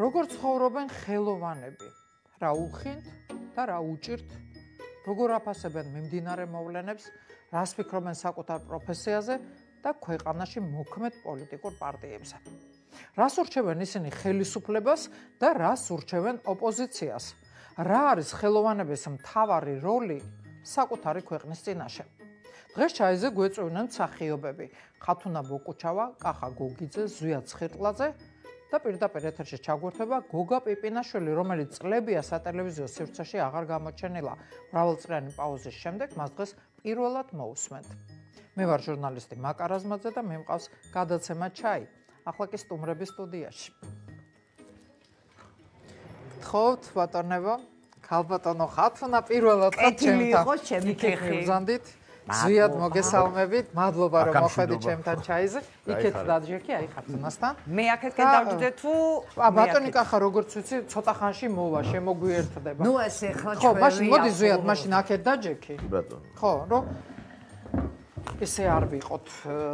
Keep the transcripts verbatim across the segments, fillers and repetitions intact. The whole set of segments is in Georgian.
როგორ ცხოვრობენ ხელოვანები, რა უხინთ და რა უჭირთ, როგორ აფასებენ მიმდინარე მოვლენებს, რას ფიქრობენ საკუთარ პროფესიაზე და ქვეყანაში მოქმედ პოლიტიკურ პარტიებზე. რას ურჩევენ ისინი ხელისუფლებას და რას ურჩევენ ოპოზიციას. რა არის ხელოვანების მთავარი როლი საკუთარი ქვეყნის წინაშე. დღეს ჩაიზე გვეწვევნენ მსახიობები ხათუნა ბოკუჩავა, კახა გოგიძე, ზვია ცხირტლაძე და პირდაპირ ეთერში ჩაგვერთვება გოგა პიპინაშვილი, რომელიც წლებია სატელევიზიო სივრცეში აღარ გამოჩენილა. მრავალწლიანი პაუზის შემდეგ მას დღეს პირველად მოусმენთ. მე ვარ ჟურნალისტი მაკა რაზმაძე და მე მყავს გადაცემა ჩაი. ახლა კი სტუმრების სტუდიაში. გთხოვთ ბატონებო, ქალბატონო ხათუნა პირველად კეთილი იყო ჩემი ხეხი. მზანდით. ზვიად მოგესალმებით, მადლობა რომ მოხვედით ჩემთან ჩაიზე. იქეთ დაჯექი, აი ხათუნასთან. მე აქეთკენ დავჯდე თუ ბატონი კახა როგორც ვიცი, ცოტა ხანში მოვა, შემოგვიერთდება. ნუ ესე ხო ხო, მაშინ მოდი ზვიად, მაშინ აქეთ დაჯექი. ბატონო. ხო, რომ ესე არ ვიყოთ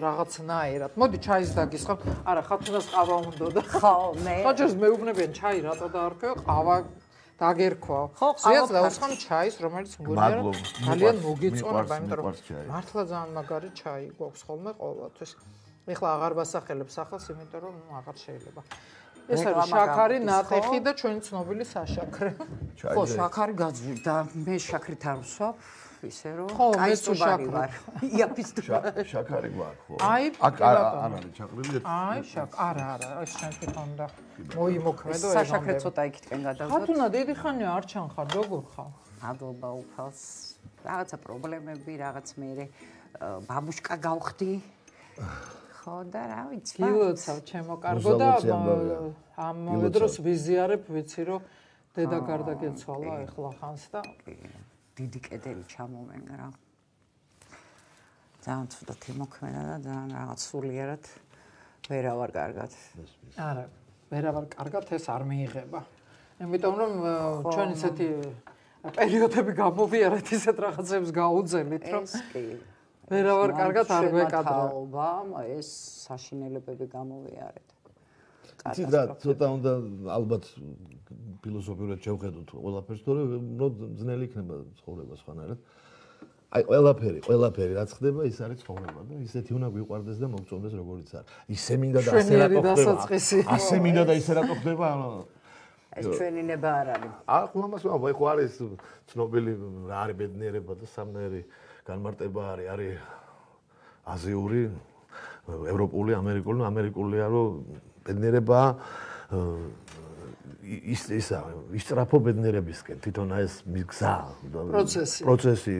რაღაცნაირად. მოდი ჩაის დაგისხავთ. არა, ხათუნას ყავა უნდოდა. ხო, მე. ხოჯერს მეუბნებიან ჩაი რატო დაარქვია, ყავა დაგერქვა. ზვიად დავუსხამ ჩაის, რომელიც მგონია ძალიან მოგეწონება, იმიტომ რომ მართლა ძალიან მაგარი ჩაი გვაქვს ხოლმე ყოველთვის. ეხლა აღარ ვასახელებ სახელს, იმიტომ რომ ნუ აღარ შეიძლება. ეს არის შაქარი, ნატეხი და ჩვენი ცნობილი საშაქრე. ხო, შაქარი გაძვირდა. მე შაქრით არ ვსვამ. ისე რომ კაი სუბარი ვარ. იაფის შაქარი გვაქვს ხო? აი, აქ არ არის ჩაყრილი. აი, შაქ, არა, არა, ეს ჩვენ თვითონ და მოიმოქმედო ეს. საშაქრე ცოტა იქითკენ გადავდოთ. ხათუნა დიდი ხანია არ ჩანხარ, როგორ ხარ? მადლობა უფალს. რაღაცა პრობლემები, რაღაც მე ბაბუშკა გავხდი. ხო და რა ვიცი. გილოცავ ჩემო კარგო და ამ დროს ვიზიარებ, ვიცი რომ დედა გარდა გეცვალა ეხლა ხანს და დიდი კედელი ჩამომენ რა. ძალიან ცუდად იმოქმედა და ძალიან რაღაც სულიერად ვერავარ კარგად. არა, ვერავარ კარგად ეს არ მიიღება. იმიტომ რომ ჩვენ ისეთი პერიოდები გამოვიარეთ, ისეთ რაღაცებს გაუძელით, რომ ეს კი ვერავარ კარგად არ ვეკადრა. ეს საშინელებები გამოვიარეთ. იცით რა, ცოტა უნდა ალბათ ფილოსოფიურად შევხედოთ ყველაფერს, თორემ ძნელი იქნება ცხოვრება სხვანაირად. აი ყველაფერი, ყველაფერი რაც ხდება, ის არის ცხოვრება და ისეთი უნდა გვიყვარდეს და მოგწონდეს როგორიც არის. ისე მინდა და ასე რატო ხდება? ასე მინდა და ისე რატო ხდება? ეს ჩვენი ნება არ არის. ახლა მას ვამბობ, ხო არის ცნობილი რა არის ბედნიერება და სამნაირი განმარტება არის, არის აზიური, ევროპული, ამერიკული, ამერიკულია რომ ბედნიერება ის ისა ისწრაფო ბედნიერებისკენ თვითონ ეს მიგზა პროცესი პროცესი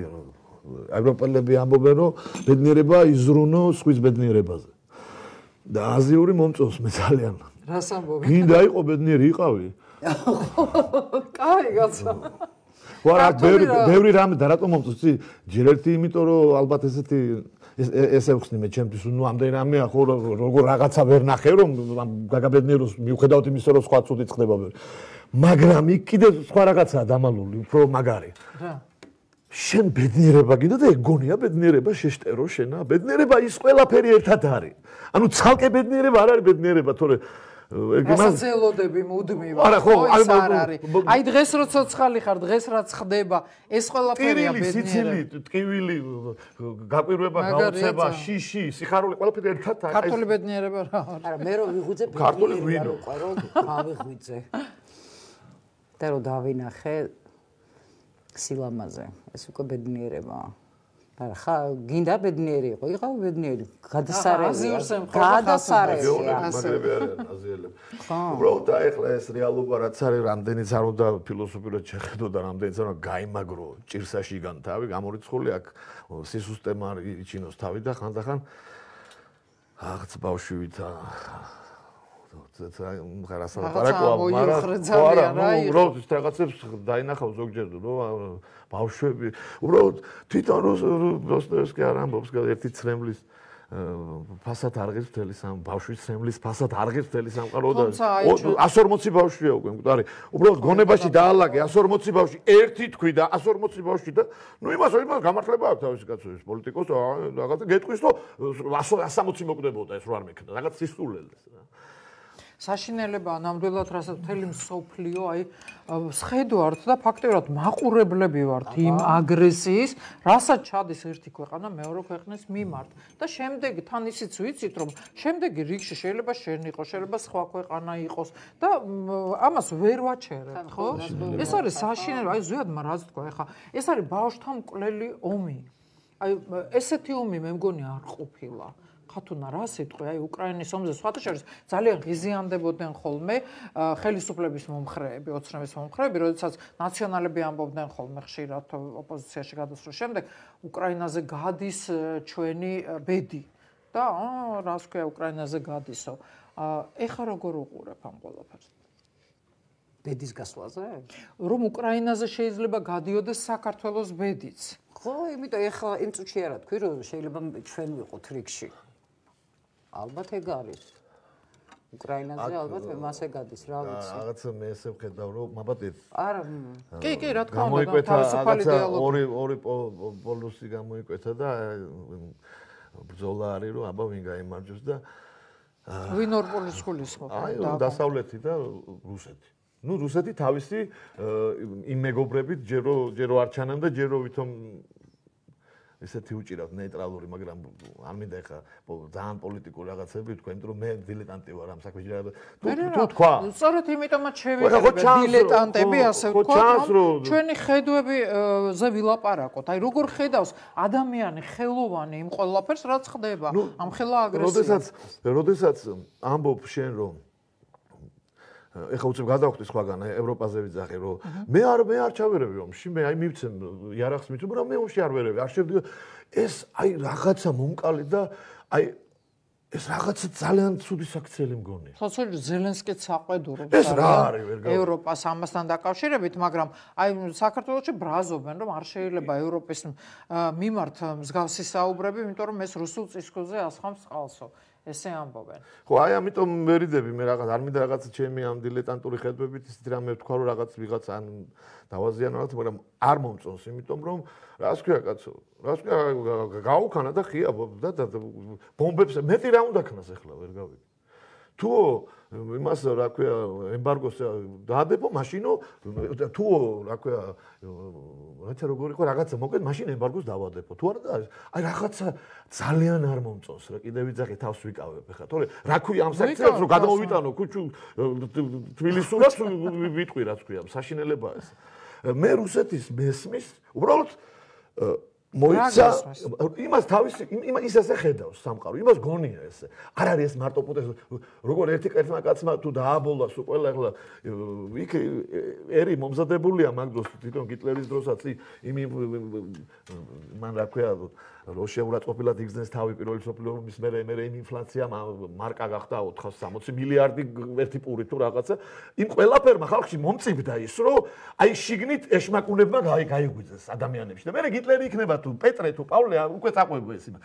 ევროპელები ამბობენ რომ ბედნიერება იზრუნო სხვის ბედნიერებაზე და აზიური მომწონს მე ძალიან რას ამბობენ გინდა იყო ბედნიერი იყავი კაი გაცა ვარა ბევრი ბევრი რამე და რატომ მომწონს ჯერ ერთი იმიტომ რომ ალბათ ესეთი ესე ვხსნი მე ჩემთვის ნუ ამდენ რამეა ხო როგორ რაღაცა ვერ ნახე რომ გაგაბედნიეროს მიუხედავად იმისა რომ სხვა ცუდით ხდება მაგრამ იქ კიდე სხვა რაღაცაა დამალული უფრო მაგარი რა შენ ბედნიერება გინდა და ეგონია ბედნიერება შეშტერო შენა ბედნიერება ის ყველაფერი ერთად არის ანუ ცალკე ბედნიერება არ არის ბედნიერება თორე რასაც ელოდები მუდმივად ხო ის არ არის აი დღეს რო ცოცხალი ხარ დღეს რაც ხდება ეს ყველაფერია ბედნიერება ტკივილი გაკვირვება გაოცება შიში სიხარული ყველაფერი ერთად არის ქართული ბედნიერება რა არის არა მე რო ვიღვიძე ბედნიერება რო ყვარო გავიღვიძე და რო დავინახე სილამაზე ეს უკვე ბედნიერებაა არა ხა გინდა ბედნიერი იყო იყავ ბედნიერი გადასარევია გადასარევია მაგრები არიან აზიელები უბრალოდ ეხლა ეს რეალობა რაც არის რამდენიც არ უნდა ფილოსოფიურად შეხედო და რამდენიც არ უნდა გაიმაგრო ჭირსაში გან თავი გამორიცხული აქ სისუსტემა იჩინოს თავი და ხანდახან რაღაც ბავშვითა რაღაცა მოიხრეძავია რა უბრალოდ ის რაღაცებს დაინახავ ზოგჯერ რომ ბავშვები უბრალოდ თვითონ როსტევსკი არ ამბობს ერთი ცრემლის ფასად არღებს მთელი სამ ბავშვის ცრემლის ფასად არღებს მთელი სამყარო და εκατს ორმოცი ბავშვია უკვე მკვდარი უბრალოდ გონებაში დაალაგე εκατს ორმოცი ბავშვი ერთი თქვი და εκατს ორმოცი ბავშვი და ნუ იმას იმას გამართლება აქვს თავისი კაცოების პოლიტიკოს რაღაცა გეტყვის რომ εκατს სამოცი მოკვდებოდა ეს რო არ მექნა რაღაც სისულელეს რა საშინელებაა ნამდვილად რასაც მთელი მსოფლიო აი სხედვართ და ფაქტიურად მაყურებლები ვართ იმ აგრესიის, რასაც ჩადის ერთი ქვეყანა მეორე ქვეყნის მიმართ და შემდეგ თან ისიც ვიცით რომ შემდეგი რიგში შეიძლება შენ იყოს, შეიძლება სხვა ქვეყანა იყოს და ამას ვერ ვაჩერებთ, ხო? ეს არის საშინელება, აი ზუსტად რაც თქვა, ეხლა ეს არის ბავშვთა მკვლელი ომი. აი ესეთი ომი მე მგონი არ ყოფილა. ხათუნა რა სიტყვი, აი უკრაინის ომზე სხვათა შორის ძალიან ღიზიანდებოდნენ ხოლმე ხელისუფლების მომხრეები, ოცნების მომხრეები, როდესაც ნაციონალები ამბობდნენ ხოლმე ხშირად ოპოზიციაში გადასვლის შემდეგ, უკრაინაზე გადის ჩვენი ბედი და აა რას ქვია უკრაინაზე გადისო. ეხა როგორ უყურებ ამ ყველაფერს? ბედის გასვლაზე? რომ უკრაინაზე შეიძლება გადიოდეს საქართველოს ბედიც. ხო, იმიტომ ეხლა იმ წუთში არა თქვი, რომ შეიძლება ჩვენ ვიყოთ რიგში. ალბათ ეგ არის. უკრაინაზე ალბათ მე მასე გადის, რა ვიცი. რაღაცა მე ესე ვხედავ, რომ მაბატეთ. არა. კი, კი, რა თქმა უნდა, თავისუფალი დიალოგი. ორი ორი პოლუსი გამოიკვეთა და ბრძოლა არის, რომ აბა ვინ გაიმარჯვებს და ვინ ორ პოლუსს გულისხმობს? აი, დასავლეთი და რუსეთი. ნუ რუსეთი თავისი იმ მეგობრებით ჯერო ჯერო არ ჩანან და ჯერო ვითომ ესეთი უჭირავთ ნეიტრალური, მაგრამ არ მინდა ეხა ძალიან პოლიტიკურ რაღაცები თქვენ, რომ მე დილეტანტი ვარ ამ საქმეში. თუ თქვა. სწორედ იმიტომაც შევიხედე დილეტანტები, ასე ვთქვათ, რომ ჩვენი ხედვებზე ვილაპარაკოთ. აი როგორ ხედავს ადამიანი ხელოვანი იმ ყველაფერს, რაც ხდება ამ ხელა აგრესიას. როდესაც როდესაც ამბობ შენ რომ ეხლა უცებ გადავხდი სხვაგან ევროპაზე ვიძახი რომ მე არ მე არ ჩავერევი ომში მე აი მივცემ იარაღს მითუმ მაგრამ მე ომში არ ვერევი არ შევდი ეს აი რაღაცა მომკალი და აი ეს რაღაცა ძალიან ცუდი საქციელი მგონია ხო ხო ზელენსკიც საყვედურობს ეს რა არის ვერ გავიგე ევროპას ამასთან დაკავშირებით მაგრამ აი საქართველოში ბრაზობენ რომ არ შეიძლება ევროპის მიმართ მსგავსი საუბრები იმიტომ რომ ეს რუსულ წისქვილზე ასხამს წყალსო ესე ამბობენ. ხო, აი ამიტომ მერიდები მე რაღაც არ მინდა რაღაც ჩემი ამ დილეტანტური ხედვებით ისეთ რამე ვთქვა რომ რაღაც ვიღაც ან დავაზიანოთ, მაგრამ არ მომწონს, იმიტომ რომ რას ქვია კაცო? რას ქვია გაუქანა და ხია და ბომბებს მეტი რა უნდა ქნას ახლა ვერ გავიგე. თუ იმას რა ქვია ემბარგოს დაადებო მაშინო თუ რა ქვია რაცა როგორ იყო რაღაცა მოკეთ მაშინ ემბარგოს დავადებო თუ არა და აი რაღაცა ძალიან არ მომწონს რა კიდე ვიძახი თავს ვიკავებ ხა თორე რა ქვია ამ საქციელს რომ გადმოვიტანო ქუჩუ თბილისურად ვიტყვი რაც ქვია საშინელებაა ეს მე რუსეთის მესმის უბრალოდ მოიცა იმას თავისი იმას ისე ხედავს სამყარო იმას გონია ესე არ არის ეს მარტო პოტენციალი როგორ ერთი კეთმა კაცმა თუ დააბოლა სულ ყველა ახლა იქ ერი მომზადებულია მაგ დროს თვითონ გიტლერის დროსაც იმ მან რა ქვია რუსულად ყოფილად იგზნეს თავი პირველი მსოფლიო ომის მერე მერე იმ ინფლაცია მარკა გახდა ოთხას სამოცი მილიარდი ერთი პური თუ რაღაცა იმ ყველაფერმა ხალხში მომწიფდა ის რომ აი შიგნით ეშმაკუნებმა გაიგვიძეს ადამიანებში და მერე გიტლერი იქნება თუ პეტრე თუ პავლე უკვე წაყვება ეს იმას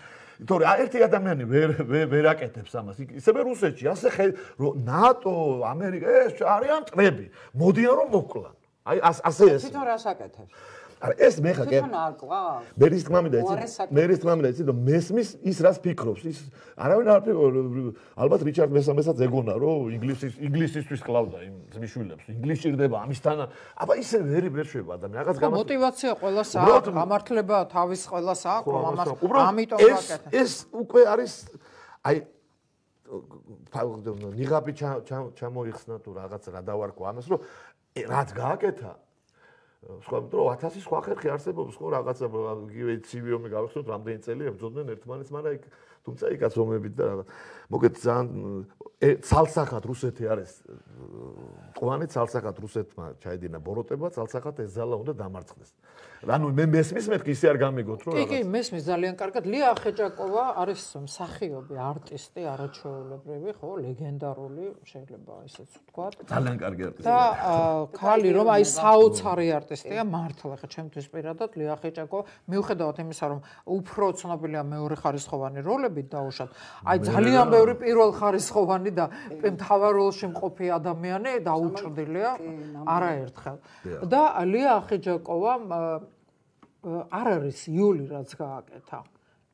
თორე ერთი ადამიანი ვერ ვერ აკეთებს ამას ისევე რუსეთში ასე რომ ნატო ამერიკა ეს არიან წრები მოდიან რომ მოკლან აი ასე ეს თვითონ რას აკეთებს არა ეს მე ხა თვითონ არ ყავს მე რის თქმა მინდა იცი მე რის თქმა მინდა იცი რომ მესმის ის რას ფიქრობს ის არავინ არ ფიქრობს ალბათ რიჩარდ მესამესაც ეგონა რომ ინგლისის ინგლისისთვის კლავდა იმ ძმისშვილებს ინგლისი ჭირდება ამისთან აბა ისე ვერი ვერ შვება ადამიანი რაღაც გამას მოტივაცია ყველას აქვს გამართლება თავის ყველას აქვს რომ ამას ამიტომ აკეთებს ეს უკვე არის აი ნიღაბი ჩამოიხსნა თუ რაღაც რა დავარქვა ამას რომ რაც გააკეთა სხვა მეტრო ათასი სხვა ხერხი არსებობს ხო რაღაცა იგივე ცივი ომი გავხსნათ რამდენი წელი ებრძოდნენ ერთმანეთს მაგრამ იქ თუმცა იქაც ომებით და რაღაც მოგეთ ძალიან ცალსახად რუსეთი არის ყვანი ცალსახად რუსეთმა ჩაედინა ბოროტება ცალსახად ეს ზალა უნდა დამარცხდეს ანუ მე მესმის მეთქი ისე არ გამიგოთ რომ რაღაც კი კი მესმის ძალიან კარგად ლია ახეჭაკოვა არის მსახიობი არტისტი არაჩვეულებრივი ხო ლეგენდარული შეიძლება ისეც ვთქვა ძალიან კარგი არტისტი და ქალი რომ აი საოცარი არტისტია მართლა ხა ჩემთვის პირადად ლია ახეჭაკოვა მიუხედავად იმისა რომ უფრო ცნობილია მეორე ხარისხოვანი როლებით დაუშვათ აი ძალიან ბევრი პირველ ხარისხოვანი და მთავარ როლში მყოფი ადამიანი დაუჭრდილია არაერთხელ და ლია ახეჯაკოვამ არ არის იული რაც გააკეთა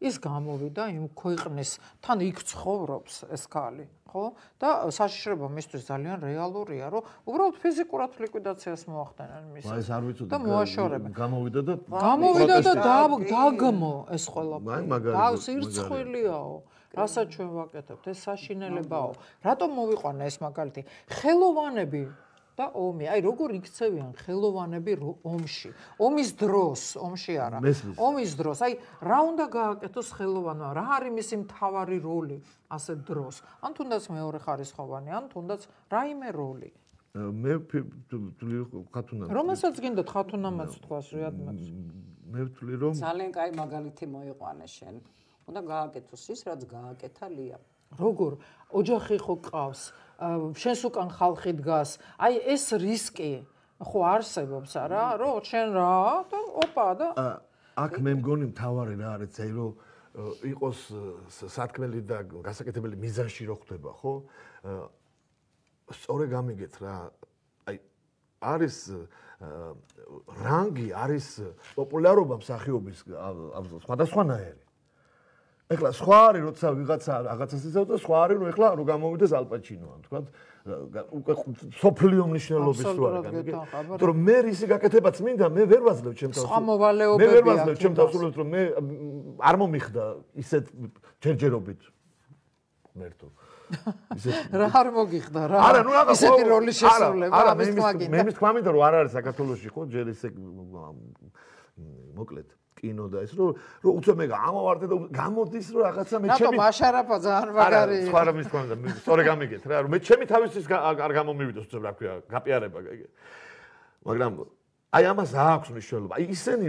ის გამოვიდა იმ ქვეყნის თან იქ ცხოვრობს ეს ქალი, ხო? და საშიშრება მისთვის ძალიან რეალურია, რომ უბრალოდ ფიზიკურად ლიკვიდაციას მოახდენენ მის. აი ეს არ ვიცოდი. და მოაშორებენ. გამოვიდა და გამოვიდა და დაგმო ეს ყველაფერი. აი მაგარი. და სირცხვილიაო. რასაც ჩვენ ვაკეთებთ, ეს საშინელებაო. რატომ მოვიყვანა ეს მაგალითი? ხელოვანები და ომი. აი როგორ იქცევიან ხელოვანები ომში. ომის დროს, ომში არა. ომის დროს. აი რა უნდა გააკეთოს ხელოვანმა? რა არის მისი მთავარი როლი ასეთ დროს? ან თუნდაც მეორე ხარისხოვანი, ან თუნდაც რაიმე როლი. მე ვთვლი ხათუნა. რომელსაც გინდათ ხათუნამაც თქვას რეადმაც. მე ვთვლი რომ ძალიან კაი მაგალითი მოიყვანე შენ. უნდა გააკეთოს ის, რაც გააკეთა ლია. როგორ? ოჯახი ხო ყავს? შენს უკან ხალხი დგას. აი ეს რისკი ხო არსებობს არა? რომ შენ რა და ოპა და აქ მე მგონი მთავარი რა არის ძე რომ იყოს სათქმელი და გასაკეთებელი მიზანში რო ხდება, ხო? სწორე გამიგეთ რა. აი არის რანგი, არის პოპულარობა მსახიობის სხვადასხვანაირი. ეხლა სხვა არის როცა ვიღაცა რაღაცას იცავ და სხვა არის რომ ეხლა რო გამოვიდეს ალპაჩინოა თქვა უკვე სოფლიო მნიშვნელობის რო არის გამიგე იმიტომ რომ მე რისი გაკეთებაც მინდა მე ვერ ვაძლევ ჩემ თავს სხვა მოვალეობებია მე ვერ ვაძლევ ჩემ თავს რომ მე არ მომიხდა ისეთ ჯერჯერობით მერტო რა არ მოგიხდა რა არა ნუ რაღაც ისეთი როლის შესრულება არა მე მე მის თქვა მინდა რომ არ არის საქართველოში ხო ჯერ ისე მოკლედ კინო და ეს რომ რომ უცებ მე გამოვარდე და გამოდის რომ რაღაცა მე ჩემი რატომ აშარაფა ძალიან მაგარი არა სხვა რამის თქვა მინდა სწორი გამიგეთ რა რომ მე ჩემი თავისთვის არ გამომივიდოს უცებ რა ქვია გაპიარება მაგრამ აი ამას აქვს მნიშვნელობა აი ისენი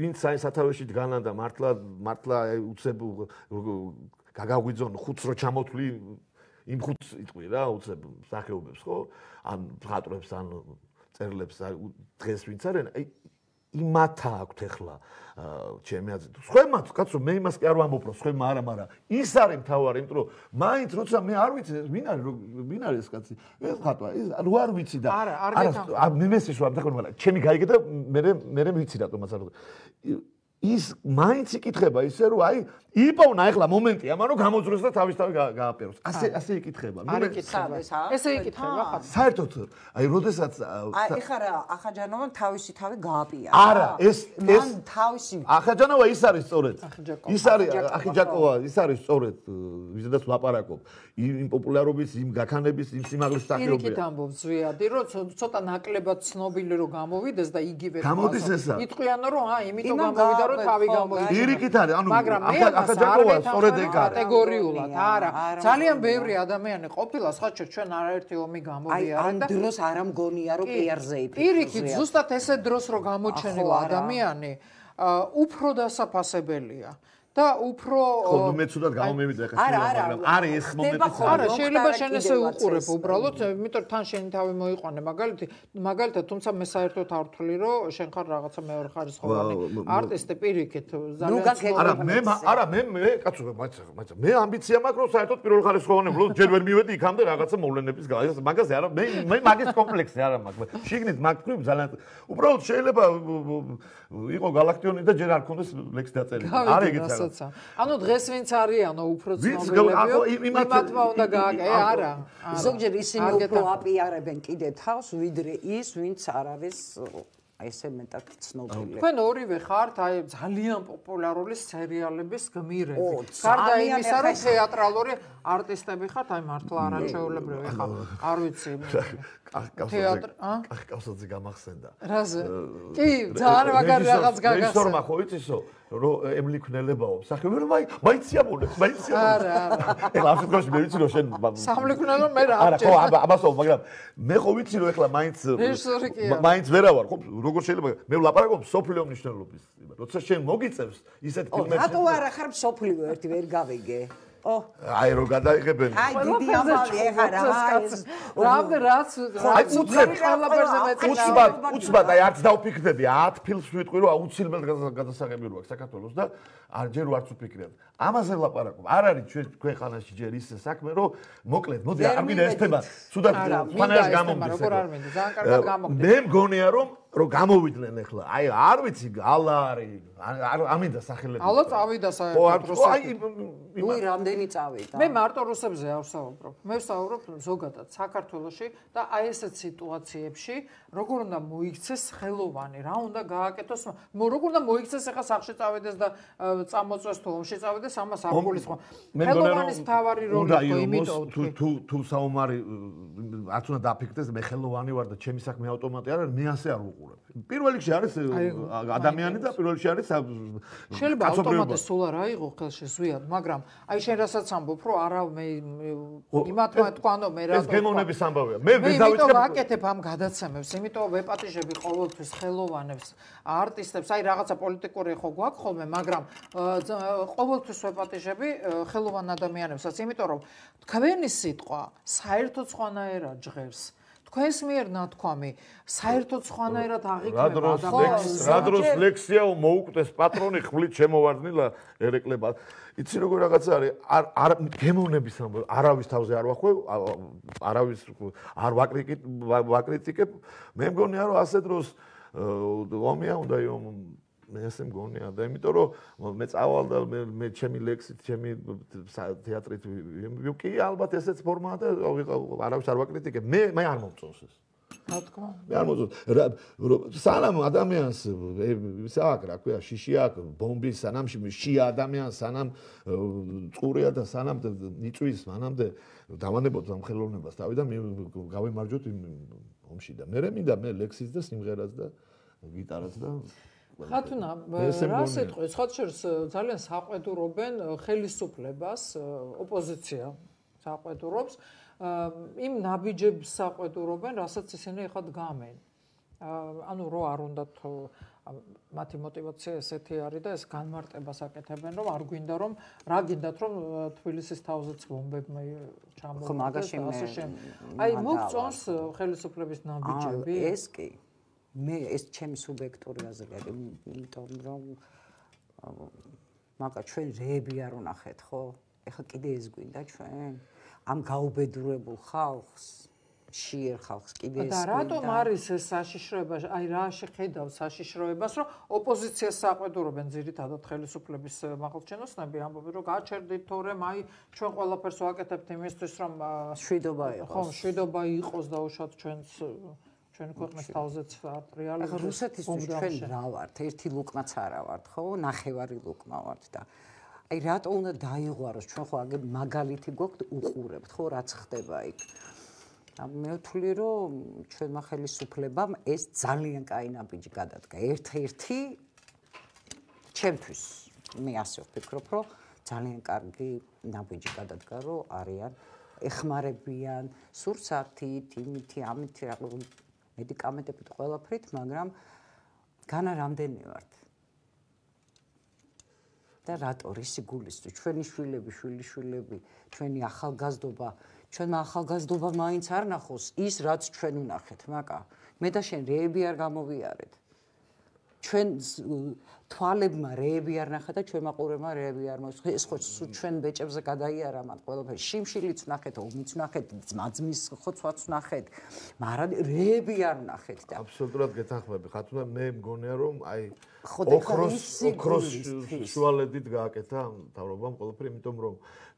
ვინც აი სათავეში დგანან და მართლა მართლა უცებ გაგაგვიძონ ხუთს რო ჩამოთვლი იმ ხუთს იტყვი რა უცებ სახეობებს ხო ან მხატვრებს ან წერლებს დღეს ვინც არიან აი იმათა აქვთ ახლა ჩემი აზრით სხვემაც კაცო მე იმას კი არ ვამბობ რომ სხვემა არა მაგრამ ის არის მთავარი იმიტომ რომ მაინც როცა მე არ ვიცი ვინ არის ვინ არის ეს კაცი ეს ხატვა ეს ნუ არ ვიცი და არა არა მე მესის ვარ დახო მაგრამ ჩემი გაიგე და მე მე ვიცი რატომაც არ ის მაინც იკითხება ისე რომ აი იპოვნა ახლა მომენტი ამან რომ გამოძროს და თავისთავად გააპეროს ასე ასე იკითხება არ იკითხება ესე იკითხება ხა საერთოდ აი როდესაც აი ეხლა რა ახაჯანოვან თავისი თავი გააპია არა ეს ეს თავისი ახაჯანოვა ის არის სწორედ ის არის ახიჯაკოვა ის არის სწორედ ვიზედაც ვლაპარაკობ იმ პოპულარობის იმ გაქანების იმ სიმაღლის სახეობია იქით ამბობს ზვიადი რომ ცოტა ნაკლებად ცნობილი რომ გამოვიდეს და იგივე გამოდის ესა იტყვიანო რომ აი იმიტომ გამოვიდა რომ თავი გამოვიდა პირიქით არის ანუ ახაჯაკოვა სწორედ ეგ არის კატეგორიულად არა ძალიან ბევრი ადამიანი ყოფილა სხვაჩო ჩვენ არაერთი ომი გამოვიარა და ამ დროს არ ამგონია რომ პიარზე იფიქრებს პირიქით ზუსტად ესე დროს რო გამოჩენილ ადამიანი უფრო დასაფასებელია და უფრო ხო ნუ მე ცუდად გამომივიდა ახლა მაგრამ არის ეს მომენტი არა შეიძლება შენ ესე უყურებ უბრალოდ იმიტომ რომ თან შენი თავი მოიყვანე მაგალითი მაგალითად თუმცა მე საერთოდ არ ვთვლი რომ შენ ხარ რაღაცა მეორე ხარისხოვანი არტისტი პირიქით ძალიან არა მე არა მე მე კაცო მაცა მაცა მე ამბიცია მაქვს რომ საერთოდ პირველ ხარისხოვანი ვარ ჯერ ვერ მივედი იქამდე რაღაცა მოვლენების მაგაზე არა მე მე მაგის კომპლექსი არა მაქვს შიგნით მაგ თქვი ძალიან უბრალოდ შეიძლება იყო galaktioni და ჯერ არ ქონდეს ლექსი დაწერილი არ ეგეც არა ანუ დღეს ვინც არიანო უფრო ცნობილებიო იმათმა უნდა გააკეთე არა ზოგჯერ ისინი უფრო აპიარებენ კიდე თავს ვიდრე ის ვინც არ არის აი ესე მეტად ცნობილი თქვენ ორივე ხართ აი ძალიან პოპულარული სერიალების გმირები გარდა იმისა რომ თეატრალური არტისტები ხართ აი მართლა არაჩვეულებრივი ხარ არ ვიცი თეატრ ა კახკავსაძე გამახსენდა რაზე კი ძალიან მაგარი რაღაც გაგახსენდა რეჟისორმა ხო იცისო რომ ემლი ქნელებაო სახეობები რომ აი მაინციაბულებს მაინციაბულებს არა არა ეხლა ამ შემთხვევაში მე ვიცი რომ შენ სამლიქნელო მე რა არა ხო ამასო მაგრამ მე ხო ვიცი რომ ეხლა მაინც რეჟისორი კი მაინც ვერა ვარ ხო როგორ შეიძლება მე ვლაპარაკობ სოფლიო მნიშვნელობის როცა შენ მოგიწევს ისეთ ფილმებში რატო არა ხარ სოფლიო ერთი ვერ გავიგე ო აი რო გადაიღებენ აი დიდი ამბავი ეხა რა რამდენ რაც აი უცებ ყველაფერზე მეცი უცბად უცბად აი არც დავფიქრდები ათ ფილმს ვიტყვი რომ აუცილებლად გადასაღები რო აქვს საქართველოს და არ ჯერ ვარც ვფიქრებ ამაზე ვლაპარაკობ არ არის ჩვენ ქვეყანაში ჯერ ისე საქმე რომ მოკლედ მოდი არ მინდა ეს თემა თუდად ფანას გამომდის როგორ არ მინდა ძალიან კარგად გამოგდი მე მგონია რომ რომ გამოვიდნენ ახლა. აი არ ვიცი ალა არის არ ამინდა სახელები. ალა წავიდა ხო არ საერთოდ აი ნუ რამდენი წავიდა. მე მარტო რუსებზე არ ვსაუბრობ. მე ვსაუბრობ ზოგადად საქართველოში და აი ესეთ სიტუაციებში როგორ უნდა მოიქცეს ხელოვანი, რა უნდა გააკეთოს, როგორ უნდა მოიქცეს ახლა სახში წავიდეს და წამოწვეს თუ ომში წავიდეს, ამას არ გულისხმობ. ხელოვანის თავარი როლი ხო იმიტომ თუ თუ თუ საომარი არც უნდა დაფიქრდეს მე ხელოვანი ვარ და ჩემი საქმე ავტომატი არ არის, მე ასე არ ვუყურებ. პირველ რიგში არის ადამიანი და პირველ რიგში არის შეიძლება ავტომატი სულ არ აიღო ხელში ზვიად, მაგრამ აი შენ რასაც ამბობ, რომ არა მე იმათმა თქვანო მე რა ეს გემოვნების ამბავია. მე მე დავიწყებ ვაკეთებ ამ გადაცემებს, იმიტომ ვეპატიჟები ყოველთვის ხელოვანებს, არტისტებს, აი რაღაცა პოლიტიკური ხო გვაქვს ხოლმე, მაგრამ ყოველთვის ვეპატიჟები ხელოვან ადამიანებსაც, იმიტომ რომ თქვენი სიტყვა საერთოდ სხვანაირად ჟღერს. თქვენს მიერ ნათქვამი საერთოდ სხვანაირად აღიქმება ადამიანს. რა დროს ლექსია მოუკვდეს პატრონი ხვლით შემოვარდნილა ერეკლება. იცი როგორ რაღაცა არის არ გემოვნების ამბავი არავის თავზე არ ვახვევ, არავის არ ვაკრიტიკებ, ვაკრიტიკებ. მე მგონია რომ ასე დროს ომია უნდა იო მე ასე მგონია და იმიტომ რომ მე წავალ და მე ჩემი ლექსით, ჩემი თეატრით ვიკი ალბათ ესეც ფორმაა და არავის არ ვაკრიტიკებ. მე მე არ მომწონს ეს. რა თქმა მე არ მომწონს. სანამ ადამიანს ის აქ რა ქვია, შიში აქ, ბომბი სანამ შია ადამიანს, სანამ წყურია და სანამ იწვის, მანამდე დავანებოთ ამ ხელოვნებას თავი და მე გავემარჯვოთ იმ ომში და მე მინდა მე ლექსიც და სიმღერაც და გიტარაც და ხათუნა, რა სიტყვის, ხათშერს ძალიან საყვედურობენ ხელისუფლებას, ოპოზიცია საყვედურობს, იმ ნაბიჯებს საყვედურობენ, რასაც ისინი ახლა დგამენ. ანუ რო არ უნდათ მათი мотиваცია ესეთი არის და ეს განმარტებას აკეთებენ, რომ არ გვინდა რომ რა გინდათ რომ თბილისის თავზეც ბომბები ჩამოვიდეს და ასე შემდეგ. აი მოგწონს ხელისუფლების ნაბიჯები? ეს კი მე ეს ჩემი სუბიექტური აზრია, იმიტომ რომ მაგა ჩვენ რეები არ ვნახეთ, ხო? ეხლა კიდე ეს გვინდა ჩვენ? ამ გაუბედურებულ ხალხს, შიერ ხალხს კიდე ეს და რატომ არის ეს საშიშროება? აი რა შეხედავს საშიშროებას, რომ ოპოზიციას საყვედურობენ ძირითადად ხელისუფლების მაღალჩინოსნები, ამბობენ რომ გაჩერდით თორემ აი ჩვენ ყველაფერს ვაკეთებთ იმისთვის რომ შვიდობა იყოს. ხო, შვიდობა იყოს და უშოთ ჩვენს ჩვენ ქვეყნის თავზეც რეალურად ახლა რუსეთისთვის ჩვენ რა ვართ? ერთი ლუკმაც არა ვართ, ხო? ნახევარი ლუკმა ვართ და აი რატო უნდა დაიღვაროს? ჩვენ ხო აგერ მაგალითი გვაქვს უყურებთ, ხო, რაც ხდება იქ. მე ვთვლი რომ ჩვენმა ხელისუფლებამ ეს ძალიან კაი ნაბიჯი გადადგა. ერთ-ერთი ჩემთვის მე ასე ვფიქრობ, რომ ძალიან კარგი ნაბიჯი გადადგა, რომ არიან ეხმარებიან სურსათით, იმითი, ამითი მედიკამენტებით ყველაფრით, მაგრამ განა რამდენი ვართ? და რატო რისი გულისთვის ჩვენი შვილები, შვილიშვილები, ჩვენი ახალგაზრდობა, ჩვენმა ახალგაზრდობა მაინც არ ნახოს ის, რაც ჩვენ ვნახეთ, მაკა. მე და შენ რეები არ გამოვიარეთ. ჩვენ თვალებმა რეები არ ნახა და ჩვენმა ყურებმა რეები არ მოსხდა. ეს ხო ჩვენ ბეჭებზე გადაიარა მათ ყველაფერი. შიმშილიც ვნახეთ, ომიც ვნახეთ, ძმაძმის ხოცვაც ვნახეთ, მაგრამ რეები არ ვნახეთ და აბსოლუტურად გეთანხმები. ხათუნა მე მგონია რომ აი ოქროს ოქროს შუალედით გააკეთა მთავრობამ ყველაფერი, იმიტომ რომ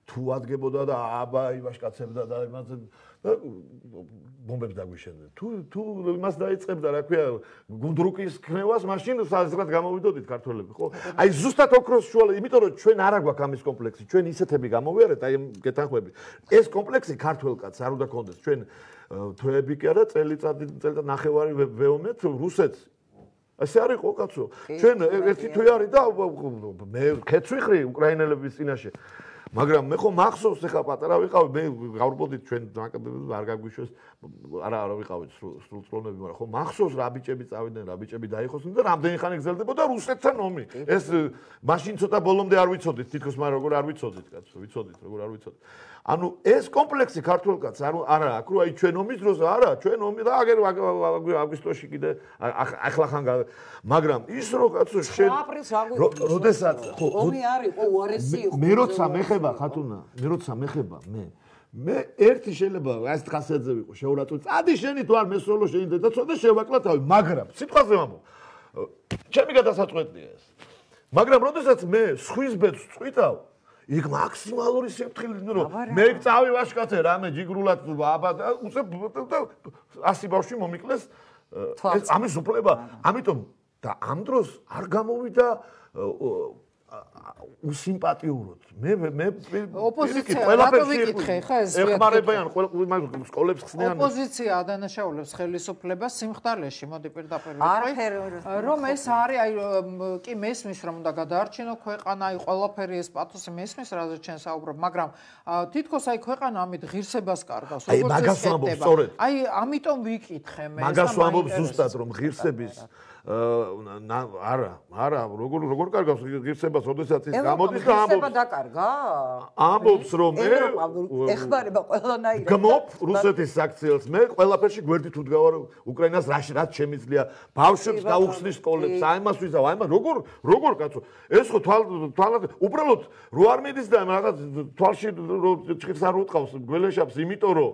თუ ადგებოდა და აბა იბაშკაცებდა და იმას და ბომბებს დაგვიშენდნენ. თუ თუ იმას დაიწყებდა, რა ქვია, გუნდრუკის ქნევას, მაშინ საზღვრად გამოვიდოდით ქართველები, ხო? აი ზუსტად ოქროს შუალედი, იმიტომ რომ ჩვენ არ აგვაქვს ამის კომპლექსი, ჩვენ ისეთები გამოვიარეთ, აი გეთანხმები. ეს კომპლექსი ქართველ კაცს არ უნდა კონდეს. ჩვენ თვეები კი არა, წელიწადი წელიწად ნახევარი ვეომეთ რუსეთს. ასე არის ხო კაცო? ჩვენ ერთი თვე არის და მე ქეცვიხრი უკრაინელების წინაშე. მაგრამ მე ხო მახსოვს ახლა პატარა ვიყავი, მე გავრბოდით ჩვენ არ გაგვიშვეს, არა არა ვიყავით სრულწლოვნები, მაგრამ ხო მახსოვს რა ბიჭები წავიდნენ, რა ბიჭები დაიხოსნენ და რამდენი ხანი გრძელდებოდა რუსეთთან ომი. ეს მაშინ ცოტა ბოლომდე არ ვიცოდით, თითქოს მაგრამ როგორ არ ვიცოდით, კაცო, ვიცოდით, როგორ არ ვიცოდით. ანუ ეს კომპლექსი ქართულ კაცს არა აქ რო აი ჩვენ ომის დროს არა, ჩვენ ომი და აგერ აგვისტოში კიდე ახლა ხან მაგრამ ის რო კაცო შენ როდესაც ომი არ იყო უარესი იყო. მე როცა მეხება ხათუნა, მე როცა მეხება მე მე ერთი შეიძლება ეს ხასიათზე ვიყო შეურაცხყოფ. წადი შენი თუ არ მე სოლო შენი და ცოტა შევაკლა თავი, მაგრამ სიტყვაზე ვამბობ. ჩემი გადასაწყვეტია ეს. მაგრამ როდესაც მე სხვის ბედს წვითავ, იქ მაქსიმალური სიფრთხილე ნუ მე წავი ვაშკაცე რამე ჯიგრულად აბა უცებ ასი ბავშვი მომიკლეს ამის უფლება. ამიტომ და ამ დროს არ გამოვიდა უსიმპათიურად. მე მე ოპოზიცია რატო ვიკითხე ხა ეს ეხმარებიან ყველა სკოლებს ხსნიან. ოპოზიცია ადანაშაულებს ხელისუფლებას სიმხდალეში, მოდი პირდაპირ ვიტყვი. რომ ეს არის აი კი მესმის რომ უნდა გადაარჩინო ქვეყანა, აი ყველაფერი ეს პათოსი მესმის რაზეც ჩვენ საუბრობ, მაგრამ თითქოს აი ქვეყანა ამით ღირსებას კარგავს, როგორც ეს. აი ამიტომ ვიკითხე მე. მაგას ვამბობ ზუსტად რომ ღირსების არა, არა, როგორ როგორ კარგავს ღირსებას, როდესაც ის გამოდის და ამბობს. ღირსება დაკარგა? ამბობს რომ მე ეხმარება ყველანაირად. გმობ რუსეთის საქციელს, მე ყველაფერში გვერდით უდგავარ უკრაინას რაში რაც შემიძლია, ბავშვებს გაუხსნის სკოლებს, აი მას ვიზავ, აი მას როგორ როგორ კაცო. ეს ხო თვალ თვალად უბრალოდ რო არ მიდის და რაღაც თვალში ჭირს არ უტყავს გველეშაპს, იმიტომ რომ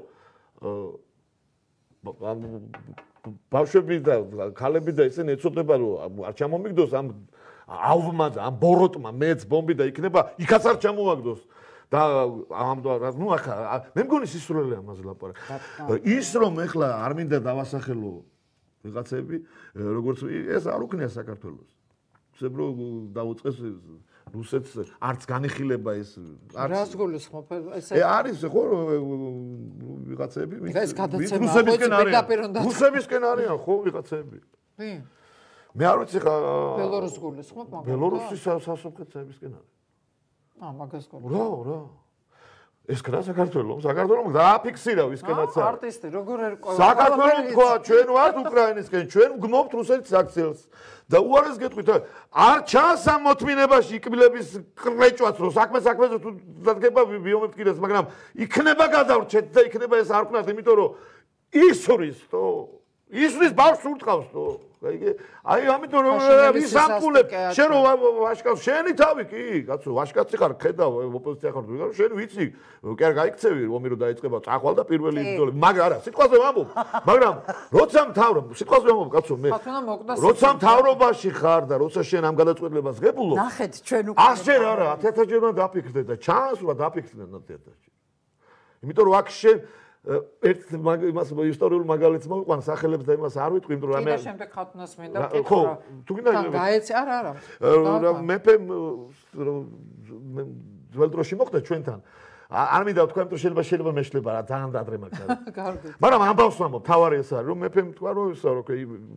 ბავშვები და ქალები და ისინი ეცოდება რომ არ ჩამომიგდოს ამ ავმა და ამ ბოროტმა მეც ბომბი და იქნება იქაც არ ჩამოვაგდოს და ამ ნუ ახლა მე მგონი სისულელე ამაზე ლაპარაკი. ის რომ ეხლა არ მინდა დავასახელო ვიღაცები როგორც ეს არ უქნია საქართველოს. ისე რომ დაუწყეს რუსეთს არც განიხილება ეს რას გულისხმობ ესე არის ხო ვიღაცები ეს გადაცემა რუსებისკენ რუსებისკენ არიან ხო ვიღაცები კი მე არ ვიცი ხა ბელორუს გულისხმობ მაგრამ ბელორუსის სასოფლო-სამეურნეობისკენ არის აა მაგას გულისხმობ რა რა ეს კრა საქართველოს საქართველოს დააფიქსირა ვისკენაც არის არტისტი როგორ ერკვევა საქართველოს თქვა ჩვენ ვართ უკრაინისკენ ჩვენ გმობთ რუსეთის საქციელს და უარეს გეტყვით არ ჩანს ამ მოთმინებაში იკბილების კრეჭვაც რომ საქმე საქმეზე თუ დადგება ბიომეფკირეს მაგრამ იქნება გადავრჩეთ და იქნება ეს არ ვქნათ იმიტომ რომ ისურის თო ისურის ბავშვს ურტყავს თო აი ამიტომ რომ ის ამპულებ შენ რო ვაშკაც შენი თავი კი კაცო ვაშკაცი ხარ ხედავ ოპოზიცია ხარ თუ შენ ვიცი კი არ გაიქცევი ომი რო დაიწყება წახვალ და პირველი ბრძოლები მაგრამ არა სიტყვაზე ვამბობ მაგრამ როცა მთავრობ სიტყვაზე ვამბობ კაცო მე როცა მთავრობაში ხარ და როცა შენ ამ გადაწყვეტილებას ღებულობ ნახეთ ჩვენ უკვე ასჯერ არა ათი ჯერ უნდა დაფიქრდე და ჩანს რომ დაფიქრდნენ ათი ჯერ იმიტომ რომ აქ შენ ერთ იმას ისტორიულ მაგალითს მოვიყვან სახელებს და იმას არ ვიტყვი იმიტომ რომ ამე შემდეგ ხათუნას მინდა ხო თუ გინდა გაეცი არა არა მეფე ძველ დროში მოხდა ჩვენთან არ მინდა ვთქვა იმიტომ შეიძლება შეიძლება მეშლება რა ძალიან დადრე მაგალითად მაგრამ ამბავს ვამბობ თავარი ეს არის რომ მეფემ თქვა რომ ისა რომ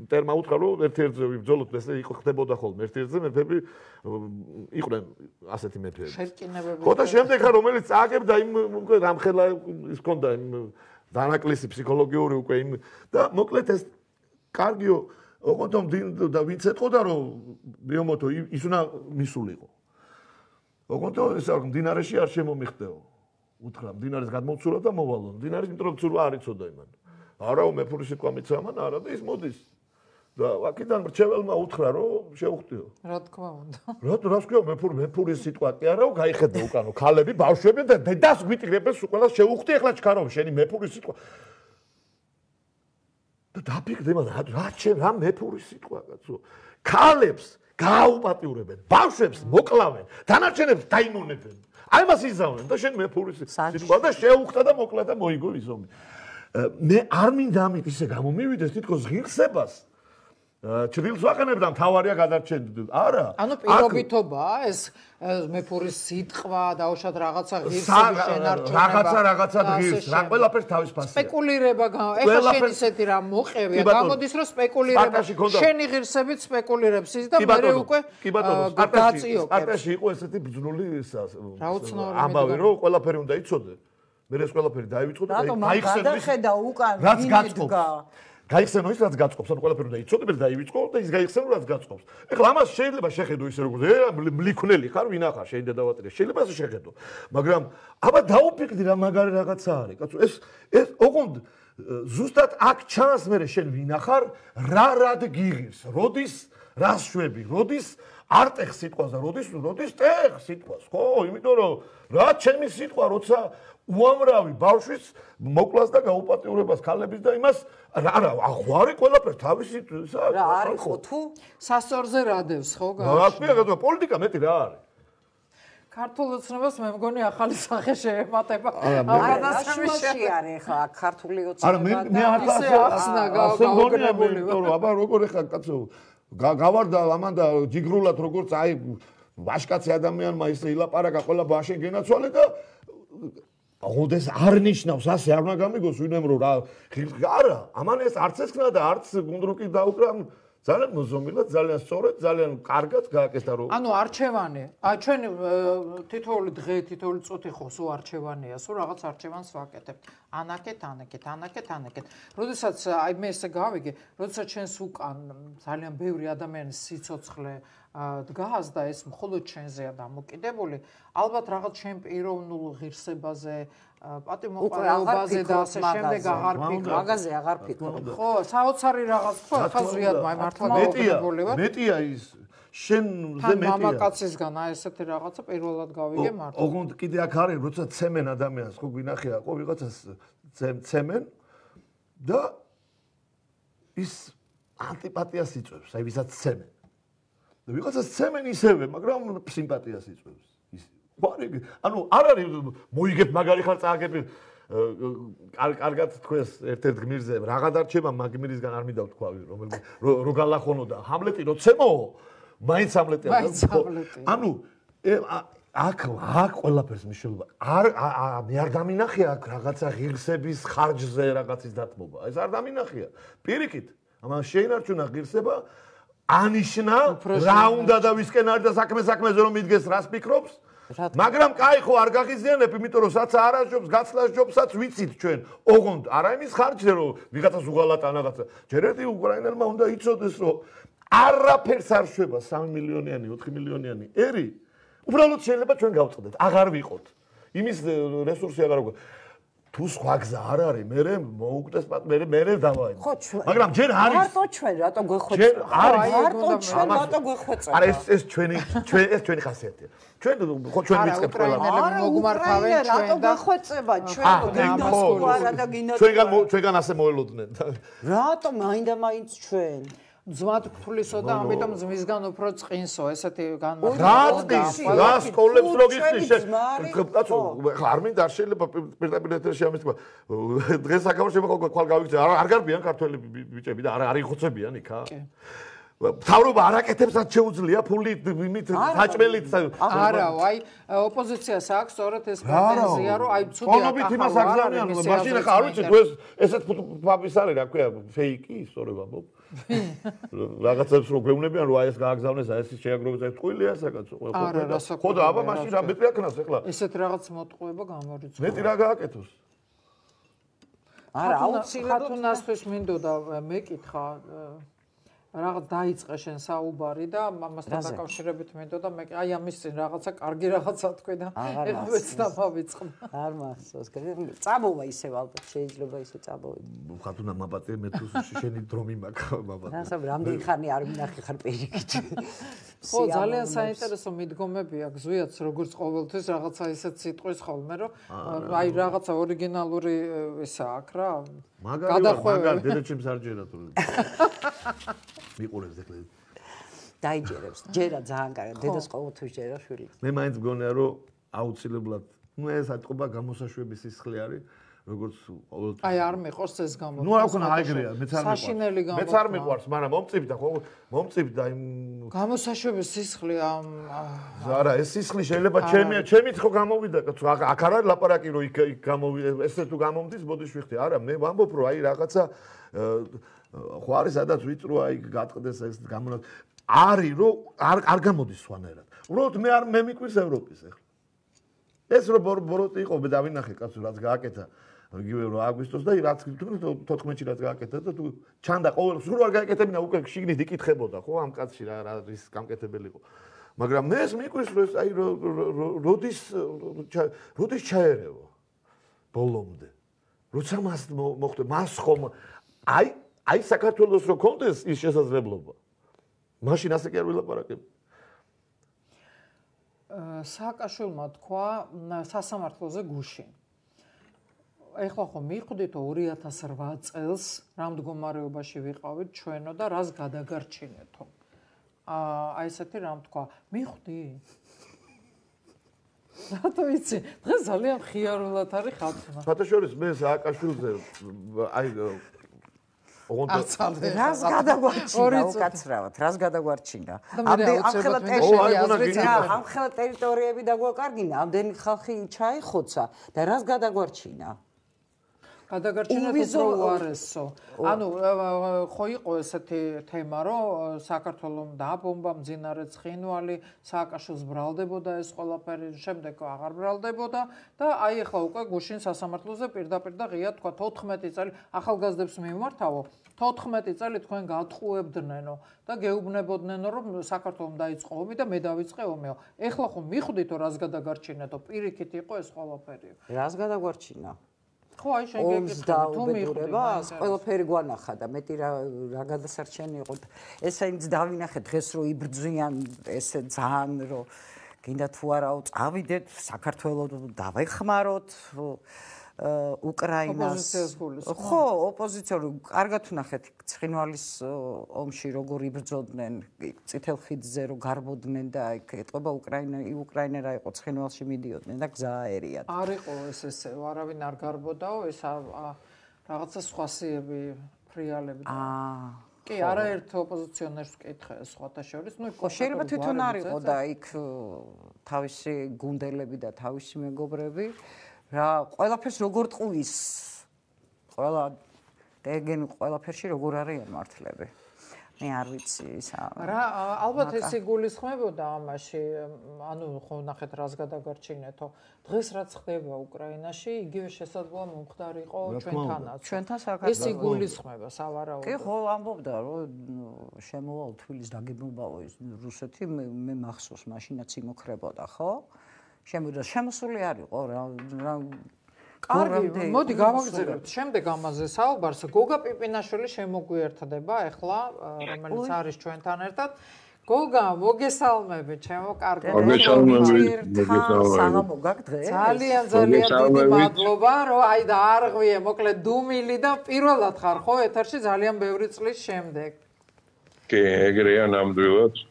ტერმა უთხრა რომ ერთ-ერთზე ვიბრძოლოთ ესე იყო ხდებოდა ხოლმე ერთ-ერთზე მეფები იყვნენ ასეთი მეფეები შეტკინებები ხო და შემდეგ ხა რომელიც წააგებდა იმ უკვე რამხელა ის ქონდა იმ დანაკლისი ფსიქოლოგიური უკვე იმ და მოკლედ ეს კარგიო ოღონდ და ვინც ეთყოდა რომ ბიომოთო ის უნდა მისულიყო ოღონდ ეს არ მდინარეში არ შემომიხდეო უთხრა მდინარეს გადმოცულა და მოვალო მდინარის იმიტომ რომ ცურვა არ იცოდა იმან არაო მეფური სიტყვა მიცა მან არა და ის მოდის და აქედან მრჩეველმა უთხრა რომ შეუხტიო რა თქმა უნდა რა რა თქვა მეფური მეფური სიტყვა კი არაო გაიხედა უკანო ქალები ბავშვები და დედას გვიტირებენ სულ შეუხტი ახლა ჩქარო შენი მეფური სიტყვა და დაფიქრე მაგრამ რა ჩემ რა მეფური სიტყვა კაცო ქალებს გააუპატიურებენ ბავშვებს მოკლავენ დანარჩენებს დაიმონებენ აი მას იზავნენ და შენ მეფური სიტყვა და შეუხტა და მოკლა და მოიგო ის ომი მე არ მინდა ამით ისე გამომივიდეს თითქოს ღირსებას ჭრილს ვაყენებდა მთავარია გადარჩენდი არა ანუ პირობითობაა ეს მეფური სიტყვა დაუშვათ რაღაცა ღირსების შენარჩუნება რაღაცა რაღაცა ღირს რა ყველაფერს თავის ფასია სპეკულირება ეხლა შენ ისეთი რა მოყევია გამოდის რომ სპეკულირება შენი ღირსებით სპეკულირებს ის და მე უკვე გაწიო პარტიაში იყო ესეთი ბძნული ამბავი რომ ყველაფერი უნდა იცოდე მე ეს ყველაფერი დაივიწყო და გაიხსენდა უკან ვინ იდგა გაიხსენო ის რაც გაწყობს, ანუ ყველაფერი უნდა იცოდე და დაივიწყო და ის გაიხსენო რაც გაწყობს. ეხლა ამას შეიძლება შეხედო ისე როგორც მლიქნელი ხარ, ვინ ახარ, შენ დედავატირე, შეიძლება ასე შეხედო. მაგრამ აბა დაუფიქრდი რა მაგარი რაღაცა არის, კაცო, ეს ეს ოღონდ ზუსტად აქ ჩანს მე შენ ვინ ახარ, რა რად გიღირს, როდის რას შვები, როდის არ ტეხ სიტყვას და როდის როდის ტეხ სიტყვას, ხო? იმიტომ რომ რა ჩემი სიტყვა, როცა უამრავი ბავშვის მოკლას და გაუპატიურებას ქალების და იმას რა აღვარი ყველაფერს თავისი რა არის ხო თუ სასწორზე რადევს ხო? რა თქმა პოლიტიკა მეტი რა არის? ქართულ ოცნებას მე მგონი ახალი სახე შეემატება. არა, შუაში არის ხა ქართული ოცნება. არა, მე მე არ ახსნა გაუგრებული. იმიტომ რომ აბა როგორ ხა კაცო გავარდა ამან და ჯიგრულად როგორც აი ვაშკაცი ადამიანმა ისე ილაპარაკა ყველა ბაშენ გენაცვალე და ოდეს არ ნიშნავს ასე არ უნდა გამიგოს ვინმე რომ რა არა ამან ეს არც ესქნა და არც გუნდრუკი დაუკრა ძალიან მოზომილად, ძალიან სწორად, ძალიან კარგად გააკეთა რომ ანუ არჩევანი, აი ჩვენ თითოეული დღე, თითოეული წუთი ხო სულ არჩევანია, სულ რაღაც არჩევანს ვაკეთებთ. ანაკეთ, ანაკეთ, ანაკეთ, ანაკეთ. როდესაც აი მე ესე გავიგე, როდესაც ჩვენს უკან ძალიან ბევრი ადამიანის სიცოცხლე დგას და ეს მხოლოდ ჩვენზეა დამოკიდებული, ალბათ რაღაც ჩვენ პიროვნულ ღირსებაზე პატიმოყარეობაზე და ასე შემდეგ აღარ ფიქრობ. მაგაზე აღარ ფიქრობ. ხო, საოცარი რაღაც ხო, ხა ზვიად მართლა გაუგრებული ვარ. მეტია ის შენზე მეტია. მამაკაცისგან აი ესეთი რაღაცა პირველად გავიგე მართლა. ოღონდ კიდე აქ არის, როცა ცემენ ადამიანს, ხო გვინახია, ხო ვიღაცას ცემენ და ის ანტიპათიას იწვევს, აი ვისაც ცემენ. და ვიღაცას ცემენ ისევე, მაგრამ სიმპათიას იწვევს. ის ვარი, ანუ არ არის მოიგებ მაგარი ხარ წააგებ კარგად თქვენს ერთ-ერთ გმირზე რაღა დარჩება მაგ გმირისგან არ მინდა ვთქვავი რომელმე რო გალახონო და ჰამლეტი რო ცემო მაინც ჰამლეტია ანუ აქ აქ ყველაფერს მნიშვნელობა არ მე არ დამინახია აქ რაღაცა ღირსების ხარჯზე რაღაცის დათმობა ეს არ დამინახია პირიქით ამან შეინარჩუნა ღირსება ანიშნა რა უნდა და ვისკენ არის და საქმე საქმეზე რომ მიდგეს რას ფიქრობს მაგრამ კაი ხო არ გაღიზიანებ იმიტომ რომ საცა არაჟობს გაცლას ჯობსაც ვიცით ჩვენ ოღონდ არა იმის ხარჯზე რომ ვიღაცას უღალატა რაღაცა ჯერ ერთი უკრაინელმა უნდა იცოდეს რომ არაფერს არ შვება სამი მილიონიანი ოთხი მილიონიანი ერი უბრალოდ შეიძლება ჩვენ გავწყდეთ აღარ ვიყოთ იმის რესურსი აღარ აქვს თუ სხვა გზა არ არის მე მოუკვდეს მე მე დავაი მაგრამ ჯერ არის მარტო ჩვენ რატო გვეხვეწება არის მარტო ჩვენ რატო გვეხვეწება არა ეს ეს ჩვენი ჩვენ ეს ჩვენი ხასიათია ჩვენ ხო ჩვენ ვიწყებთ ყველა არა მოგმართავენ ჩვენ რატო გვეხვეწება ჩვენ გინასკოლა და გინასკოლა ჩვენგან ჩვენგან ასე მოელოდნენ რატო მაინდა მაინც ჩვენ ძმად გთვლისო და ამიტომ ძმისგან უფრო წყინსო ესეთი განმარტება რა წყინს რა სკოლებს რო გიხსნის კაცო არ მინდა არ შეიძლება პირდაპირ ეთერში ამის თქვა დღეს საკავშირო ხო ხვალ გავიქცე არ გარბიან ქართველი ბიჭები და არ არ იხოცებიან იქა თავრობა არაკეთებსაც შეუძლია ფული იმით საჭმელით არა აი ოპოზიციას აქვს სწორედ ეს პრეტენზია რომ აი ცუდია კონობით იმას აგზავნიან მაშინ ახლა არ ვიცი თუ ეს ესეთ ფაბის არის რა ქვია ფეიკი სწორება მო რაღაცებს რო გვეუბნებიან რომ აი ეს გააგზავნეს აი ეს შეაგროვეს აი ტყუილია საკაცო ხო და აბა მაშინ რა მეტი აქნას ახლა ესეთ რაღაც მოტყუება გამორიცხვა მეტი რა გააკეთოს არა აუცილებლად ხათუნასთვის მინდოდა მეკითხა რაღაც დაიწყე შენ საუბარი და ამასთან დაკავშირებით მინდოდა მე აი ამის წინ რაღაცა კარგი რაღაცა თქვი და ეხლა მეც დავავიწყო არ მახსოვს წამოვა ისევ ალბათ შეიძლება ისე წამოვიდე ხათუნა მაბატე მე თუ შენი დრომი მაქვს მაბატე რასა რამდენი ხანი არ მინახე ხარ პირიქით ხო ძალიან საინტერესო მიდგომებია გზვიაც როგორც ყოველთვის რაღაცა ისეთ სიტყვის ხოლმე რომ აი რაღაცა ორიგინალური ისა აქვს რა მაგარი დედაჩემს არ ჯერა თუ მიყურებს ეხლა დაიჯერებს ჯერა ძალიან კარგი დედას ყოველთვის ჯერა შვილი მე მაინც მგონია რომ აუცილებლად ნუ ეს ატყობა გამოსაშვების სისხლი არის როგორც ყოველთვის აი არ მეყოს ეს გამო ნუ არ ქონა აიგრია მეც არ მეყავს საშინელი გამო მეც არ მეყავს მაგრამ მომწიფდა ხო მომწიფდა იმ გამოსაშვების სისხლი ამ არა ეს სისხლი შეიძლება ჩემი ჩემით ხო გამოვიდა აქ არ არის ლაპარაკი რომ იქ გამოვიდა ესე თუ გამომდის ბოდიში ვიხდი არა მე ვამბობ რომ აი რაღაცა ხო არის სადაც ვიწრო აი გატყდეს ეს გამონად არის რომ არ არ გამოდის სვანერად უბრალოდ მე არ მე მიკვირს ევროპის ახლა ეს რო ბოროტი იყო მე დავინახე კაცო რაც გააკეთა იგივე რომ აგვისტოს და რაც თოთხმეტში რაც გააკეთა და თუ ჩანდა ყოველ სულ არ გააკეთებინა უკვე შიგნით იკითხებოდა ხო ამ კაცში რა რა ის გამკეთებელი იყო მაგრამ მე ეს მიკვირს რომ აი როდის როდის ჩაერევა ბოლომდე როცა მას მოხდა მას ხომ აი აი საქართველოს რო კონდეს ის შესაძლებლობა მაშინ ასე კი არ ვილაპარაკებ სააკაშვილმა თქვა სასამართლოზე გუშინ. ეხლა ხო მივხვდით ორი ათას რვა წელს რა მდგომარეობაში ვიყავით ჩვენო და რას გადაგარჩინეთო. აა აი ესეთი რამ თქვა. მივხვდი? რატო იცი? დღეს ძალიან ხიარულად არის ხალხმა. ფათაშორის მე სააკაშვილზე აი ოღონდ რას გადაგვარჩინა უკაცრავად, რას გადაგვარჩინა? ამხელა ტერიტორიები დაგვაკარგინა, ამდენი ხალხი ჩაიხოცა და რას გადაგვარჩინა? გადაგარჩინა თუ უარესო. ანუ ხო იყო ესეთი თემა, რომ საქართველოს დააბომბა მძინარე ცხინვალი, სააკაშვილს ბრალდებოდა ეს ყველაფერი, შემდეგ აღარ ბრალდებოდა და აი ახლა უკვე გუშინ სასამართლოზე პირდაპირ და ღია თქვა თოთხმეტი წელი ახალგაზრდებს მიმართავო. თოთხმეტი წელი თქვენ გატყუებდნენო და გეუბნებოდნენო, რომ საქართველოს დაიწყო ომი და მე დავიწყე ომიო. ეხლა ხო მიხვდითო რას გადაგარჩინეთო, პირიქით იყო ეს ყველაფერი. რას გადაგვარჩინა? ხო, აი შენ გეკითხები, თუ მიხვდება, ყველაფერი გვანახა და მეტი რა რა გადასარჩენი იყო. ესაინც დავინახეთ დღეს რომ იბრძვიან ესე ძალიან რომ გინდა თუ არაო წავიდეთ საქართველოს დავეხმაროთ უკრაინას. ხო, ოპოზიციურ კარგად ვნახეთ ცხინვალის ომში როგორ იბრძოდნენ წითელ ხიდზე რომ გარბოდნენ და იქ ეტყობა უკრაინა უკრაინა რა იყო ცხინვალში მიდიოდნენ და გზა აერიათ. არ იყო ეს ესე, არავინ არ გარბოდაო, ეს რაღაცა სხვა სიები ფრიალები. აა კი, არაერთ ოპოზიციონერს ვკითხე სხვათა შორის, ну, შეიძლება თვითონ არ იყო და იქ თავისი გუნდელები და თავისი მეგობრები რა ყველაფერს როგორ ტყუის ყველა დეგენ ყველაფერში როგორ არიან მართლები მე არ ვიცი ისა რა ალბათ ეს იგულისხმებოდა ამაში ანუ ხო ნახეთ რას გადაგარჩინეთო დღეს რაც ხდება უკრაინაში იგივე შესაძლოა მომხდარიყო ჩვენთანაც ჩვენთან საქართველოს ეს იგულისხმება სავარაუდოდ კი ხო ამბობდა რომ შემოვა თვილის დაგებულბავო ის რუსეთი მე მახსოვს მაშინაც იმოქრებოდა ხო შემოდა შემოსული არისო რა რა კარგი მოდი გავაგზავნოთ შემდეგ ამაზე საუბარს გოგა პიპინაშვილი შემოგვიერთდება ახლა რომელიც არის ჩვენთან ერთად გოგა მოგესალმები ჩემო კარგო მოგესალმებით საღამო გაგ დღეს ძალიან ძალიან დიდი მადლობა რომ აი და არღვიე მოკლედ დუმილი და პირველად ხარ ხო ეთერში ძალიან ბევრი წლის შემდეგ კი ეგრეა ნამდვილად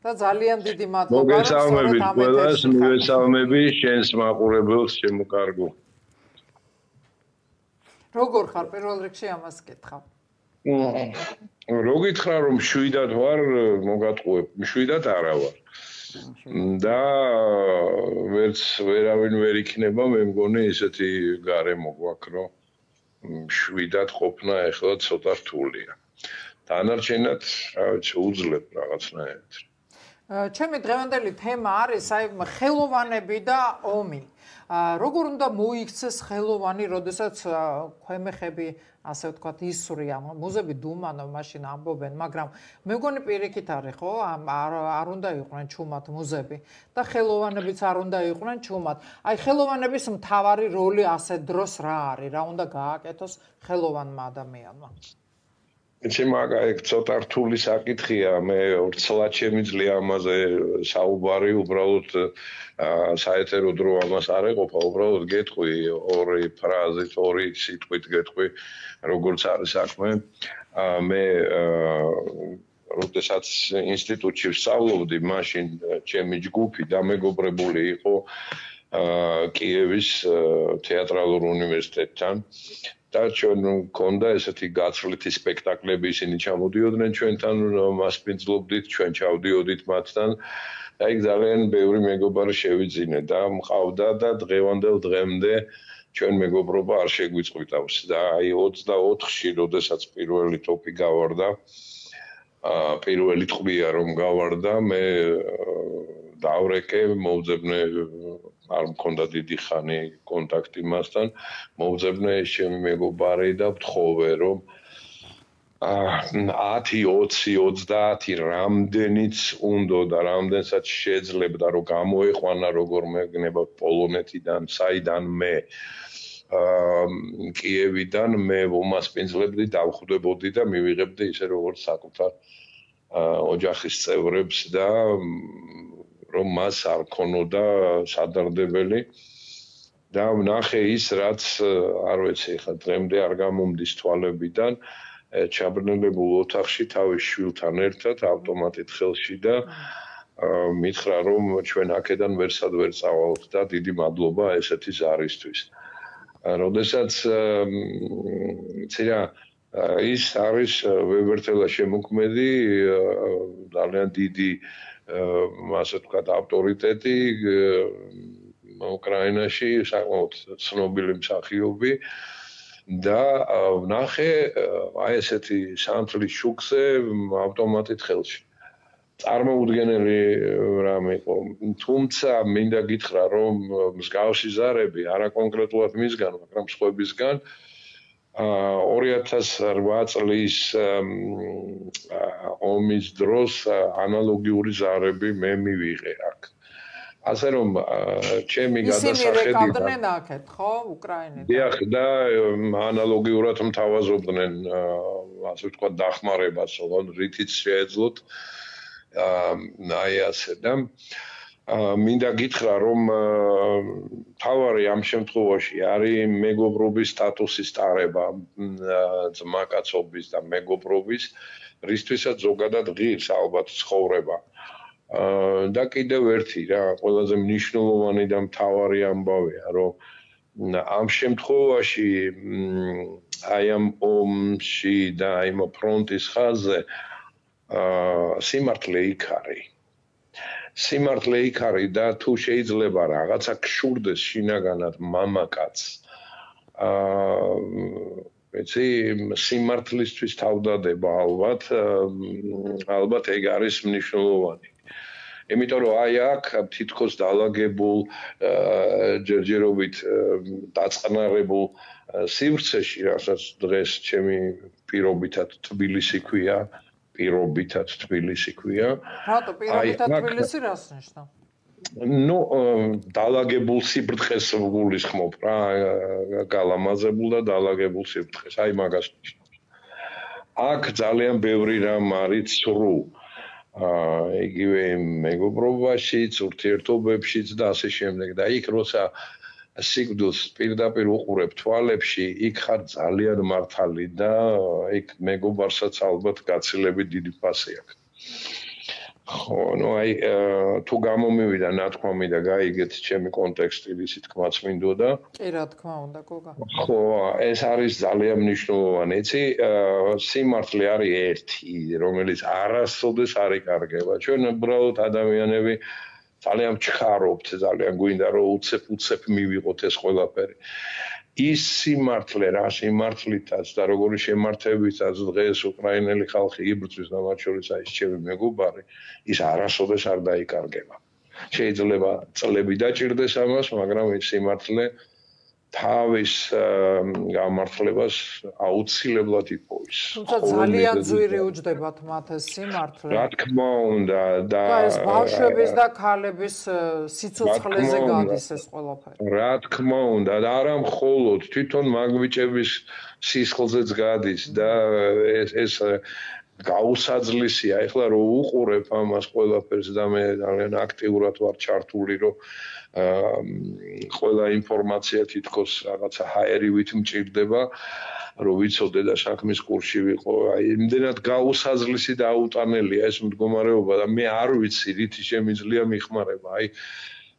და ძალიან დიდი მადლობა მოგესალმებით ყველას მოგესალმები შენს მაყურებელს ჩემო კარგო როგორ ხარ პირველ რიგში ამას კითხავ? რო გითხრა რომ შვიდად ვარ, მოგატყუებ, შვიდად არა ვარ. და ვერც ვერავინ ვერ იქნება, მე მგონი ესეთი გარემო გვაქვს, რომ შვიდად ყოფნა ახლა ცოტა რთულია. დანარჩენად, რა ვიცი, უძლებ რაღაცნაირად. ჩემი დღევანდელი თემა არის აი ხელოვანები და ომი. როგორ უნდა მოიქცეს ხელოვანი, როდესაც ქვემეხები, ასე ვთქვათ, ისვრიან, მუზები დუმანო, მაშინ ამბობენ, მაგრამ მე მგონი პირიქით არის, ხო? არ უნდა იყვნენ ჩუმად მუზები და ხელოვანებიც არ უნდა იყვნენ ჩუმად. აი ხელოვანების მთავარი როლი ასე დროს რა არის? რა უნდა გააკეთოს ხელოვანმა ადამიანმა? იცი მაგა ეგ ცოტა რთული საკითხია, მე ვრცლად შემიძლია ამაზე საუბარი, უბრალოდ საეთერო დრო ამას არ ეყოფა, უბრალოდ გეტყვი ორი ფრაზით, ორი სიტყვით გეტყვი, როგორც არის საქმე. მე როდესაც ინსტიტუტში ვსწავლობდი, მაშინ ჩემი ჯგუფი დამეგობრებული იყო კიევის თეატრალურ უნივერსიტეტთან. და ჩვენ მქონდა ესეთი გაცვლითი სპექტაკლები, ისინი ჩამოდიოდნენ ჩვენთან, მასპინძლობდით, ჩვენ ჩავდიოდით მათთან. და იქ ძალიან ბევრი მეგობარი შევიძინე და მყავდა და დღევანდელ დღემდე ჩვენ მეგობრობა არ შეგვიწყვიტავს. და აი ოცდაოთხში, როდესაც პირველი ტოპი გავარდა, აა პირველი ტყვია რომ გავარდა, მე დავრეკე, მოვძებნე არ მქონდა დიდი ხანი კონტაქტი მასთან, მოვძებნე ჩემი მეგობარი და ვთხოვე რომ ათი, ოცი, ოცდაათი რამდენიც უნდა და რამდენსაც შეძლებდა რომ გამოეყვანა როგორმე გნება პოლონეთიდან, საიდან მე კიევიდან მე ვომასპინძლებდი, დავხვდებოდი და მივიღებდი ისე როგორც საკუთარ ოჯახის წევრებს და რომ მას არ ქონოდა სადარდებელი და ვნახე ის რაც არ ვიცი ხა დღემდე არ გამომდის თვალებიდან ჩაბრნელებულ ოთახში თავის შვილთან ერთად ავტომატით ხელში და მითხრა რომ ჩვენ აქედან ვერსად ვერ წავალთ და დიდი მადლობა ესეთი ზარისთვის. როდესაც ცირა ის არის ვებერთელა შემოქმედი ძალიან დიდი ასე ვთქვათ ავტორიტეტი უკრაინაში საკმაოდ ცნობილი მსახიობი და ვნახე აი ესეთი სამთლის შუქზე ავტომატით ხელში. წარმოუდგენელი რამე იყო. თუმცა მინდა გითხრა რომ მსგავსი ზარები არა კონკრეტულად მისგან, მაგრამ სხვებისგან ორი ათას რვა წლის ომის დროს ანალოგიური ზარები მე მივიღე აქ. ასე რომ ჩემი გადასახედი ისინი რეკავდნენ აქეთ, ხო, უკრაინიდან? დიახ, და ანალოგიურად მთავაზობდნენ ასე ვთქვათ დახმარებას, რითიც შეეძლოთ აი ასე და მინდა გითხრა რომ თავარი ამ შემთხვევაში არის მეგობრობის სტატუსის ტარება ძმაკაცობის და მეგობრობის რისთვისაც ზოგადად ღირს ალბათ ცხოვრება და კიდევ ერთი რა ყველაზე მნიშვნელოვანი და მთავარი ამბავია რომ ამ შემთხვევაში აი ამ ომში და აი ამ ფრონტის ხაზზე სიმართლე იქ არის. სიმართლე იქ არის და თუ შეიძლება რაღაცა გშურდეს შინაგანად მამაკაცს. აა ეცი სიმართლისთვის თავდადება ალბათ ალბათ ეგ არის მნიშვნელოვანი. იმიტომ რომ აი აქ თითქოს დაალაგებულ ჯერჯერობით დაწყნარებულ სივრცეში, რასაც დღეს ჩემი პირობითად თბილისი ქვია, პირობითად თბილისი ქვია. რატო პირობითად თბილისი რას ნიშნავს? ნუ დაალაგებულ სიბრტყეს გულისხმობ რა, გალამაზებულ და დაალაგებულ სიბრტყეს, აი მაგას ნიშნავს. აქ ძალიან ბევრი რამ არის ცრუ. აა იგივე მეგობრობაშიც, ურთიერთობებშიც და ასე შემდეგ და იქ როცა სიკვდილს პირდაპირ უყურებ თვალებში, იქ ხარ ძალიან მართალი და იქ მეგობარსაც ალბათ გაცილებით დიდი ფასი აქვს. ხო, ნუ აი თუ გამომივიდა ნათქვამი და გაიგეთ ჩემი კონტექსტი, ისი თქმაც მინდოდა. კი, რა თქმა უნდა, გოგა. ხო, ეს არის ძალიან მნიშვნელოვანი. იცი, სიმართლე არის ერთი, რომელიც არასოდეს არ იკარგება. ჩვენ უბრალოდ ადამიანები ძალიან ვჩქარობთ, ძალიან გვინდა რომ უცებ-უცებ მივიღოთ ეს ყველაფერი. ის სიმართლე რა სიმართლითაც და როგორი შემართებითაც დღეს უკრაინელი ხალხი იბრძვის და მათ შორის აი ჩემი მეგობარი, ის არასოდეს არ დაიკარგება. შეიძლება წლები დაჭირდეს ამას, მაგრამ ეს სიმართლე თავის გამართლებას აუცილებლად იპოვის. თუმცა ძალიან ძვირი უჯდებათ მათ ეს სიმართლე. რა თქმა უნდა და ეს ბავშვების და ქალების სიცოცხლეზე გადის ეს ყველაფერი. რა თქმა უნდა და არა მხოლოდ თვითონ მაგვიჭების სისხლზეც გადის და ეს ეს გაუსაძლისია. ეხლა რო უყურებ ამას ყველაფერს და მე ძალიან აქტიურად ვარ ჩართული რომ ყველა ინფორმაცია თითქოს რაღაცა ჰაერივით მჭირდება, რომ ვიცოდე და საქმის კურსში ვიყო. აი, იმდენად გაუსაძლისი და აუტანელია ეს მდგომარეობა და მე არ ვიცი, რითი შემიძლია მიხმარება. აი,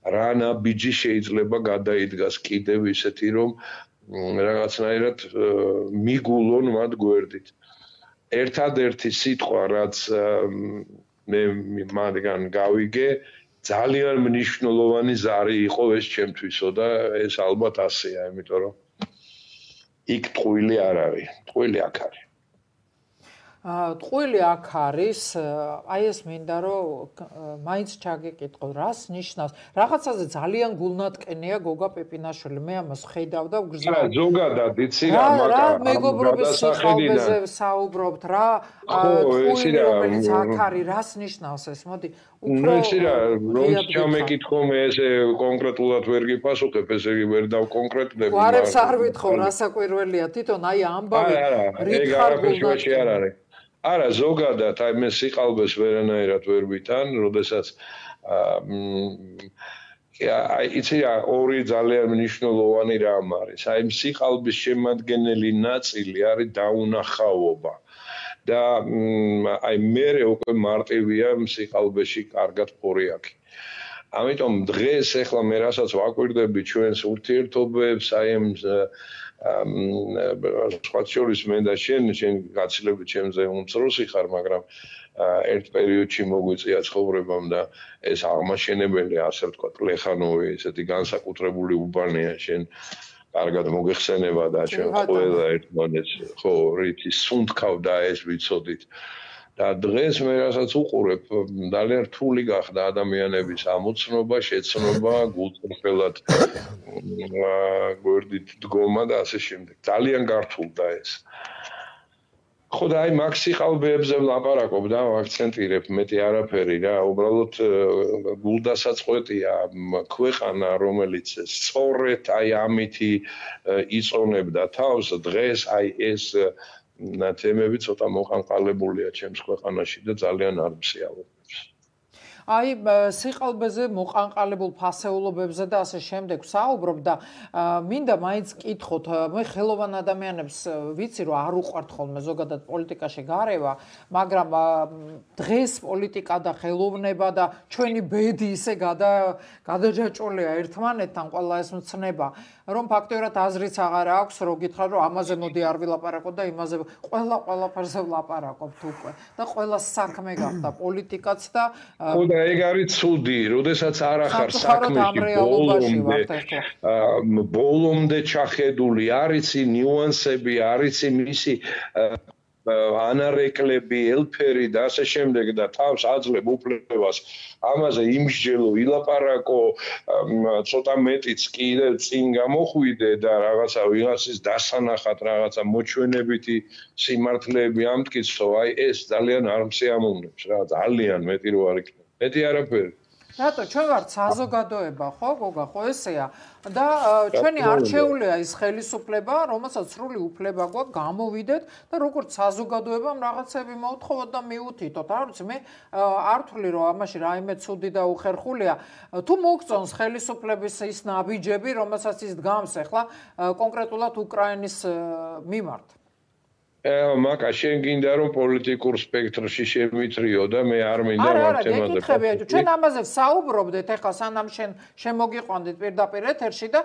რა ნაბიჯი შეიძლება გადაიდგას კიდევ ისეთი, რომ რაღაცნაირად მიგულონ მათ გვერდით. ერთადერთი სიტყვა, რაც მე მათგან გავიგე, ძალიან მნიშვნელოვანი ზარი იყო ეს ჩემთვისო და ეს ალბათ ასეა, იმიტომ რომ იქ ტყუილი არ არის, ტყუილი აქ არის. აა ტყუილი აქ არის, აი ეს მინდა რომ მაინც ჩაგეკითხო, რას ნიშნავს? რაღაცაზე ძალიან გულნატკენია გოგა პეპინაშვილი, მე ამას ხედავ და ვგრძნობ. რა ზოგადად იცი რა მაგა რა მეგობრობის სიხალბეზე საუბრობთ, რა ტყუილი რომელიც აქ არის, რას ნიშნავს ეს? მოდი უფრო ისი რა რომ ჩამეკითხო მე ესე კონკრეტულად ვერ გიპასუხებ, ესე იგი ვერ დავკონკრეტდები. გვარებს არ ვითხოვ, რასაკვირველია, თვითონ აი ამბავი რით ხარ გულნატკენი არა, ზოგადად აი მე სიყალბეს ვერანაირად ვერ ვითან, როდესაც აი იცი რა ორი ძალიან მნიშვნელოვანი რამ არის. აი სიყალბის შემადგენელი ნაწილი არის დაუნახავობა. და აი მე უკვე მარტივია სიყალბეში კარგად ფორიაკი. ამიტომ დღეს ახლა მე რასაც ვაკვირდები ჩვენს ურთიერთობებს, აი ამ სხვა შორის მე და შენ, შენ გაცილებით ჩემზე უმცროსი ხარ, მაგრამ ერთ პერიოდში მოგვიწია ცხოვრებამ და ეს აღმაშენებელი, ასე ვთქვათ, ლეხანოვი, ესეთი განსაკუთრებული უბანია შენ კარგად მოგეხსენება და ჩვენ ყველა ერთმანეთს ხო რითი სუნთქავდა ეს ვიცოდით. და დღეს მე რასაც უყურებ, ძალიან რთული გახდა ადამიანების ამოცნობა, შეცნობა, გულწრფელად გვერდით დგომა და ასე შემდეგ. ძალიან გართულდა ეს. ხო და აი მაგ სიყალბეებზე ვლაპარაკობ და ვაქცენტირებ მეტი არაფერი რა, უბრალოდ გულდასაწყვეტია ქვეყანა, რომელიც სწორედ აი ამითი იწონებდა თავს, დღეს აი ეს თემები ცოტა მოყანყალებულია ჩემს ქვეყანაში და ძალიან არ მსიარულებს. აი სიყალბეზე მოყანყალებულ ფასეულობებზე და ასე შემდეგ საუბრობ და მინდა მაინც კითხოთ, მე ხელოვან ადამიანებს ვიცი რომ არ უყვართ ხოლმე ზოგადად პოლიტიკაში გარევა, მაგრამ დღეს პოლიტიკა და ხელოვნება და ჩვენი ბედი ისე გადაჯაჭვულია ერთმანეთთან ყველა ეს მცნება, რომ ფაქტობრივად აზრიც აღარ აქვს, რომ გითხრათ რომ ამაზე მოდი არ ვილაპარაკოთ და იმაზე ყველა ყველაფერზე ვლაპარაკობთ უკვე და ყველა საქმე გახდა პოლიტიკაც და და ეგ არის ცუდი, როდესაც არ ახარ საქმეში ბოლომდე ბოლომდე ჩახედული, არიცი ნიუანსები, არიცი მისი ანარეკლები, ელფერი და ასე შემდეგ და თავს აძლევ უფლებას ამაზე იმსჯელო, ილაპარაკო, ცოტა მეტიც კიდე წინ გამოხვიდე და რაღაცა ვიღაცის დასანახად რაღაცა მოჩვენებითი სიმართლეები ამტკიცო, აი ეს ძალიან არ მსიამოვნებს რა, ძალიან მეტი რო არ იქნება. მეტი არაფერი. რატო ჩვენ ვართ საზოგადოება, ხო, გოგა, ხო ესეა და ჩვენი არჩეულია ის ხელისუფლება, რომელსაც სრული უფლება გვაქვს გამოვიდეთ და როგორც საზოგადოებამ რაღაცები მოუთხოვოთ და მიუთითოთ. არ ვიცი, მე არ ვთვლი რომ ამაში რაიმე ცუდი და უხერხულია. თუ მოგწონს ხელისუფლების ის ნაბიჯები, რომელსაც ის დგამს ახლა კონკრეტულად უკრაინის მიმართ. მაკა შენ გინდა რომ პოლიტიკურ სპექტრში შემიწრიო და მე არ მინდა ამ თემაზე. არა, არა, ჩვენ ამაზე ვსაუბრობდით ახლა სანამ შენ შემოგიყვანდით პირდაპირ ეთერში და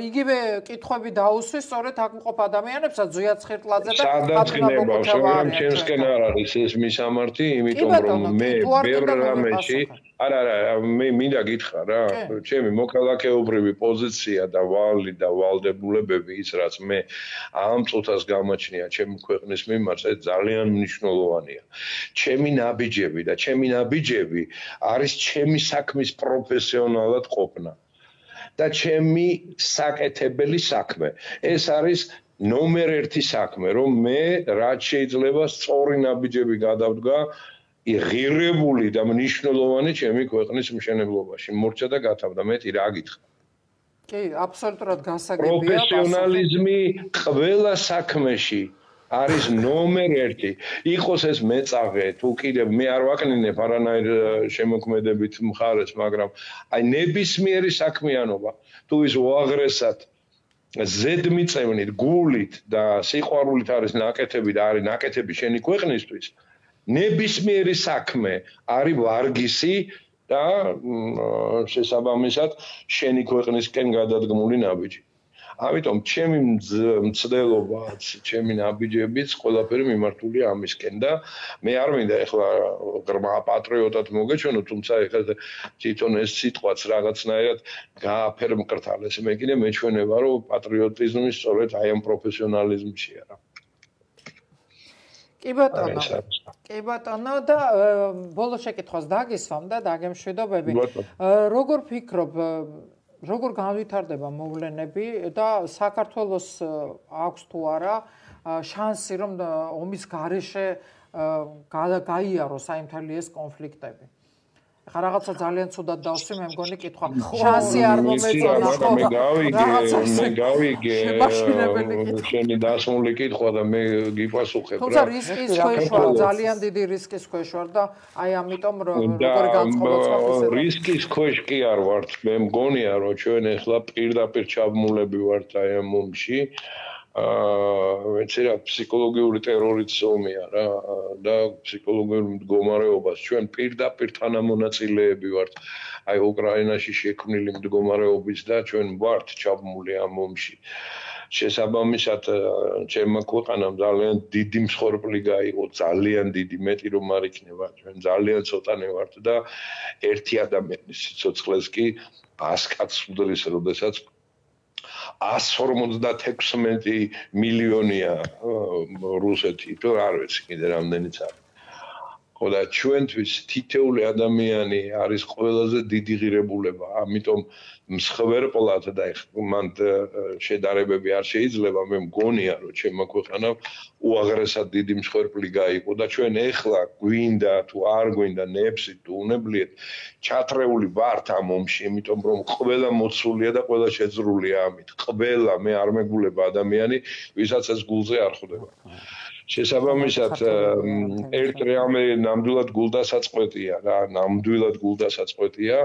იგივე კითხვები დაუსვი სწორედ აქ მყოფ ადამიანებსაც ზუიად ცხირტლაძე და სადაწყინება, მაგრამ ჩემსკენ არ არის ეს მისამართი, იმიტომ რომ მე ვერ რამეში არა არა მე მინდა გითხრა რა, ჩემი მოქალაქეობრივი პოზიცია და ვალი და ვალდებულებები ის რაც მე ამ წუთას გამაჩნია ჩემი ქვეყნის მიმართ ეს ძალიან მნიშვნელოვანია. ჩემი ნაბიჯები და ჩემი ნაბიჯები არის ჩემი საქმის პროფესიონალად ყოფნა და ჩემი საკეთებელი საქმე. ეს არის ნომერ ერთი საქმე, რომ მე რაც შეიძლება სწორი ნაბიჯები გადავდგა ღირებული და მნიშვნელოვანი ჩემი ქვეყნის მშენებლობაში. მორჩა და გათავდა, მეტი რა გითხრა. კი, აბსოლუტურად გასაგებია. პროფესიონალიზმი ყველა საქმეში არის ნომერ ერთი. იყოს ეს მეწაღე, თუ კიდევ მე არ ვაკნინებ არანაირ შემოქმედებით მხარეს, მაგრამ აი ნებისმიერი საქმიანობა, თუ ის უაღრესად ზედმიწევნით, გულით და სიყვარულით არის ნაკეთები და არის ნაკეთები შენი ქვეყნისთვის, ნებისმიერი საქმე არის ვარგისი და შესაბამისად შენი ქვეყნისკენ გადადგმული ნაბიჯი. ამიტომ ჩემი მცდელობაც, ჩემი ნაბიჯებიც ყველაფერი მიმართულია ამისკენ და მე არ მინდა ეხლა ღრმა პატრიოტად მოგეჩვენო, თუმცა ეხლა თვითონ ეს სიტყვაც რაღაცნაირად გააფერმკრთალეს. მე კიდე მეჩვენება, რომ პატრიოტიზმი სწორედ აი ამ პროფესიონალიზმშია რა. კი ბატონო. კი ბატონო და ბოლო შეკითხვას დაგისვამ და დაგემშვიდობები. როგორ ფიქრობ, როგორ განვითარდება მოვლენები და საქართველოს აქვს თუ არა შანსი რომ ომის გარეშე გაიაროს აი მთელი ეს კონფლიქტები? ხა რაღაცა ძალიან ცუდად დავსვი, მე მგონი კითხვა. შანსი არ მომეწონა ხო? მე გავიგე, მე გავიგე. შენი დასმული კითხვა და მე გიპასუხებ რა. თუმცა რისკის ქვეშ ვარ, ძალიან დიდი რისკის ქვეშ ვარ და აი ამიტომ როგორ განწყობაც ხარ. რისკის ქვეშ კი არ ვართ. მე მგონია რომ ჩვენ ახლა პირდაპირ ჩაბმულები ვართ აი ამ ომში. აა მეცი რა ფსიქოლოგიური ტერორიც ომია რა და ფსიქოლოგიურ მდგომარეობას ჩვენ პირდაპირ თანამონაწილეები ვართ აი უკრაინაში შექმნილი მდგომარეობის და ჩვენ ვართ ჩაბმული ამ ომში შესაბამისად ჩემმა ქვეყანამ ძალიან დიდი მსხვერპლი გაიღო ძალიან დიდი მეტი რომ არ იქნება ჩვენ ძალიან ცოტანი ვართ და ერთი ადამიანის სიცოცხლეს კი ას კაცს უდრის როდესაც ას ორმოცდათექვსმეტი მილიონია რუსეთი, თუ არ ვიცი კიდე რამდენიც არის. ხო და ჩვენთვის თითეული ადამიანი არის ყველაზე დიდი ღირებულება, ამიტომ მსხვერპლად და მან შედარებები არ შეიძლება, მე მგონია რომ ჩემმა ქვეყანამ უაღრესად დიდი მსხვერპლი გაიყო და ჩვენ ეხლა გვინდა თუ არ გვინდა ნებსი თუ უნებლიეთ ჩათრეული ვართ ამ ომში, იმიტომ რომ ყველა მოცულია და ყველა შეძრულია ამით. ყველა მე არ მეგულება ადამიანი, ვისაც ეს გულზე არ ხვდება. შესაბამისად ერთ რეალმე ნამდვილად გულდასაწყვეტია რა, ნამდვილად გულდასაწყვეტია,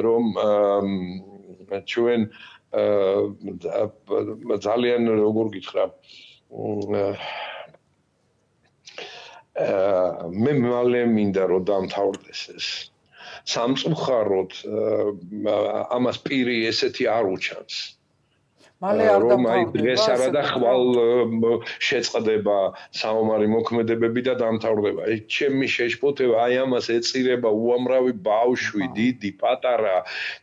რომ ჩვენ ძალიან როგორ გითხრა მე მალე მინდა რომ დამთავრდეს ეს სამწუხაროდ ამას პირი ესეთი არ უჩანს მალე არ დამთავრდება დღეს არა და ხვალ შეწყდება საომარი მოქმედებები და დამთავრდება ეს ჩემი შეშფოთება აი ამას ეწირება უამრავი ბავშვი დიდი პატარა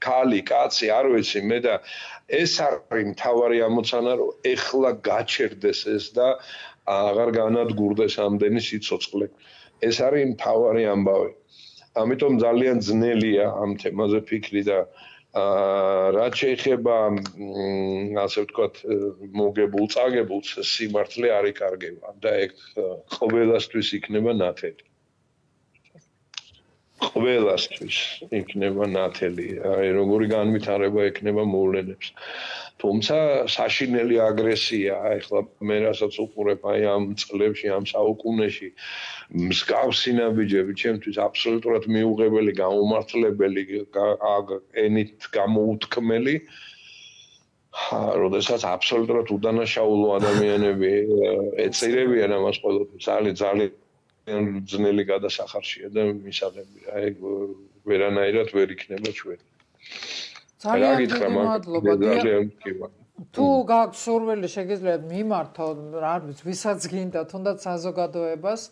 ქალი კაცი არ ვიცი მე და ეს არის მთავარი ამოცანა რომ ეხლა გაჩერდეს ეს და აღარ განადგურდეს ამდენი სიცოცხლე ეს არის მთავარი ამბავი ამიტომ ძალიან ძნელია ამ თემაზე ფიქრი და რაც შეეხება ასე ვთქვათ მოგებულ წაგებულს სიმართლე არ იკარგება და ეგ ყველასთვის იქნება ნათელი ყველასთვის იქნება ნათელი აი როგორი განვითარება ექნება მოვლენებს თუმცა საშინელი აგრესია ეხლა მე რასაც უყურებ აი ამ წლებში ამ საუკუნეში მსგავსი ნაბიჯები ჩემთვის აბსოლუტურად მიუღებელი გამომართლებელი ენით გამოუთქმელი როდესაც აბსოლუტურად უდანაშაულო ადამიანები ეწირებიან ამას ყველაფერს ძალიან ძალიან ძნელი გადასახარშია და მისაღებია ეგ ვერანაირად ვერ იქნება ჩვენ ძალიან დიდი მადლობა თუ გაქვს სურვილი შეგიძლიათ მიმართო არ ვიცი ვისაც გინდა თუნდაც საზოგადოებას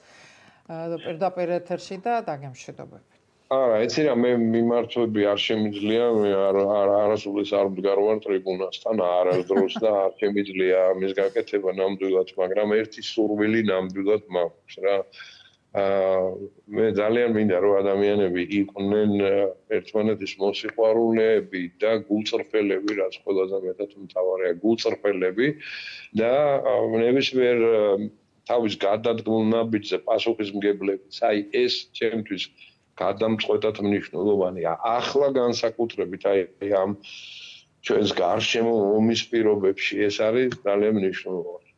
პირდაპირ ეთერში და დაგემშვიდობებით არა იცი რა მე მიმართვები არ შემიძლია მე არასოდეს არ მდგარ ვარ ტრიბუნასთან არასდროს და არ შემიძლია ამის გაკეთება ნამდვილად მაგრამ ერთი სურვილი ნამდვილად მაქვს რა მე ძალიან მინდა რომ ადამიანები იყვნენ ერთმანეთის მოსიყვარულეები და გულწრფელები რაც ყველაზე მეტად მთავარია გულწრფელები და ნებისმიერ თავის გადადგმულ ნაბიჯზე პასუხისმგებლებიც აი ეს ჩემთვის გადამწყვეტად მნიშვნელოვანია ახლა განსაკუთრებით აი ამ ჩვენს გარშემო ომის პირობებში ეს არის ძალიან მნიშვნელოვანი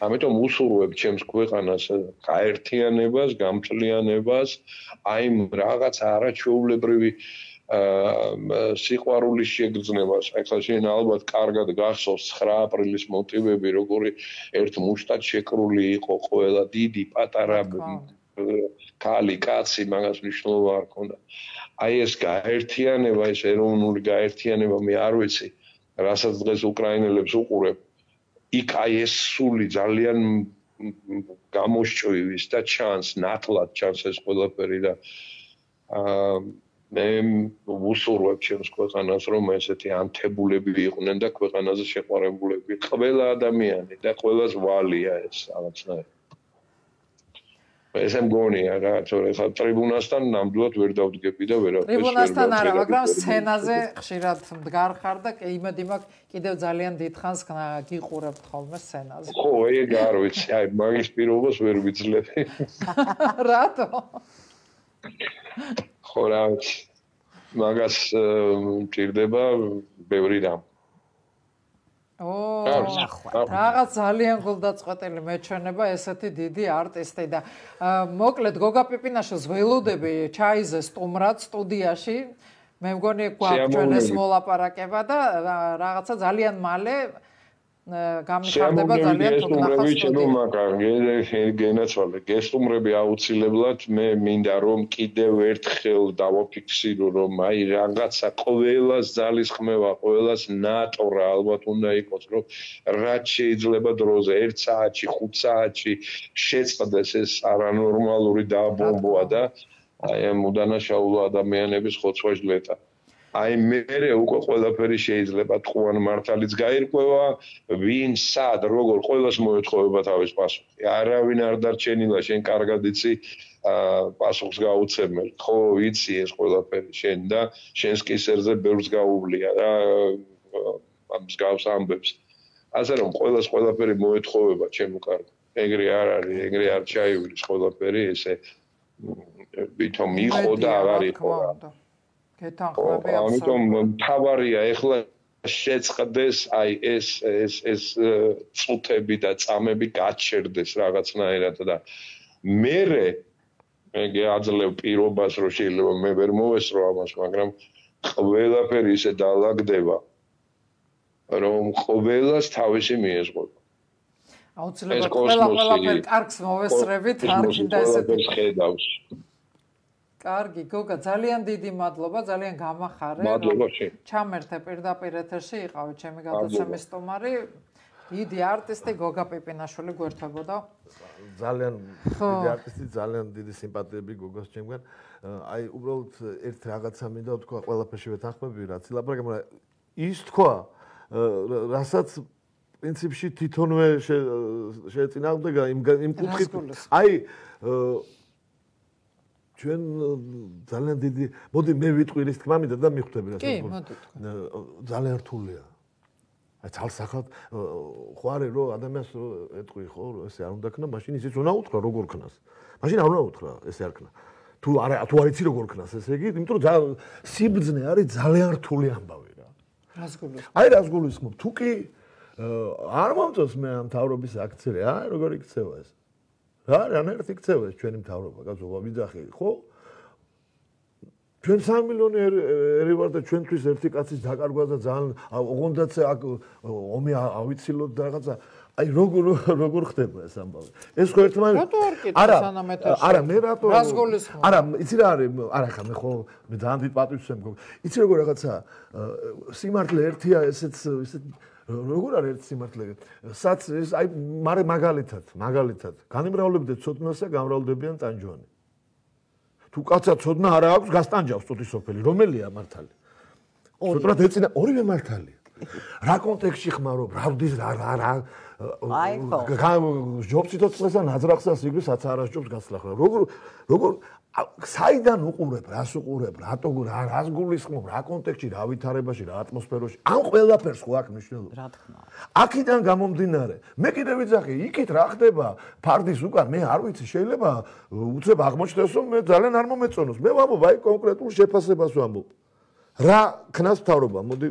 ამიტომ უსურვებ ჩემს ქვეყანას გაერთიანებას, გამწლიანებას, აი რაღაც არაჩვეულებრივი სიყვარულის შეგრძნებას. ახლა შენ ალბათ კარგად გახსოვს ცხრა აპრილის მოტივები, როგორი ერთ მუშტად შეკრული იყო ყველა დიდი, პატარა ქალი, კაცი, მაგას მნიშვნელობა არ ქონდა. აი ეს გაერთიანება, ეს ეროვნული გაერთიანება, მე არ ვიცი, რასაც დღეს უკრაინელებს უყურებ იქ აი ეს სული ძალიან გამოსჭვივის და ჩანს ნათლად ჩანს ეს ყველაფერი და მე ვუსურვებ ჩემს ქვეყანას რომ ესეთი ანთებულები იყვნენ და ქვეყანაზე შეყვარებულები ყველა ადამიანი და ყველას ვალია ეს რაღაცნაირად ესე მგონია რა თორე ხა ტრიბუნასთან ნამდვილად ვერ დავდგები და ვერაფერს ტრიბუნასთან არა მაგრამ სცენაზე ხშირად მდგარ ხარ და იმედი მაქვს კიდევ ძალიან დიდხანს გიყურებთ ხოლმე სცენაზე ხო ეგ არ ვიცი აი მაგის პირობას ვერ ვიძლები რატო ხო რა მაგას მჭირდება ბევრი რამ. ო, რაღაც ძალიან გულდაწყვეტილი მეჩვენება ესეთი დიდი არტისტი და მოკლედ გოგა პიპინაშვილს ველოდები ჩაიზე სტუმრად სტუდიაში. მე მგონი გვაქვს მოლაპარაკება და რაღაცა ძალიან მალე გამიხარდება ძალიან თუ ნახავს გენაცვალე გესტუმრები აუცილებლად მე მინდა რომ კიდევ ერთხელ დავაფიქსირო რომ აი რაღაცა ყველას ძალისხმევა ყველას ნატორა ალბათ უნდა იყოს რომ რაც შეიძლება დროზე ერთ საათში ხუთ საათში შეწყდეს ეს არანორმალური დაბომბვა და აი ამ უდანაშაულო ადამიანების ხოცვა-ჟლეტა აი მე უკვე ყველაფერი შეიძლება თქვენ მართალიც გაირკვევა ვინ სად როგორ ყველას მოეთხოვება თავის პასუხი არავინ არ დარჩენილა შენ კარგად იცი პასუხს გაუცემელ ხო ვიცი ეს ყველაფერი შენ და შენს კისერზე ბევრს გაუვლია რა ამ მსგავს ამბებს ასე რომ ყველას ყველაფერი მოეთხოვება ჩემო კარგო ეგრე არ არის ეგრე არ ჩაივლის ყველაფერი ესე ვითომ იყო და აღარ იყო გეთანხმები ამიტომ თავარია ეხლა შეწყდეს აი ეს ეს ეს წუთები და წამები გაჩერდეს რაღაცნაირად და მე მე აძლევ პირობას რომ შეიძლება მე ვერ მოვესწრო ამას მაგრამ ყველაფერი ისე დაალაგდება რომ ყველას თავისი მიეზღვა აუცილებლად ყველა ყველაფერი კარგს მოვესწრებით კარგი და ესეთი ხედავს კარგი, გოგა, ძალიან დიდი მადლობა, ძალიან გამახარე. მადლობა შენ. ჩამერთე პირდაპირ ეთერში იყავი ჩემი გადაცემის სტუმარი. დიდი არტისტი გოგა პიპინაშვილი გვერდებოდა. ძალიან დიდი არტისტი, ძალიან დიდი სიმპათიები გოგას ჩემგან. აი, უბრალოდ ერთ რაღაცა მინდა თქვა, ყველაფერში ვეთანხმები, რაც ილაპარაკე, მაგრამ ის თქვა, რასაც პრინციპში თვითონვე შეეწინააღმდეგა იმ იმ კუთხით. აი ჩვენ ძალიან დიდი მოდი მე ვიტყვი ის თქმა მინდა და მიხვდები რა კი მოდი ძალიან რთულია აი ძალსახად ხო არის რომ ადამიანს ეტყვი ხო ესე არ უნდა ქნა მაშინ ისიც უნდა უთხრა როგორ ქნას მაშინ არ უნდა უთხრა ესე არ ქნა თუ არა თუ არ იცი როგორ ქნას ესე იგი იმიტომ რომ სიბძნე არის ძალიან რთული ამბავი რა რას გულისხმობ აი რას გულისხმობ თუ კი არ მომწონს მე ამ თავრობის აქცია აი როგორ იქცევა ეს რა რანაირად იქცევა ეს ჩვენი მთავრობა კაცო ვიძახი ხო ჩვენ სამი მილიონი ერი ვარ და ჩვენთვის ერთი კაცის დაკარგვა და ძალიან ოღონდაც აქ ომი ავიცილოთ და რაღაცა აი როგორ როგორ ხდება ეს ამბავი ეს ხო ერთმანეთს არა არა მე რატო არა იცი რა არის არა ხა მე ხო მე ძალიან დიდ პატივს ვემგო იცი როგორ რაღაცა სიმართლე ერთია ესეც ესეთ როგორ არის ერთ სიმართლე სად ეს აი მარე მაგალითად მაგალითად განიმრავლებდეთ ცოდნას და გამრავლდებიან ტანჯვანი თუ კაცად ცოდნა არა აქვს გასტანჯავს წუთი სოფელი რომელია მართალი ცოდნად ეწინა ორივე მართალია რა კონტექსტში ხმარო ბრალდის რა რა აი ხო ჯობს სიტყვასა ნაძრახსა სიგრის აცარაშჯობს გასლახა როგორ როგორ საიდან უყურებ რას უყურებ რატო რა რას გულისხმობ რა კონტექსტში რა ვითარებაში რა ატმოსფეროში ამ ყველაფერს ხო აქვს მნიშვნელობა რა თქმა უნდა აქედან გამომდინარე მე კიდე ვიძახი იქით რა ხდება ფარდის უკან მე არ ვიცი შეიძლება უცებ აღმოჩნდეს რომ მე ძალიან არ მომეწონოს მე ვამბობ აი კონკრეტულ შეფასებას ვამბობ რა ქნას მთავრობა მოდი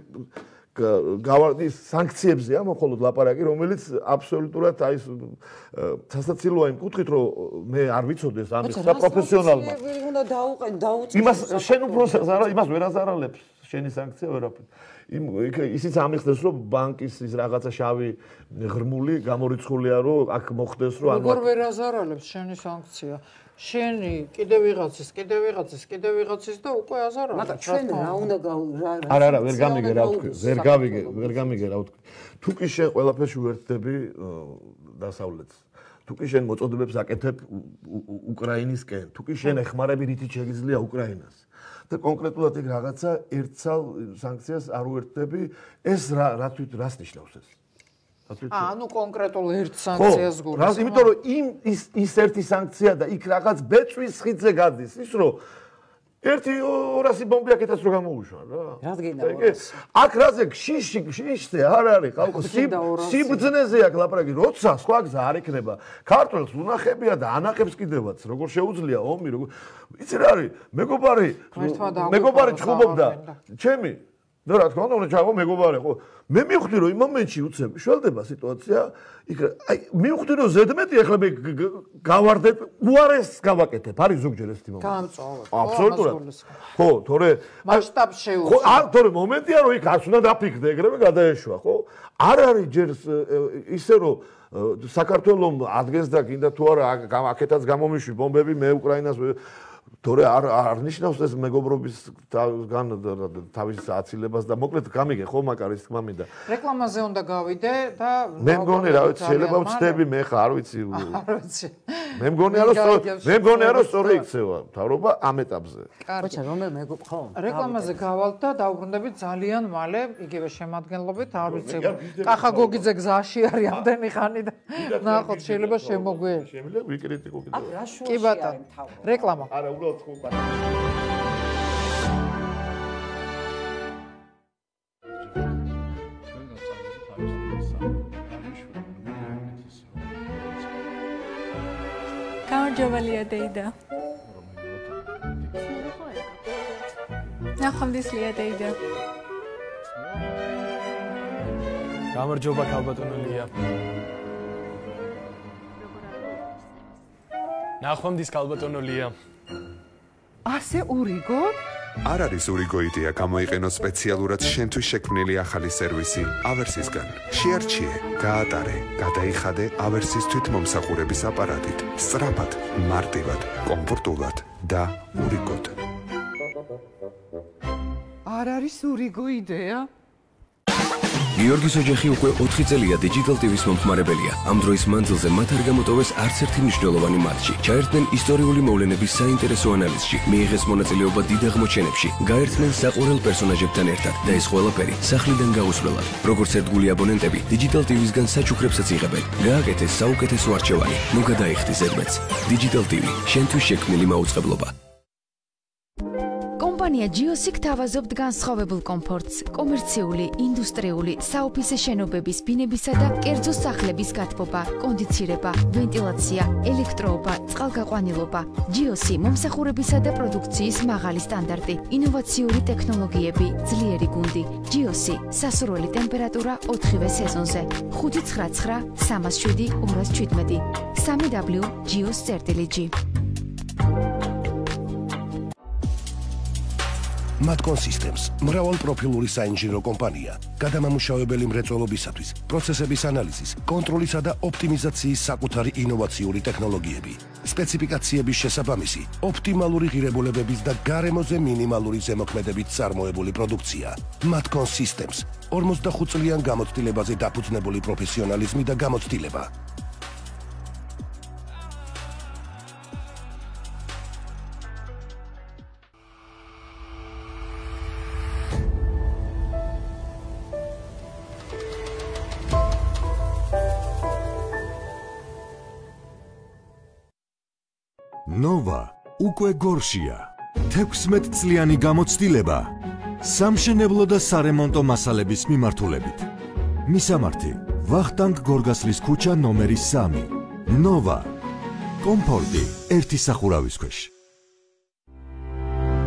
გავარდის სანქციებზეა მხოლოდ ლაპარაკი რომელიც აბსოლუტურად აი სასაცილოა იმ კუთხით რომ მე არ ვიცოდეს ამის პროფესიონალმა უნდა დაუყენ დაუწეს იმას შენ უფრო არა იმას ვერ აზარალებს შენი სანქცია ვერაფერ იმ ისიც ამიხსნეს რომ ბანკის ის რაღაცა შავი ღრმული გამორიცხულია რომ აქ მოხდეს რომ როგორ ვერ აზარალებს შენი სანქცია შენი კიდე ვიღაცის კიდე ვიღაცის კიდე ვიღაცის და უკვე აზარალებს მაგრამ ჩვენ რა უნდა რა არა არა ვერ გამიგე რა ვთქვი ვერ გავიგე ვერ გამიგე რა ვთქვი თუ კი შენ ყველაფერში ვერთდები დასავლეთს თუ კი შენ მოწოდებებს აკეთებ უკრაინისკენ თუ კი შენ ეხმარები რითიც შეგიძლია უკრაინას და კონკრეტულად ეგ რაღაცა ერთსალ სანქციას არ უერთდები ეს რა რა თვით რას ნიშნავს ეს აა ნუ კონკრეტულ ერთ სანქციას გულისხმობ. რა, იმიტომ რომ იმ ის ის ერთი სანქცია და იქ რაღაც ბეწვის ხიდზე გადის, ის რომ ერთი ორასი ბომბი აქეთაც რო გამოუშვა რა. რადგენა ორასი? აქ რაზე შიში შიშზე არ არის ხალხო სიბძნეზე აქ ლაპარაკი, როცა სხვა გზა არ ექნება. ქართველს უნახებია და ანახებს კიდევაც, როგორ შეუძლია ომი, როგორ იცი რა არის? მეგობარი მეგობარი ჩხუბობდა ჩემი და რა თქმა უნდა უნდა ჩავო მეგობარი ხო მე მივხვდი რომ იმ მომენტში უცებ შველდება სიტუაცია იქ აი მივხვდი რომ ზედმეტი ახლა მე გავარდებ უარეს გავაკეთებ არის ზოგჯერ ეს თემა გამწოვე აბსოლუტურად ხო თორე მასშტაბს შეუძლია ხო არ თორე მომენტია რომ იქ არც უნდა დაფიქრდე ეგრევე გადაეშვა ხო არ არის ჯერ ისე რომ საქართველოს ადგენს და კიდე თუ არა აქეთაც გამომიშვი ბომბები მე უკრაინას თორე არ არ ნიშნავს ეს მეგობრობის გან თავის აცილებას და მოკლედ გამიგე ხო მაკარის თქმა მინდა რეკლამაზე უნდა გავიდე და მე მგონი რა ვიცი შეიძლება ვწდები მე ხა არ ვიცი არ ვიცი მე მგონია რომ მე მგონია რომ სწორი იქცევა მთავრობა ამ ეტაპზე ბოჭა რომელ მეგობ ხო რეკლამაზე გავალთ და დაუბრუნდებით ძალიან მალე იგივე შემადგენლობით არ ვიცი კახა გოგიძე გზაში არის ამდენი ხანი და ნახოთ შეიძლება შემოგვიე შემიძლია ვიკრიტიკო კიდევ კი ბატონო რეკლამა არა უბრალოდ ხო ბატონო გამარჯობელია დეიდა. ნახვამდისლია დეიდა. გამარჯობა ქალბატონო ლია. ნახვამდის ქალბატონო ლია. ასე ურიგო? არ არის ურიგო იდეა გამოიყენო სპეციალურად შენთვის შექმნილი ახალი სერვისი ავერსისგან. შეარჩიე, გაატარე, გადაიხადე ავერსის თვითმომსახურების აპარატით. სწრაფად, მარტივად, კომფორტულად და ურიგოდ. არ არის ურიგო იდეა? გიორგის ოჯახი უკვე ოთხი წელია Digital ტი ვის მომხმარებელია. ამ დროის მანძილზე მათ არ გამოტოვეს არც ერთი მნიშვნელოვანი მატჩი. ჩაერთნენ ისტორიული მოვლენების საინტერესო ანალიზში, მიიღეს მონაწილეობა დიდ აღმოჩენებში, გაერთნენ საყვარელ პერსონაჟებთან ერთად და ეს ყველაფერი სახლიდან გაუსვლელად. როგორც ერთგული აბონენტები, Digital ტი ვისგან საჩუქრებსაც იღებენ. გააკეთეს საუკეთესო არჩევანი. ნუ გადაიხდი ზედმეტს. Digital ტი ვი, შენთვის შექმნილი მაუწყებლობა. კომპანია ჯიოსი გთავაზობთ განსხვავებულ კომფორტს, კომერციული, ინდუსტრიული, საოფისე შენობების, ბინებისა და კერძო სახლების გათბობა, კონდიცირება, ვენტილაცია, ელექტროობა, წყალგაყვანილობა. ჯიოსი მომსახურებისა და პროდუქციის მაღალი სტანდარტი, ინოვაციური ტექნოლოგიები, ძლიერი გუნდი. ჯიოსი, სასურველი ტემპერატურა ოთხივე სეზონზე. ხუთი ცხრა ცხრა სამას შვიდი ორას ჩვიდმეტი. სამი დაბლიუ ჯიოს წერტილი ჯი. Matcon Systems მრავალპროფილური საინჟინრო კომპანია, გადამამუშავებელი მრეწველობისათვის, პროცესების ანალიზის, კონტროლისა და ოპტიმიზაციის საკუთარი ინოვაციური ტექნოლოგიები, სპეციფიკაციების შესაბამისი, ოპტიმალური ღირებულებების და გარემოზე მინიმალური ზემოქმედებით წარმოებული პროდუქცია. Matcon Systems ორმოცდახუთ წლიან გამოცდილებაზე დაფუძნებული პროფესიონალიზმი და გამოცდილება. Nova უკვე გორშია. თექვსმეტ წლიანი გამოცდილება სამშენებლო და სარემონტო მასალების მიმართულებით. მისამართი: ვახტანგ გორგასლის ქუჩა ნომერი სამი. Nova კომფორტი ერთი სახურავის ქვეშ.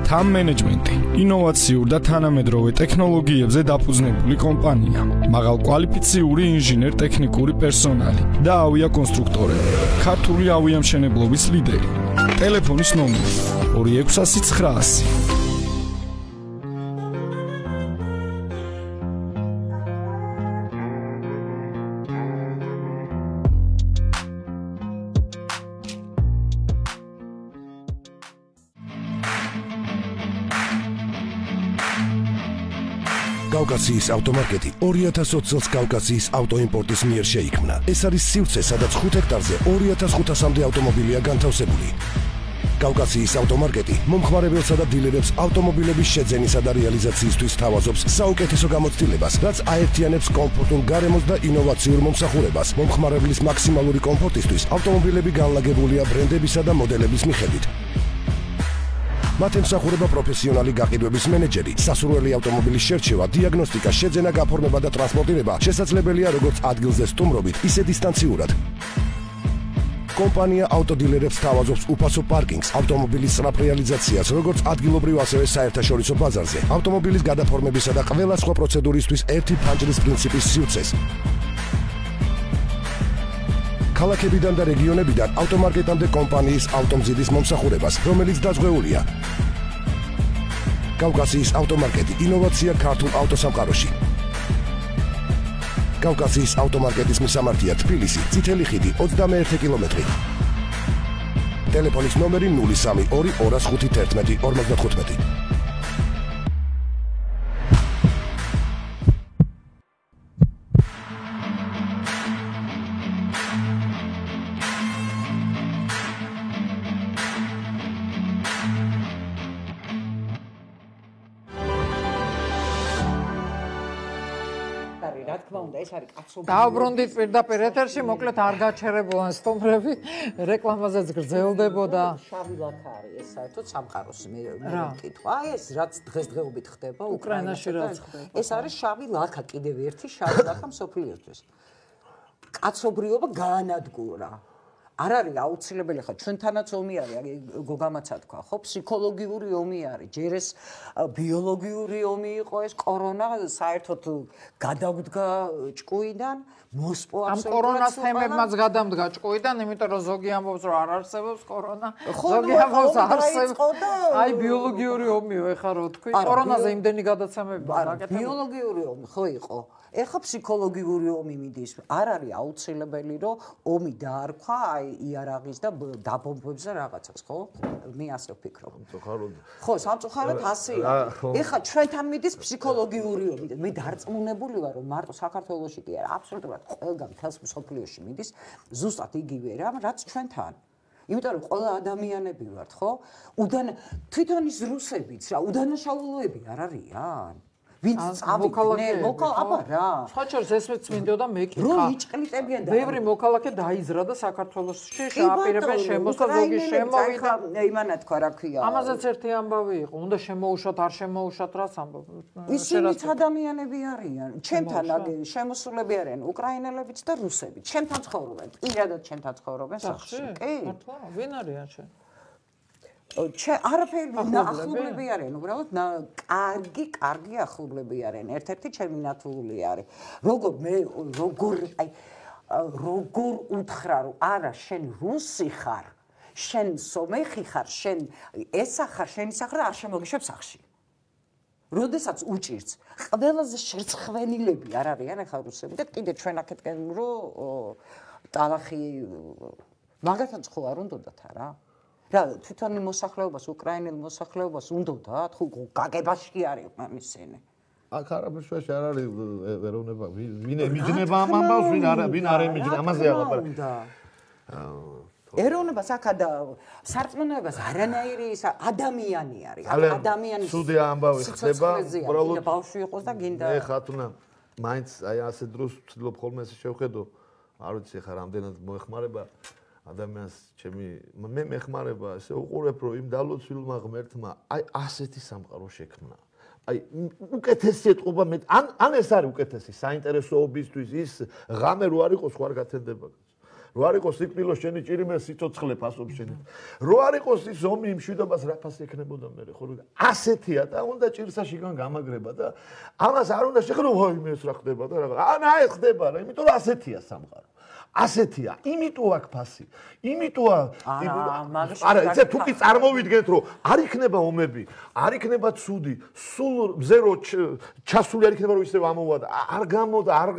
Time Management ინოვაციურ და თანამედროვე ტექნოლოგიებზე დაფუძნებული კომპანია. მაღალკვალიფიციური ინჟინერ-ტექნიკური პერსონალი და ავიაკონსტრუქტორები. ქართული ავიამშენებლობის ლიდერი. ტელეფონის ნომერი ორი ექვსასი ცხრაასი. კავკასიის ავტომარკეტი ორი ათას ოცი წელს კავკასიის ავტოიმპორტის მიერ შეიქმნა. ეს არის სივრცე, სადაც ხუთ ჰექტარზე ორი ათას ხუთასამდე ავტომობილია განთავსებული. კავკასიის ავტომარკეტი მომხმარებელსა და დილერებს ავტომობილების შეძენისა და რეალიზაციისთვის თავაზობს საუკეთესო გამოცდილებას, რაც აერთიანებს კომფორტულ გარემოს და ინოვაციურ მომსახურებას. მომხმარებლის მაქსიმალური კომფორტისთვის ავტომობილები განლაგებულია ბრენდებისა და მოდელების მიხედვით. მათ ემსახურება პროფესიონალი გაყიდვების მენეჯერი, სასურველი ავტომობილის შერჩევა, დიაგნოსტიკა, შეძენა, გაფორმება და ტრანსპორტირება შესაძლებელია როგორც ადგილზე სტუმრობით, ისე დისტანციურად. კომპანია ავტოდილერებს თავაზობს უფასო პარკინგს, ავტომობილის სწრაფ რეალიზაციას, როგორც ადგილობრივ, ასევე საერთაშორისო ბაზარზე, ავტომობილის გადაფორმებისა და ყველა სხვა პროცედურისთვის ერთი ფანჯრის პრინციპის სივრცეს. ქალაქებიდან და რეგიონებიდან ავტომარკეტამდე კომპანიის ავტომზიდის მომსახურებას, რომელიც დაზღვეულია. კავკასიის ავტომარკეტი, ინოვაცია ქართულ ავტოსამყაროში. კავკასიის ავტომარკეტის მისამართია თბილისი, წითელი ხიდი, ოცდამეერთე კილომეტრი. ტელეფონის ნომერი ნული სამი ორი ორას ხუთი თერთმეტი ორმოცდათხუთმეტი. დაუბრუნდით პირდაპირ ეთერში, მოკლედ არ გაჩერებულან სტუმრები, რეკლამაზეც გრძელდებოდა. შავი ლაქა არის ეს საერთოდ სამყაროს მე მეკითხვა. აი ეს რაც დღესდღეობით ხდება უკრაინაში რაც ხდება. ეს არის შავი ლაქა, კიდევ ერთი შავი ლაქა მსოფლიოსთვის. კაცობრიობა გაანადგურა. არ არის აუცილებელი ხა ჩვენთანაც ომი არის, გოგამაცა თქვა, ხო, ფსიქოლოგიური ომი არის, ჯერ ეს ბიოლოგიური ომი იყო ეს კორონა, საერთოდ გადავდგა ჭკუიდან, მოსპო ამ კორონას თემებმაც გადამდგა ჭკუიდან, იმიტომ რომ ზოგი ამბობს რომ არ არსებობს კორონა, ზოგი ამბობს არსებობს. აი ბიოლოგიური ომიო, ეხა რო თქვი, კორონაზე იმდენი გადაცემები გაკეთებული. ბიოლოგიური ომი ხო იყო. ეხა ფსიქოლოგიური ომი მიდის. არ არის აუცილებელი რომ ომი დაარქვა აი იარაღის და დაბომბვებს და რაღაცას, ხო? მე ასე ვფიქრობ. ხო, სამწუხაროდ ასეა. ეხა ჩვენთან მიდის ფსიქოლოგიური ომი. მე დარწმუნებული ვარ, რომ მარტო საქართველოში კი არა, აბსოლუტურად ყველგან მთელს მსოფლიოში მიდის ზუსტად იგივე რამ, რაც ჩვენთან. იმიტომ რომ ყველა ადამიანები ვართ, ხო? უდან თვითონ ის რუსებიც რა, უდანაშაულოები არ არიან? ვინც წავიდნენ, მოკალ აბა რა. სხვაჩერს ესეც მინდოდა მეკითხა. რო იჭყლიტებიან და ბევრი მოქალაქე დაიზრდა საქართველოში, შეაპირებენ შემოსა ზოგი შემოვიდა. იმანა თქვა რა ქვია. ამაზეც ერთი ამბავი იყო, უნდა შემოუშვათ, არ შემოუშვათ, რას ამბობ. ისინიც ადამიანები არიან. ჩემთან შემოსულები არიან უკრაინელებიც და რუსებიც. ჩემთან ცხოვრობენ. პირადად ჩემთან ცხოვრობენ სახლში. კი? მართლა? ვინ არიან შენ? ჩე არაფერი ახლობლები არიან, უბრალოდ კარგი, კარგი ახლობლები არიან. ერთ-ერთი ჩემი ნათული არის. როგორ მე როგორ აი როგორ უთხრა რომ არა შენ რუსი ხარ, შენ სომეხი ხარ, შენ ესა ხარ, შენი სახრა არ შემოგიშვებ სახლში. როდესაც უჭირს, ყველაზე შერცხვენილები არ არიან ახლა რუსები და კიდე ჩვენ აქეთკენ რომ ტალახი მაგათაც ხო არ უნდათ არა? რა თვითონ მოსახლეობას, უკრაინელ მოსახლეობას უნდათ, ხო გაგებაში კი არის მამისენი. აქ არაფერში არ არის ეროვნება, ვინ ემიჯნება ამ ამბავს, ვინ არ ვინ არ ემიჯნება, ამაზე ალაპარაკი. ეროვნებას აქ და სარწმუნოებას არანაირი ადამიანი არის. ადამიანის სუდი ამბავი ხდება, უბრალოდ ბავშვი იყოს და გინდა. მე ხათუნა, მაინც აი ასე დროს ვცდილობ ხოლმე ესე შევხედო, არ ვიცი ხა რამდენად მოეხმარება ადამიანს ჩემი მე მეხმარება ესე უყურებ რომ იმ დალოცვილმა ღმერთმა აი ასეთი სამყარო შექმნა. აი უკეთესი ეთყობა მე ან ან ეს არის უკეთესი საინტერესოობისთვის ის ღამე რო არ იყოს ხო არ გათენდება. რო არ იყოს სიკვდილო შენი ჭირიმე სიცოცხლე ფასობ შენი. რო არ იყოს ის ომი იმ მშვიდობას რა ფასი ექნებოდა მე ხო ასეთია და უნდა ჭირსაშიგან გამაგრება და ამას არ უნდა შეხრო ვაიმე ეს რა ხდება და რა ან აი ხდება რა იმიტომ რომ ასეთია სამყარო. ასეთია, იმიტომ აქ ფასი. იმიტომ არა, ესე თუ კი წარმოვიდგენთ, რომ არ იქნება ომები, არ იქნება ცუდი, სულ მზერო ჩასული არ იქნება, რომ ისევ ამოვა და არ გამოდა, არ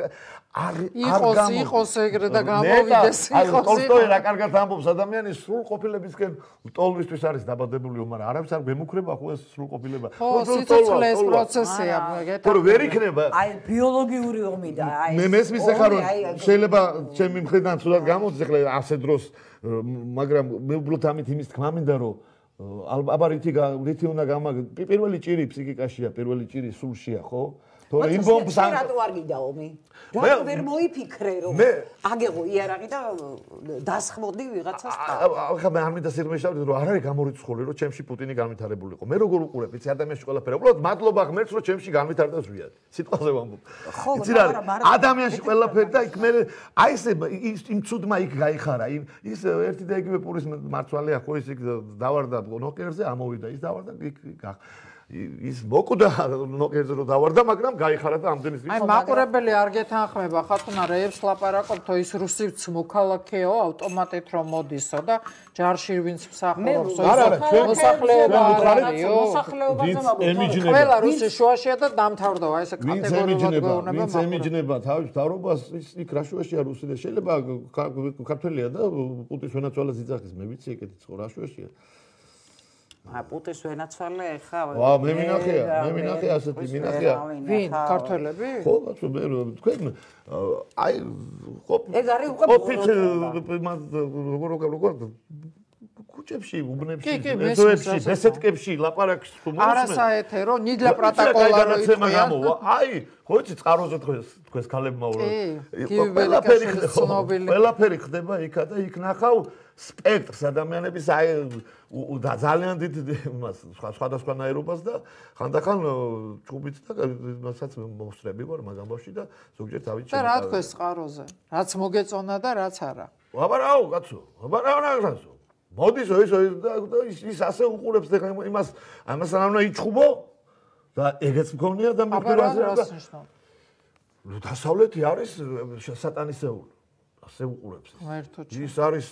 არ იყოს იყოს ეგრე და გამოვიდეს იყოს. ტოლსტოი რა კარგად ამბობს, ადამიანი სრულ ყოფილებისკენ ტოლვისთვის არის დაბადებული, მაგრამ არავის არ მემუქრება ხო ეს სრულ ყოფილება. ხო, სიცოცხლეს პროცესია, გეტყვი. რომ ვერ იქნება. აი ბიოლოგიური ომი და აი მე მესმის ახლა რომ შეიძლება ჩემი მხრიდან ცუდად გამოდის ახლა ასე დროს, მაგრამ მე უბრალოდ ამით იმის თქმა მინდა რომ აბა რითი რითი უნდა გამაგ პირველი ჭირი ფსიქიკაშია, პირველი ჭირი სულშია, ხო? თორე იმ ბომბს ან რატო არ გიდა ომი? რატო ვერ მოიფიქრე რომ აგეღო იარაღი და დასხმოდი ვიღაცას თავს? ახლა მე არ მინდა სიღრმეშავდე რომ არ არის გამორიცხული რომ ჩემში პუტინი განვითარებულიყო. მე როგორ უყურებ, იცი ადამიანში ყველაფერი. უბრალოდ მადლობა ღმერთს რომ ჩემში განვითარდა ზვიად. სიტყვაზე ვამბობ. იცი რა არის? ადამიანში ყველაფერი და იქ მე აი ესე იმ ცუდმა იქ გაიხარა. ის ერთი და იგივე პურის მარცვალეა ხო ის იქ დავარდა ნოკერზე ამოვიდა ის დავარდა იქ ის მოკუდა ნოკერზე რომ დავარდა მაგრამ გაიხარა და ამდენის აი მაყურებელი არ გეთანხმება ხათუნა რეებს ლაპარაკობთო ის რუსიც მოქალაქეო ავტომატით რომ მოდისო და ჯარში ვინც მსახურობს მოსახლეობა არისო მოსახლეობაზე ყველა რუსი შუაშია და დამთავრდა ესე კატეგორიულად გეუბნება ვინც ემიჯნება თავის თავრობას ის იქ რა შუაშია რუსი და შეიძლება ქართველია და პუტინს ვენაცვალეს იძახის მე ვიცი ეკეთი ხო რა შუაშია ა პუტინს ვენაცვალე ხა ვა მე მინახია მე მინახია ასეთი მინახია ვინ ქართველები ხო ბაცო მე თქვენ აი ეგ არის უკვე ყოფით როგორ როგორ როგორ კუჭებში უბნებში ეზოებში ბესეთკებში ლაპარაკს თუ მოსმენ არასაეთერო ნიდლა პროტოკოლა რო იყვიან აი ხო იცი წყაროზე თქვენს თქვენს ქალებმა ურო ყველაფერი ყველაფერი ხდება იქა და იქ ნახავ სპექტრს ადამიანების აი და ძალიან დიდ იმას სხვადასხვანაირობას და ხანდახან ჭუბით და მასაც მოსწრები ვარ მაგ ამბავში და ზოგჯერ თავით და რა თქვენ წყაროზე რაც მოგეწონა და რაც არა აბარაო კაცო აბარაო რაღაცო მოდის ის ის ის ასე უყურებს და იმას ამასთან უნდა იჩხუბო და ეგეც მქონია და მე დასავლეთი არის სატანისეული ასე უყურებს ის არის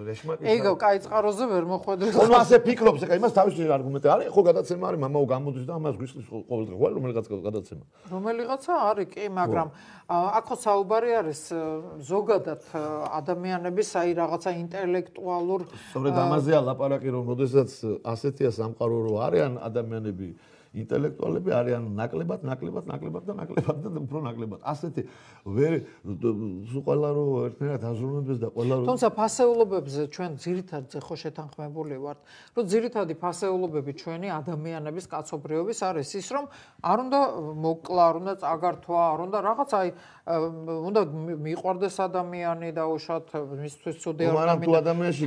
რეშმაკი ეგო კაი წყაროზე ვერ მოხვედრით ხო ასე ფიქრობს ეხა იმას თავისი არგუმენტი არის ხო გადაცემა არის მამაო გამოდის და ამას გვისლის ყოველდღე ხო რომელიღაც გადაცემა რომელიღაცა არის კი მაგრამ აქ ხო საუბარი არის ზოგადად ადამიანების აი რაღაცა ინტელექტუალურ სწორედ ამაზეა ლაპარაკი რომ როდესაც ასეთია სამყარო რო არიან ადამიანები ინტელექტუალები არიან ნაკლებად, ნაკლებად, ნაკლებად და ნაკლებად და უფრო ნაკლებად. ასეთი ვერ ყველა რო ერთნაირად აზროვნებს და ყველა რო თუმცა ფასეულობებზე ჩვენ ძირითადად ხო შეთანხმებული ვართ, რომ ძირითადი ფასეულობები ჩვენი ადამიანების კაცობრიობის არის ის, რომ არ უნდა მოკლა, არ უნდა წაგართვა, არ უნდა რაღაც აი უნდა მიყვარდეს ადამიანი და უშოთ მისთვის ცუდი არ უნდა თუ ადამიანში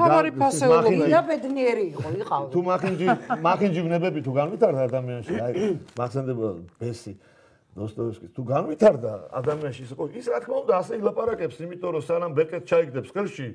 და ბედნიერი იყო, იყავდა. თუ მახინჯი მახინჯი ვნებები თუ განვითარდა ადამიანში აი მახსენდება ბესი დოსტოევსკის თუ განვითარდა ადამიანში ის ის რა თქმა უნდა ასე ილაპარაკებს იმიტომ რომ სანამ ბეკეტ ჩაიგდებს ხელში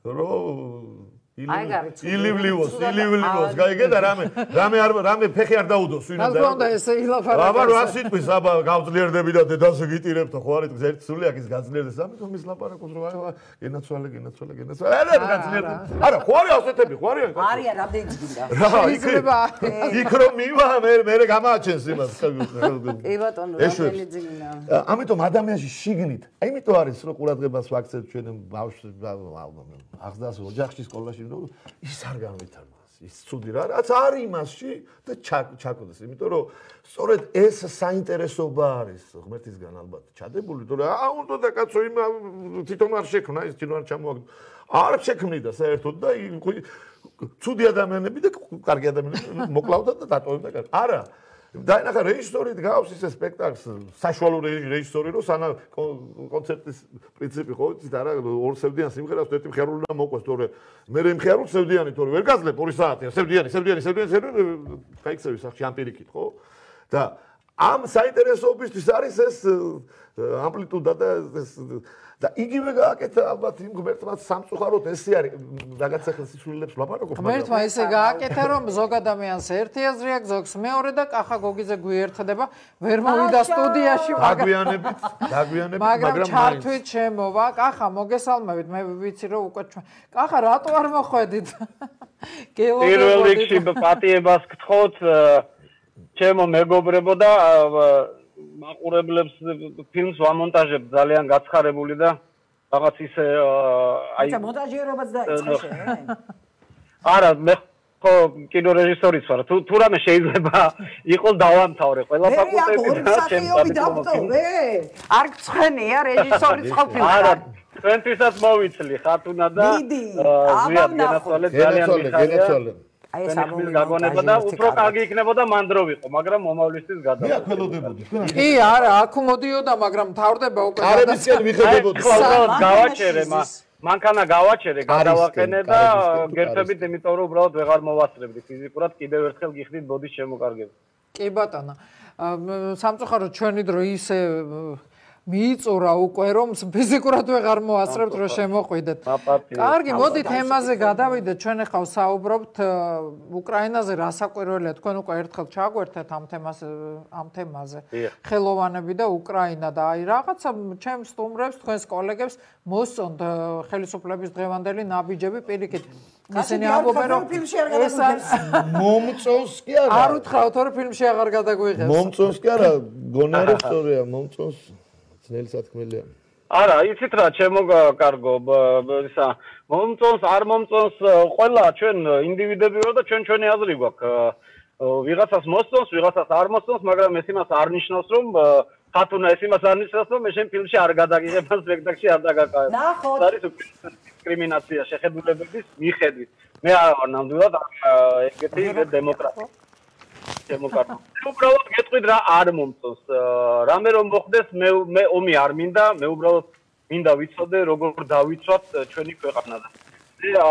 რომ ილივლიოს ილივლიოს გაიგე და რამე რამე არ რამე ფეხი არ დაუდოს ვინ უნდა უნდა ესე ილაპარაკოს აბა რა სიტყვის აბა გავძლიერდები და დედაზე გიტირებთ ხო არ იტყვის ერთი სულიაკ ის გაძლიერდეს ამიტომ ის ლაპარაკობს რომ აი გენაცვალე გენაცვალე გენაცვალე არა გაძლიერდეს არა ხო არის ასეთები ხო არიან არიან რამდენი გინდა შეიძლება იქ რომ მივა მე მე გამააჩენს იმას კი ბატონო რამდენი ძინა ამიტომ ადამიანში შიგნით აიმიტომ არის რომ ყურადღებას ვაქცევთ ჩვენ ბავშვს აღზრდას ოჯახში სკოლაში ის არ განვითარდეს ის ცუდი რა რაც არის იმასში და ჩაკოდეს იმიტომ რომ სწორედ ეს საინტერესოება არის ღმერთისგან ალბათ ჩადებული თორე აა უნდა და კაცო იმ თვითონ არ შექმნა ის თვითონ არ ჩამოაგდო არ შექმნიდა საერთოდ და ცუდი ადამიანები და კარგი ადამიანები მოკლავდა და დატოვებდა კარგი არა დაინახა რეჟისორი დგავს ისე სპექტაკლს საშუალო რეჟისორი რომ სანა კონცერტის პრინციპი ხო იცით არა ორ სევდიან სიმღერას ერთი მხიარული და მოყვეს თორე მე მე მხიარულ სევდიანი თორე ვერ გაძლებ ორი საათია სევდიანი სევდიანი სევდიანი გაიქცევი სახში ამ პირიქით ხო და ამ საინტერესოებისთვის არის ეს ამპლიტუდა და ეს და იგივე გააკეთა ალბათ იმ ღმერთმა სამწუხაროდ ესე არის რაღაცა ხელსისულელებს ლაპარაკობ მაგრამ ღმერთმა ესე გააკეთა რომ ზოგ ადამიანს ერთი აზრი აქვს ზოგს მეორე და კახა გოგიძე გვიერთდება ვერ მოვიდა სტუდიაში დაგვიანებით დაგვიანებით მაგრამ ჩართვით შემოვა კახა მოგესალმებით მე ვიცი რომ უკვე ჩვენ კახა რატო არ მოხვედით პირველ რიგში პატიებას გთხოვთ ჩემო მეგობრებო და მაყურებლებს ფილმს ვამონტაჟებ ძალიან გაცხარებული და რაღაც ისე აი მონტაჟიერობაც დაიწყე შენ არა მე ხო კინორეჟისორიც ვარ თუ თუ რამე შეიძლება იყოს დავამთავრე ყველა ფაკულტეტი და ჩემს არ გცხენია რეჟისორიც ყოფილი არა ჩვენთვისაც მოვიცლი ხათუნა და ზიად გენაცვალე ძალიან მიხარია აი ეს ამომი გაგონება და უფრო კარგი იქნებოდა მან დრო ვიყო, მაგრამ მომავლისთვის გადავიდა. მე აკველოდებოდი. კი, არა, აქ მოდიოდა, მაგრამ თავდება უკვე კარებისკენ მიხედებოდი. გავაჩერე, მანქანა გავაჩერე, გადავაყენე და გერთებით, იმიტომ რომ უბრალოდ ვეღარ მოვასწრებდი ფიზიკურად, კიდევ ერთხელ გიხდით ბოდის შემოკარგება. კი ბატონო. სამწუხაროდ ჩვენი დრო ისე მიიწურა უკვე რომ ფიზიკურად ვეღარ მოასწრებთ რომ შემოყვიდეთ. კარგი, მოდით თემაზე გადავიდეთ. ჩვენ ახლა საუბრობთ უკრაინაზე, რა საკვირველია, თქვენ უკვე ერთხელ ჩაგვერთეთ ამ თემას ამ თემაზე. ხელოვანები და უკრაინა და აი რაღაცა ჩემს სტუმრებს, თქვენს კოლეგებს მოსწონთ ხელისუფლების დღევანდელი ნაბიჯები პირიქით. ისინი ამბობენ რომ ეს მომწონს კი არა. არ უთხრათ რომ ფილმში აღარ გადაგვიღებს. მომწონს კი არა, გონა რა სწორია, მომწონს. ძნელი სათქმელია. არა, იცით რა, ჩემო კარგო, ისა მომწონს, არ მომწონს, ყველა ჩვენ ინდივიდები ვარ და ჩვენ ჩვენი აზრი გვაქვს. ვიღაცას მოსწონს, ვიღაცას არ მოსწონს, მაგრამ ეს იმას არ ნიშნავს, რომ ხათუნა ეს იმას არ ნიშნავს, რომ მე შენ ფილმში არ გადაგიღებ, სპექტაკლში არ დაგაკავებ. ნახოთ. არის დისკრიმინაცია შეხედულებების მიხედვით. მე არ ვარ ნამდვილად ეგეთი დემოკრატია. დემოკრატია. უბრალოდ გეტყვით რა არ მომწონს. რამე რომ მოხდეს, მე მე ომი არ მინდა, მე უბრალოდ მინდა ვიცოდე როგორ დავიცვათ ჩვენი ქვეყანა და.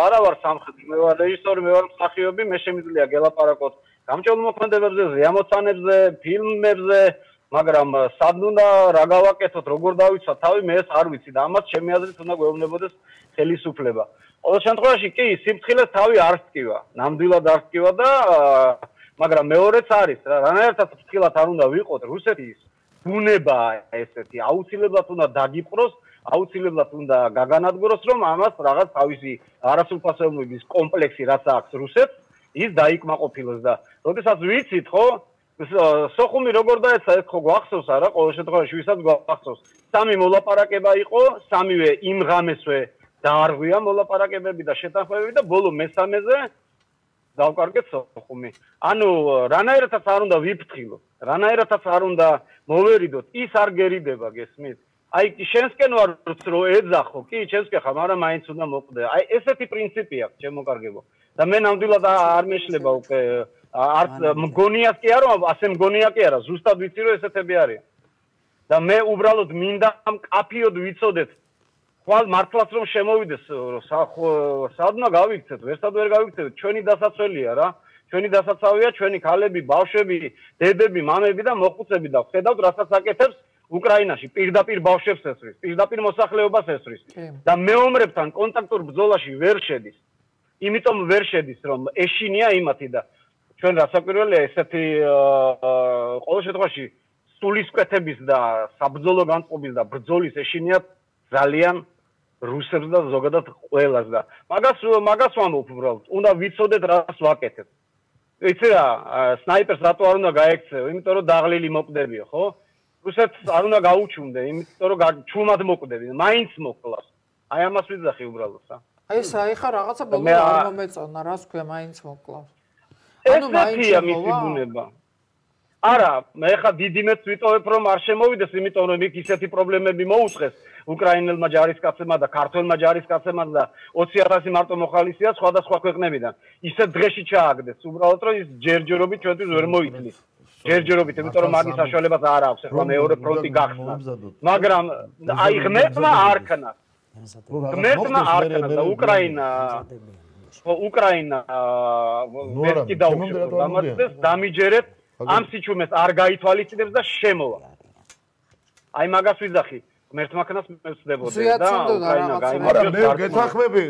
არა ვარ სამხედრო, მე ვარ რეჟისორი, მე ვარ მსახიობი, მე შემიძლია გელაპარაკოთ გამჭოლ მოქმედებებზე, ზეამოცანებზე, ფილმებზე, მაგრამ სად უნდა რა გავაკეთოთ, როგორ დავიცვათ თავი, მე ეს არ ვიცი და ამას ჩემი აზრით უნდა გვეუბნებოდეს ხელისუფლება. ყოველ შემთხვევაში კი სიფრთხილეს თავი არ სკივა, ნამდვილად არ სკივა და მაგრამ მეორეც არის რა, რანაირად ფრთხილად არ უნდა ვიყოთ რუსეთის ბუნება ესეთი, აუცილებლად უნდა დაგიპყროს, აუცილებლად უნდა გაგანადგუროს, რომ ამას რაღაც თავისი არასრულფასოვნების კომპლექსი რაც აქვს რუსეთს, ის დაიკმაყოფილოს და როდესაც ვიცით, ხო, სოხუმი როგორ დაეცა, ეს ხო გვახსოვს არა, ყოველ შემთხვევაში ვისაც გვახსოვს. სამი მოლაპარაკება იყო, სამივე იმ ღამესვე დაარღვია მოლაპარაკებები და შეთანხმებები და ბოლო მესამეზე დავკარგეთ სოხუმი. ანუ რანაირადაც არ უნდა ვიფრთხილოთ, რანაირადაც არ უნდა მოვერიდოთ, ის არ გერიდება, გესმით? აი შენსკენ ვარ რო ეძახო, კი, შენსკენ ხარ, მაგრამ მაინც უნდა მოკვდე. აი ესეთი პრინციპი აქვს, შემოკარგებო. და მე ნამდვილად არ მეშლება უკვე არც მგონიას კი არა, ასე მგონია კი არა, ზუსტად ვიცი რომ ესეთები არიან. და მე უბრალოდ მინდა მკაფიოდ ვიცოდეთ ხვალ მართლაც რომ შემოვიდეს სადმა გავიქცეთ, ვერსად ვერ გავიქცეთ, ჩვენი დასაცველია რა. ჩვენი დასაცავია, ჩვენი ქალები, ბავშვები, დედები, მამები და მოხუცები და ხედავთ რასაც აკეთებს უკრაინაში, პირდაპირ ბავშვებს ესვრის, პირდაპირ მოსახლეობას ესვრის და მეომრებთან კონტაქტურ ბრძოლაში ვერ შედის. იმიტომ ვერ შედის, რომ ეშინია იმათი და ჩვენ რასაკვირველია ესეთი ყოველ შემთხვევაში სულისკვეთების და საბრძოლო განწყობის და ბრძოლის ეშინია ძალიან რუსებს და ზოგადად ყველას და მაგას მაგას ვამბობ უბრალოდ უნდა ვიცოდეთ რას ვაკეთებ. იცი რა, სნაიპერს რატო არ უნდა გაექცევ? იმიტომ რომ დაღლილი მოკვდებიო, ხო? რუსეთს არ უნდა გაუჩუნდე, იმიტომ რომ ჩუმად მოკვდები, მაინც მოკლავს. აი ამას ვიძახი უბრალოდ, რა. აი ეს აი ხა რაღაცა ბოლო არ მომეწონა, რას ქვია, მაინც მოკლავს. ესეთია მისი ბუნება. არა, მე ხა დიდი მეც ვიტოვებ რომ არ შემოვიდეს, იმიტომ რომ იქ ისეთი პრობლემები მოუწყეს უკრაინელმა ჯარისკაცებმა და ქართველმა ჯარისკაცებმა და ოცი ათასი მარტო მოხალისეა სხვადასხვა ქვეყნებიდან. ისეთ დღეში ჩააგდეს, უბრალოდ რომ ის ჯერჯერობით ჩვენთვის ვერ მოიწლის. ჯერჯერობით, იმიტომ რომ მაგის საშუალებას არ აქვს, ახლა მეორე ფრონტი გახსნა. მაგრამ აი ღმერთმა არ ქნა. ღმერთმა არ ქნა და უკრაინა უკრაინა ვერკი დაუშვებს, დამარცხდეს, დამიჯერეთ, ამ სიჩუმეს არ გაითვალისწინებს და შემოვა. აი მაგას ვიძახი, ღმერთმა ქნას მე ვწდებოდი და უკრაინა გაიმარჯვეს. არა, მე გეთანხმები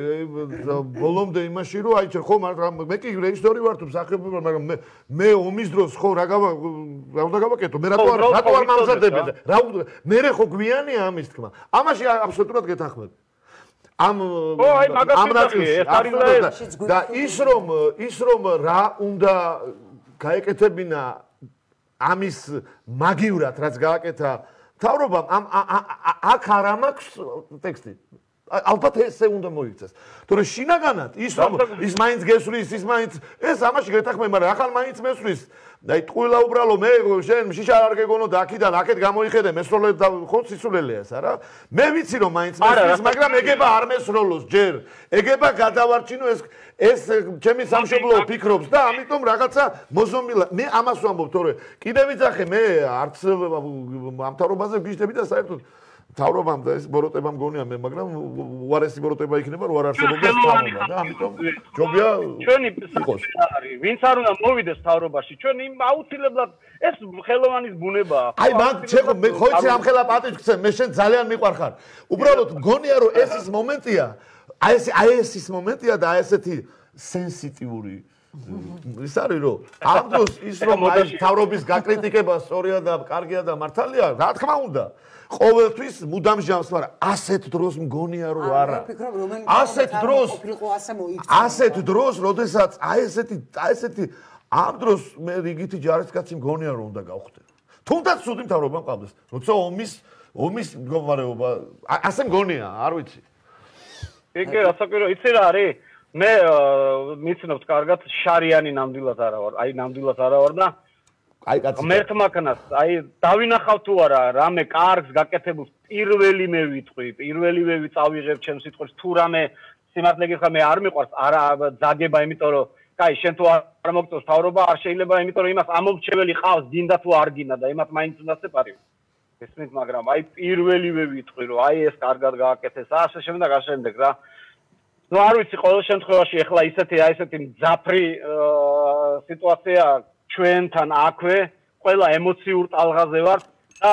ბოლომდე იმაში, რომ აი ხო, მე კი რეჟისორი ვარ თუ მსახიობი ვარ, მაგრამ მე მე ომის დროს ხო რა გავა რა უნდა გავაკეთო? მე რატო არ რატო არ მამზადები? რა მე ხო გვიანია ამის თქმა. ამაში აბსოლუტურად გეთანხმები. ამ ამ ნაწილში და ის რომ ის რომ რა უნდა გაეკეთებინა ამის მაგივრად რაც გააკეთა მთავრობამ ამ აქ არ ამაქვს ტექსტი ალბათ ესე უნდა მოიქცეს. თორე შინაგანად ის რომ ის მაინც გესვრის, ის მაინც ეს ამაში გეთახმე, მაგრამ ახალ მაინც მესვრის. აი ტყუილა უბრალო მე შენ შიშა არ გეგონო და აქიდან აქეთ გამოიხედე მესროლე და ხო სისულელეა ეს არა? მე ვიცი რომ მაინც მესვრის, მაგრამ ეგება არ მესროლოს ჯერ. ეგება გადავარჩინო ეს ეს ჩემი სამშობლო ფიქრობს და ამიტომ რაღაცა მოზომილა მე ამას ვამბობ თორე კიდე ვიძახე მე არც ამ თავრობაზე ვგიჟდები და საერთოდ თავრობამ და ეს ბოროტება მგონია მე მაგრამ უარესი ბოროტება იქნება რო არ არსებობდა თავრობა და ამიტომ ჯობია ჩვენი არის ვინც არ უნდა მოვიდეს თავრობაში ჩვენ იმ აუცილებლად ეს ხელოვანის ბუნებაა აი მაგ ჩეხო მე ხო იცი ამ ხელა პატივცემ მე შენ ძალიან მიყვარხარ უბრალოდ მგონია რომ ეს ის მომენტია აი ეს აი ეს ის მომენტია და აი ესეთი სენსიტიური ის არის რომ ამ დროს ის რომ აი თავრობის გაკრიტიკება სწორია და კარგია და მართალია რა თქმა უნდა ყოველთვის მუდამ ჟამს მაგრამ ასეთ დროს მგონია რომ არა ასეთ დროს ასეთ დროს როდესაც აი ესეთი აი ესეთი ამ დროს მე რიგითი ჯარისკაცი მგონია რომ უნდა გავხდე თუნდაც სუდი მთავრობა მყავდეს როცა ომის ომის მდგომარეობა ასე მგონია არ ვიცი ეგ რასაკვირო იცი რა არის მე მიცნობთ კარგად შარიანი ნამდვილად არა ვარ აი ნამდვილად არა ვარ და აი კაცი მე თმაკნას აი დავინახავ თუ არა რამე კარგს გაკეთებულს პირველი მე ვიტყვი პირველი მე ვიწავიღებ ჩემს სიტყვებს თუ რამე სიმართლე გითხრა მე არ მიყვარს არა ძაგება იმიტომ რომ კაი შენ თუ არ მოგწევს თავრობა არ შეიძლება იმიტომ რომ იმას ამომრჩეველი ყავს გინდა თუ არ გინდა და იმათ მაინც უნდა სეპარიო ესმით მაგრამ აი პირველივე ვიტყვი რომ აი ეს კარგად გააკეთეს ასე შემდეგ ასე შემდეგ რა ნუ არ ვიცი ყოველ შემთხვევაში ეხლა ისეთი აი ესეთი მძაფრი სიტუაცია ჩვენთან აქვე ყველა ემოციურ ტალღაზე ვართ და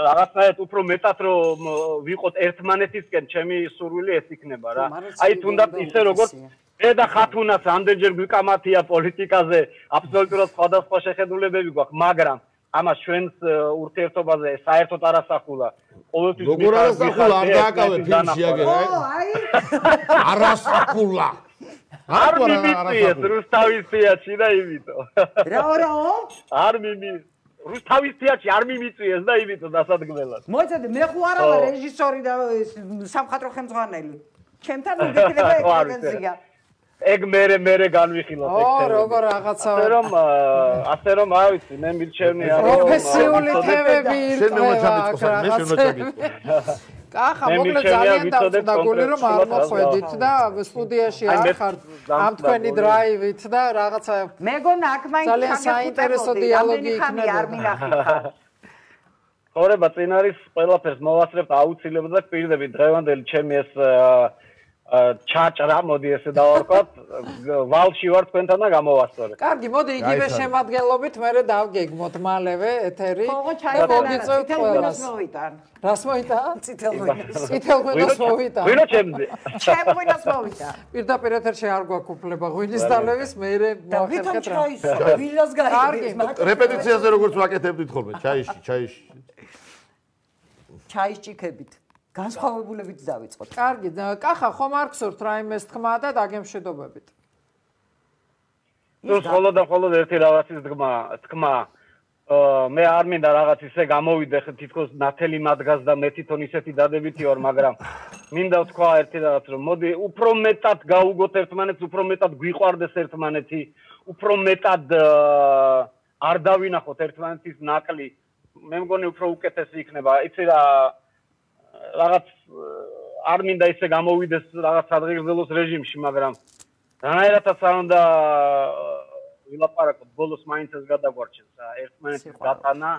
რაღაცნაირად უფრო მეტად რომ ვიყოთ ერთმანეთისკენ ჩემი სურვილი ეს იქნება რა აი თუნდაც ისე როგორც მე და ხათუნას ამდენჯერ გვიკამათია პოლიტიკაზე აბსოლუტურად სხვადასხვა შეხედულებები გვაქვს მაგრამ ამას ჩვენს ურთიერთობაზე საერთოდ არ ასახულა. ყოველთვის როგორ არ ასახულა? არ დააკავე ფილმში აგერ, აი. არ ასახულა. არ მიმიწიეს რუსთავის თეატრში და იმითო. რა რაო? არ მიმი რუსთავის თეატრში არ მიმიწიეს და იმითო დასადგმელად. მოიცადე, მე ხო არა ვარ რეჟისორი და სამხატვრო ხელმძღვანელი. ჩემთან უდიდება ექსპერტიზია. ეგ მერე მერე განვიხილოთ ეგ თემა. ო, როგორ რაღაცა. ასე რომ ასე რომ არ ვიცი, მე მირჩევნია რომ პროფესიული თემები ერთმანეთს მე შემოწაგიწო. კახა, მოკლედ ძალიან დავწუდა გული რომ არ მოხვედით და სტუდიაში არ ხართ ამ თქვენი დრაივით და რაღაცა მეგონა აქ მაინც ძალიან საინტერესო დიალოგი იქნება. არ მინახეთ. ხორება წინ არის ყველაფერს მოვასწრებთ აუცილებლად და პირდები დღევანდელი ჩემი ეს ჩაჭრა მოდი ესე დავარქვათ ვალში ვარ თქვენთან და გამოვასწორე. კარგი, მოდი იგივე შემადგენლობით მე დავგეგმოთ მალევე ეთერი. ხო, ჩაიგონა თელევიზორს მოვიტან. რას მოიტან? წითელ ღვინოს. წითელ ღვინოს მოვიტან. ღვინო ჩემზე. ჩემ ღვინოს მოვიტან. პირდაპირ ეთერში არ გვაქვს უფლება ღვინის დალევის, მე მოახერხეთ რა. ღვინოს გაიგებს. რეპეტიციაზე როგორც ვაკეთებდით ხოლმე, ჩაიში, ჩაიში. ჩაიშჭიქებით. განსხვავებულებით დავიწყოთ. კარგი, კახა, ხომ არ გსურთ რაიმეს თქმა და დაგემშვიდობებით? ნუ ხოლო და ხოლო ერთი რაღაცის თქმა, თქმა. მე არ მინდა რაღაც ისე გამოვიდე თითქოს ნათელი მადგას და მე თვითონ ისეთი დადებითი ვარ, მაგრამ მინდა ვთქვა ერთი რაღაც რომ მოდი უფრო მეტად გაუგოთ ერთმანეთს, უფრო მეტად გვიყვარდეს ერთმანეთი, უფრო მეტად არ დავინახოთ ერთმანეთის ნაკლი. მე მგონი უფრო უკეთესი იქნება. იცი რა რაღაც არ მინდა ისე გამოვიდეს რაღაც სადღეგრძელოს რეჟიმში, მაგრამ რანაირადაც არ უნდა ვილაპარაკოთ, ბოლოს მაინც ეს გადაგვარჩენს რა, ერთმანეთის გატანა,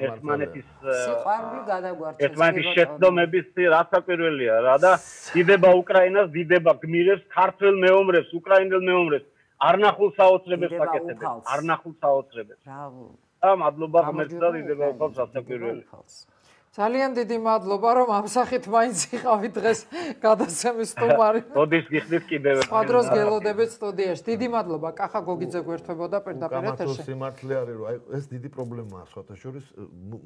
ერთმანეთის სიყვარული გადაგვარჩენს. ერთმანეთის შეცდომების რასაკვირველია რა და დიდება უკრაინას, დიდება გმირებს, ქართველ მეომრებს, უკრაინელ მეომრებს, არნახულ საოცრებებს აკეთებენ, არნახულ საოცრებებს. ბრავო. და მადლობა ღმერთს და დიდება უკავს რასაკვირველი. ძალიან დიდი მადლობა რომ ამ სახით მაინც იყავით დღეს გადაცემის სტუმარი. მოდის გიხდით კიდევ ერთხელ. სხვა დროს გელოდებით სტუდიაში. დიდი მადლობა. კახა გოგიძე გვერდებოდა პირდაპირ ეთერში. კამათოს სიმართლე არის რომ აი ეს დიდი პრობლემაა სხვათა შორის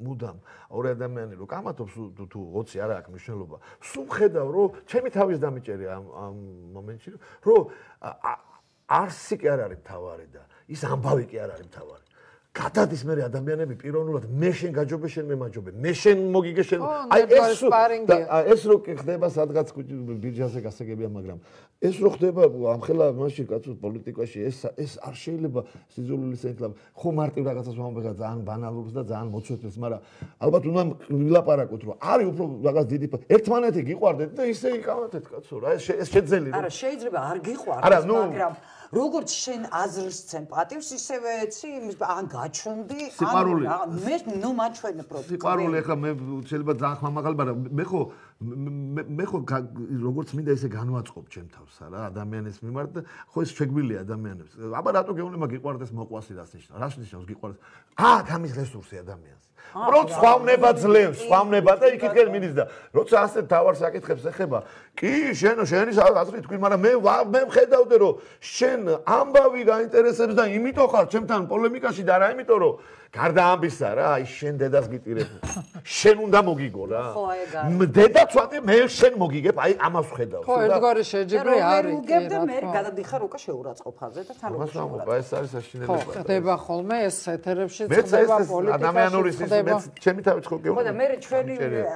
მუდამ ორი ადამიანი რომ კამათობს თუ ოცი არა აქვს მნიშვნელობა. სულ ხედავ რომ ჩემი თავის დამიჭერია ამ ამ მომენტში რომ არსი კი არ არის მთავარი და ის ამბავი კი არ არის მთავარი. გადადის მე ადამიანები პიროვნულად მე შენ გაჯობე შენ მე მაჯობე მე შენ მოგიგე შენ აი ეს ეს რო ხდება სადღაც ბირჟაზე გასაგებია მაგრამ ეს რო ხდება ამხელა მაშინ კაცო პოლიტიკაში ეს ეს არ შეიძლება სიძულვილის ეთლა ხო მარტივ რაღაცას ვამბობ ძალიან ბანალურს და ძალიან მოცვეთებს მაგრამ ალბათ უნდა ვილაპარაკოთ რომ არის უფრო რაღაც დიდი ერთმანეთი გიყვარდეთ და ისე იკავათეთ კაცო რა ეს შეძელი არა შეიძლება არ გიყვარდეს მაგრამ როგორც შენ აზრს ცენ პატივს ისევე ეცი იმის ან გაჩვენდი ან მე ნუ მაჩვენე პროფიტი სიყვარული ახლა მე შეიძლება ძალიან ხმამაღალი მაგრამ მე ხო მე ხო როგორც მინდა ისე განვაწყობ ჩემ თავს რა ადამიანის მიმართ და ხო ეს შეგვილია ადამიანებს აბა რატო გეუბნება გიყვარდეს მოყვასი რას ნიშნავს რას ნიშნავს გიყვარდეს აა გამის რესურსი ადამიანს როც სხვავნება ძლევს სხვავნება და იქითკენ მიდის და როცა ასე თავარ საკითხებს ეხება კი შენ შენი აზრი თქვი მაგრამ მე მე მხედავდე რომ შენ ამბავი გაინტერესებს და იმიტომ ხარ ჩემთან პოლემიკაში და რა იმიტომ რომ გარდა ამბისა რა აი შენ დედას გიტირებ შენ უნდა მოგიგო რა დედა ცოტა მე შენ მოგიგებ აი ამას ხედავს ხო ერთგვარი შეჯიბრი არის უგებ და მე გადადიხარ უკვე შეურაცხყოფაზე და თან მას ამბობ ეს არის საშინელება ხო ხდება ხოლმე ეს ეთერებში ხდება პოლიტიკაში ადამიანური მე ჩემი თავით ხო გეუბნები ხო და მე ჩვენი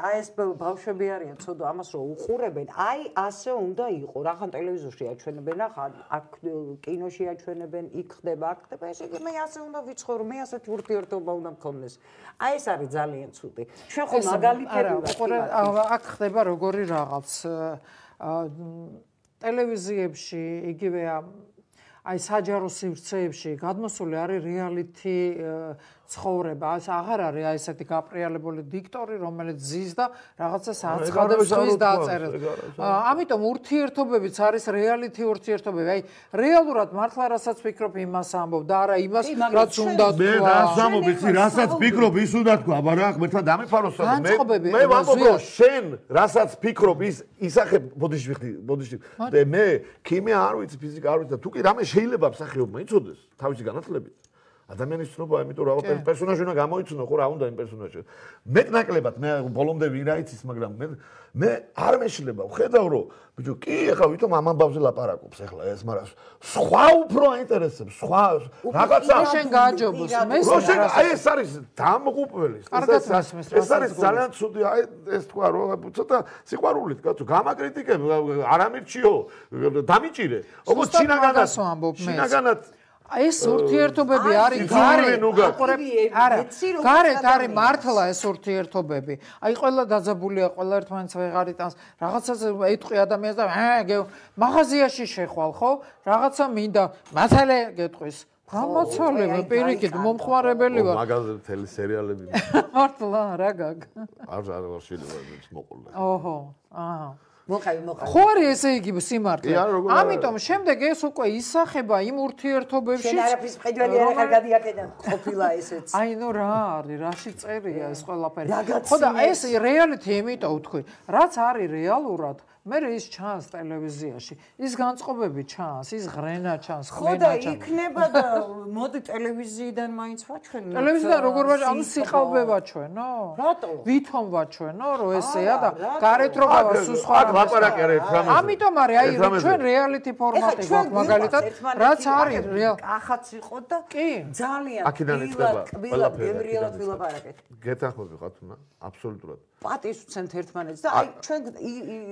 აი ეს ბავშვები არიან ცოდო ამას რო უყურებენ აი ასე უნდა იყო რახან ტელევიზორში აჩვენებენ ახლა აქ კინოში აჩვენებენ იქ ხდება აქ ხდება ესე იგი მე ასე უნდა ვიცხოვრო მე ასეთი ურთიერთობა უნდა მქონდეს აი ეს არის ძალიან ცუდი ჩვენ ხო მაგალითები ვიყურებთ აქ ხდება როგორი რაღაც ტელევიზიებში იგივე აი საჯარო სივრცეებში გადმოსული არის რეალითი ცხოვრება ეს აღარ არის აი ესეთი გაპრიალებული დიქტორი რომელიც ზის და რაღაცას აცხადებს ის დააწერეს ამიტომ ურთიერთობებიც არის რეალითი ურთიერთობები აი რეალურად მართლა რასაც ფიქრობ იმას ამბობ და არა იმას რაც უნდა თქვა მე რას ამბობ იცი რასაც ფიქრობ ის უნდა თქვა აბა რა მერთან დამიფაროს მე მე ვამბობ რომ შენ რასაც ფიქრობ ის ისახებ ბოდიში ვიხდი ბოდიში და მე ქიმია არ ვიცი ფიზიკა არ ვიცი და თუ კი რამე შეიძლება მსახიობმა იცოდეს თავისი განათლებით ადამიანის ცნობა, იმიტომ რომ რა პერსონაჟი უნდა გამოიცნო, ხო რა უნდა იმ პერსონაჟში. მეტნაკლებად მე ბოლომდე ვინ რა იცის, მაგრამ მე მე არ მეშლება, ხედავ რომ ბიჭო, კი, ახლა ვითომ ამ ამბავზე ლაპარაკობს ახლა ეს, მაგრამ სხვა უფრო აინტერესებს, სხვა რაღაცა შენ გააჯობოს, მე შენ აი ეს არის დამღუპველი. ეს არის ძალიან ცუდი, აი ეს თქვა რომ ცოტა სიყვარულით, კაცო, გამაკრიტიკებ, არ ამირჩიო, დამიჭირე. როგორც შინაგანაც, შინაგანაც ეს ურთიერთობები არის გარეთ არა გარეთ არის მართლა ეს ურთიერთობები აი ყველა დაძაბულია ყველა ერთმანეთს ვეღარ იტანს რაღაცას ეტყვი ადამიანს და მაღაზიაში შეხვალ ხო რაღაცა მინდა მათალე გეტყვის გამოცალება პირიქით მომხმარებელი ვარ მაღაზიაში თელი სერიალები მართლა რა გაგ არ არ შეიძლება ის მოყოლა ოჰო აა მოყავი მოყავი ხო არის ესე იგი სიმართლე ამიტომ შემდეგ ეს უკვე ისახება იმ ურთიერთობებში შენ არაფრის მყიდველი არ გადიაკედა ყოფილა ესეც აი ნუ რა არის რაში წერია ეს ყველაფერი ხო და ეს რეალითი იმიტომ ვთქვი რაც არის რეალურად მე ის ჩანს ტელევიზიაში ის განწყობები ჩანს ის ღრენა ჩანს ხმენა ჩანს ხო და იქნება და მოდი ტელევიზიიდან მაინც ვაჩვენო ტელევიზიიდან როგორ ვაჩვენო ანუ სიყალბე ვაჩვენო რატო ვითომ ვაჩვენო რომ ესეა და გარეთ რო გავა სულ სხვა ლაპარაკი არის რამე ამიტომ არის აი ჩვენ რეალითი ფორმატი გვაქვს მაგალითად რაც არის რეალ ახაც იყო და კი ძალიან აქედან იწყება ყველაფერი გემრიელად ვილაპარაკეთ გეთანხმები ხარ თუნა აბსოლუტურად პატის უცენთ ერთმანეთს და აი ჩვენ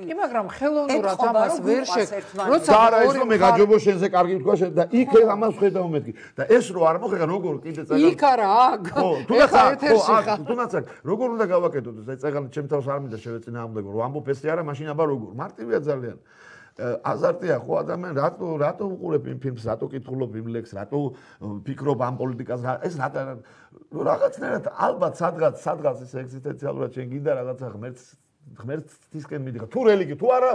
კი მაგრამ ხელოვნურად ამას ვერ შეგ როცა არა ის რომ მე გაჯობო შენზე კარგი თქვა შენ და იქ ამას ხედავ მეთქი და ეს რო არ მოხერხა როგორ კიდე წეგან იქ არა აქ ხო თუნდაც ხო თუნდაც როგორ უნდა გავაკეთოთ ეს წეგან ჩემ თავს არ მინდა შევეწინააღმდეგო რომ ამბობ ესე არა მაშინ აბა როგორ მარტივია ძალიან აზარტია ხო ადამიან რატო რატო უყურებ იმ ფილმს რატო კითხულობ იმ ლექს რატო ფიქრობ ამ პოლიტიკას ეს რატო რაღაცნაირად ალბათ სადღაც სადღაც ეს ეგზისტენციალურად შენ გინდა რაღაცა ღმერთს ღმერთისკენ მიდიხარ თუ რელიგია თუ არა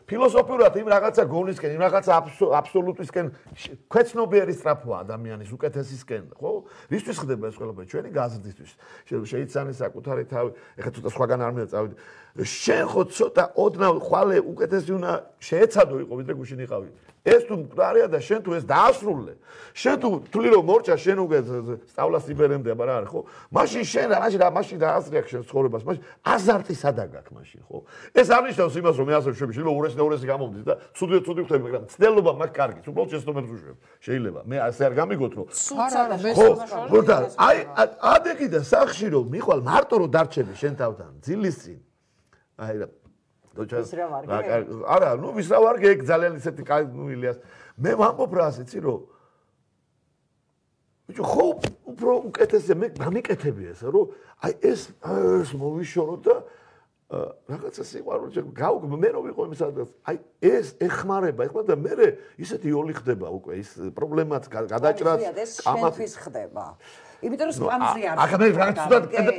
ფილოსოფიურად იმ რაღაცა გონისკენ იმ რაღაცა აბსოლუტისკენ ქვეცნობიერი სწრაფვა ადამიანის უკეთესისკენ ხო რისთვის ხდება ეს ყველაფერი ჩვენი გაზრდისთვის შეიცანი საკუთარი თავი ეხლა ცოტა სხვაგან არ მინდა წავიდე შენ ხო ცოტა ოდნავ ხვალე უკეთესი უნდა შეეცადო იყო ვიდრე გუშინ იყავი ეს თუ მკვდარია და შენ თუ ეს დაასრულე შენ თუ თვლი რომ მორჩა შენ უკვე სწავლას იბერემდე აბა რა არის ხო მაშინ შენ რა მაშინ რა მაშინ დაასრიახ შენ ცხოვრებას მაშინ აზარტის გადაგაქვს მაშინ, ხო? ეს არ ნიშნავს იმას, რომ მე ასე ვშვები, შეიძლება ურესი და ურესი გამომდის და ცუდი ცუდი ხდება, მაგრამ ცდელობა მაქვს კარგი, უბრალოდ შეცდომებს ვშვებ. შეიძლება. მე ასე არ გამიგოთ, რომ არა, არა, მე ხო, და აი ადეგი და სახში რომ მიყვალ მარტო რომ დარჩები შენ თავთან, ძილის წინ. აი რა არა, ნუ ვის რა ვარგე, ეგ ძალიან ისეთი კაი, ნუ ილიას. მე ვამბობ რა ასეცი, რომ ბიჭო, ხო, უფრო უკეთესია, მე გამიკეთები ეს, რომ აი ეს ეს მოვიშოროთ და რაღაცა სიყვარული გავუკ მე რო ვიყო იმის სადაც აი ეს ეხმარება ეხლა და მე ისეთი იოლი ხდება უკვე ის პრობლემაც გადაჭრას კამათის ხდება იმიტომ რომ სპამზე არ ახლა მე რაღაც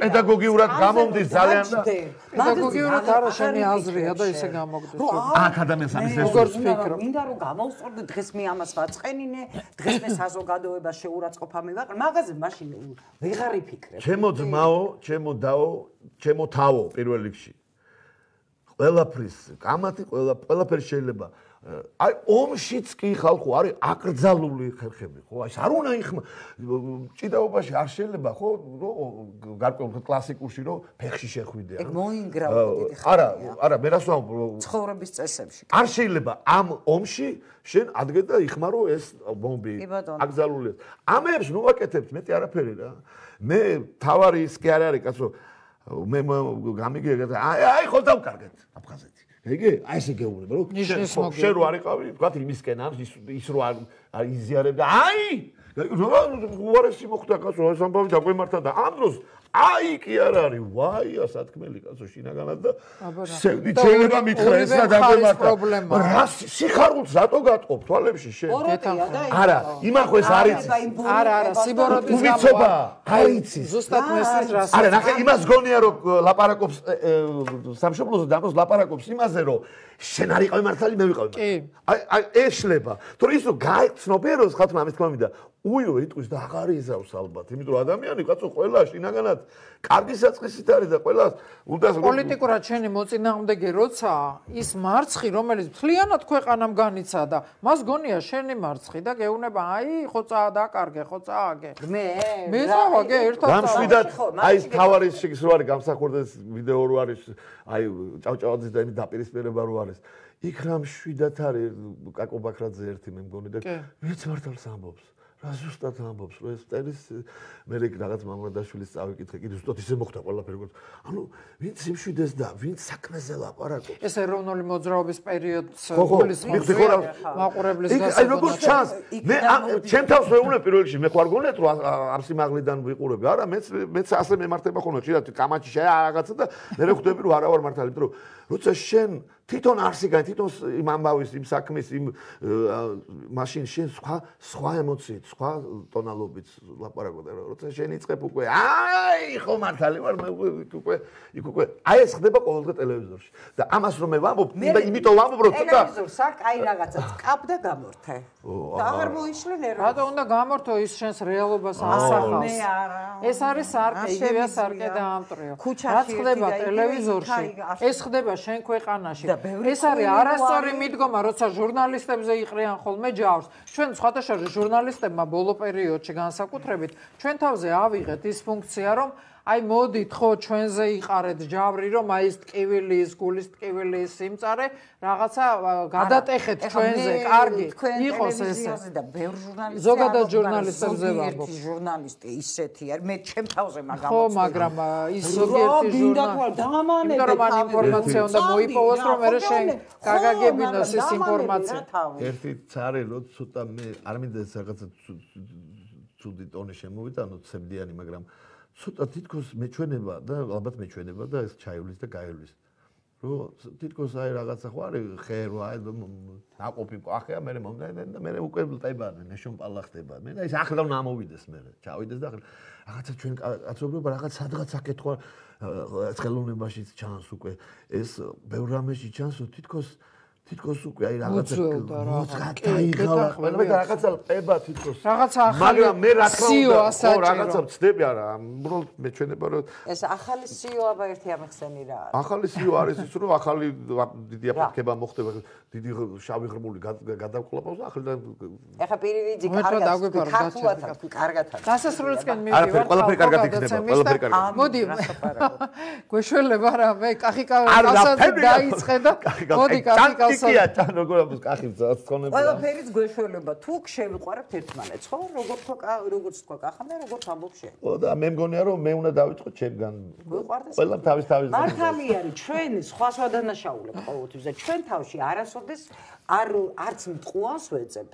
პედაგოგიურად გამომდის ძალიან და პედაგოგიურად არა შენი აზრია და ისე გამოგდეს აქ ადამიანს ამის ეს როგორც ფიქრობ მინდა რომ გამოვსწორდე დღეს მე ამას ვაწყენინე დღეს მე საზოგადოებას შეურაცხყოფა მივაყრე მაგაზე მაშინ ვეღარ იფიქრებ ჩემო ძმაო ჩემო დაო ჩემო თავო პირველ რიგში ყველაფრის კამათი ყველა ყველაფერი შეიძლება აი ომშიც კი ხალხო არის აკრძალული ხერხები ხო აი არ უნდა იხმა ჭიდაობაში არ შეიძლება ხო გარკვეულ კლასიკურში რომ ფეხში შეხვიდე ეგ მოინგრავა დიდი ხალხი არა არა მე რას ვამბობ ცხოვრების წესებში არ შეიძლება ამ ომში შენ ადგე და იხმარო ეს ბომბი აკრძალული ამებს ნუ ვაკეთებთ მეტი არაფერი რა მე თავარი ის კი არ არის კაცო მე გამიგე აი აი ხო დავკარგეთ აფხაზეთი ეგე აი ესე გეუბნება რომ შენ რო არიყავი თქვა იმისკენ ამ ის რო არ იზიარებ და აი უარესი მოხდა კაცო ეს ამბავი დაგვემართა და ამ დროს აი კი არ არის ვაი ასათქმელი კაცო შინაგანად და სევდი შეიძლება მითხრა ეს და დაგვემართა რა სიხარულს რატო გატყობ თვალებში შენ არა იმახო ეს არის არა არა სიბოროტის გამო არ იცის ზუსტად მესის რას არა ნახე იმას გონია რომ ლაპარაკობს სამშობლოზე დაკოს ლაპარაკობს იმაზე რომ შენ არ იყავი მართალი მე ვიყავი აი აი ეშლება თორე ის რომ გაიცნობიეროს ხალხმა ამის თქმა მინდა უიო იტყვის და აღარ იზავს ალბათ იმიტომ რომ ადამიანი კაცო ყველა შინაგანად კარგი საწყისით არის და ყველა უნდა პოლიტიკურად შენი მოწინააღმდეგე როცა ის მარცხი რომელიც მთლიანად ქვეყანამ განიცა და მას გონია შენი მარცხი და გეუბნება აი ხო წაადაკარგე ხო წააგე მე მე წავაგე ერთად გამშვიდად აი ეს თავარის შეგის რო არის გამსახურდეს ვიდეო რო არის აი ჭავჭავაძის და იმის დაპირისპირება რო არის იქ რამ შვიდად არის კაკო ბაქრაძე ერთი მე მგონი და ვინც მართალს ამბობს რა ზუსტად ამბობს რომ ეს წერის მე რაღაც მამრადაშვილის წავიკითხე კიდე ზუსტად ისე მოხდა ყველაფერი ანუ ვინც იმშვიდეს და ვინც საქმეზე ლაპარაკობს ეს ეროვნული მოძრაობის პერიოდს გულის მაყურებლის გასაგებია აი როგორც ჩანს მე ჩემ თავს ვეუბნებ პირველ რიგში მე ხარ გონეთ რომ ამ სიმაღლიდან ვიყურები არა მეც მეც ასე მემართება ხოლმე ხშირად კამათში შეა რაღაცა და მე ხვდები რომ არა ვარ მართალი იმიტომ რომ როცა შენ თვითონ არსიგან თვითონ იმ ამბავის იმ საქმის იმ მაშინ შენ სხვა სხვა ემოციით სხვა ტონალობით ლაპარაკობ და როცა შენ იწყებ უკვე აი ხო მართალი ვარ მე უკვე იქ უკვე აი ეს ხდება ყოველდღე ტელევიზორში და ამას რომ მე ვამბობ და იმიტომ ვამბობ რომ ცოტა ტელევიზორს აქ აი რაღაცა წკაპ და გამორთე და აღარ მოიშლენ რა რატო უნდა გამორთო ის შენს რეალობას ასახავს მე არა ეს არის სარკე იგივეა სარკე და ამტრიო რაც ხდება ტელევიზორში ეს ხდება შენ ქვეყანაში ეს არის არასწორი მიდგომა, როცა ჟურნალისტებზე იყრიან ხოლმე ჯავს. ჩვენ სხვათა შორის ჟურნალისტებმა ბოლო პერიოდში განსაკუთრებით ჩვენ თავზე ავიღეთ ის ფუნქცია, რომ აი მოდით ხო ჩვენზე იყარეთ ჯავრი, რომ აი ეს ტკივილი, ის გულის ტკივილი, ის სიმწარე რაღაცა გადატეხეთ ჩვენზე, კარგი იყოს ესე. და ბევრ ჟურნალისტებს ზოგადად ჟურნალისტებზე ვამბობ. ჟურნალისტი ისეთი არის, მე ჩემ თავზე მაგამოწევ. ხო, მაგრამ ის ზოგიერთი ჟურნალისტი იმიტომ რომ ამ ინფორმაცია უნდა მოიპოვოს, რომ მე შენ გაგაგებინოს ეს ინფორმაცია. ერთი цаრი რო ცოტა მე არ მინდა რაღაცა ცუდი ტონი შემოვიტანო ცემდიანი, მაგრამ ცოტა თითქოს მეჩვენება და ალბათ მეჩვენება და ეს ჩაივლის და გაივლის. რომ თითქოს აი რაღაცა ხო არის ხერო აი ნაყოფი ახლა მე მომდაიდან და მე უკვე ტებადი ნეშონპალა ხდება. მე და ის ახლა უნდა ამოვიდეს მე. ჩავიდეს და რაღაცა ჩვენ კაცობრიობა რაღაც სადღაც აკეთვა ხელოვნებაშიც ჩანს უკვე ეს ბევრ რამეში ჩანს რომ თითქოს თითქოს უკვე აი რაღაცა უძველდა რაღაცა რაღაც. დაიღალა ყველა და რაღაცა ყება თითქოს. რაღაცა ახალი მაგრამ მე რა თქმა სიო უნდა ასაჭირო. რაღაცა ვწდები არა, უბრალოდ მეჩვენება რომ ეს ახალი სიო აბა ერთი ამხსენი რა არის? ახალი სიო არის ის რომ ახალი დიდი აფეთქება მოხდება, დიდი შავი ღრმული გადავკლაპავს და ახლა ეხა პირივიძი კარგად ქართულად კარგად დასასრულისკენ არა, მივიდივარ. ყველაფერი კარგად იქნება, ყველაფერი კარგად. მოდი. გვეშველება რა, მე კახიკავე კაცად დაიწყე და მოდი კახიკავსა. კია თან როგორ ამბობს კახი ძოცხონება. ყველაფერიც გვეშველება. თუ შევიყვარებთ ერთმანეთს, ხო? როგორ თქვა, როგორც თქვა კახა, მე როგორც ამბობ შენ. ხო და მე მგონია რომ მე უნდა დავიწყო ჩემგან. ყველამ თავის თავის მართალი არის, ჩვენ სხვას ვადანაშაულებთ ყოველთვის და ჩვენ თავში არასოდეს არ არც მტყუანს ვეძებთ.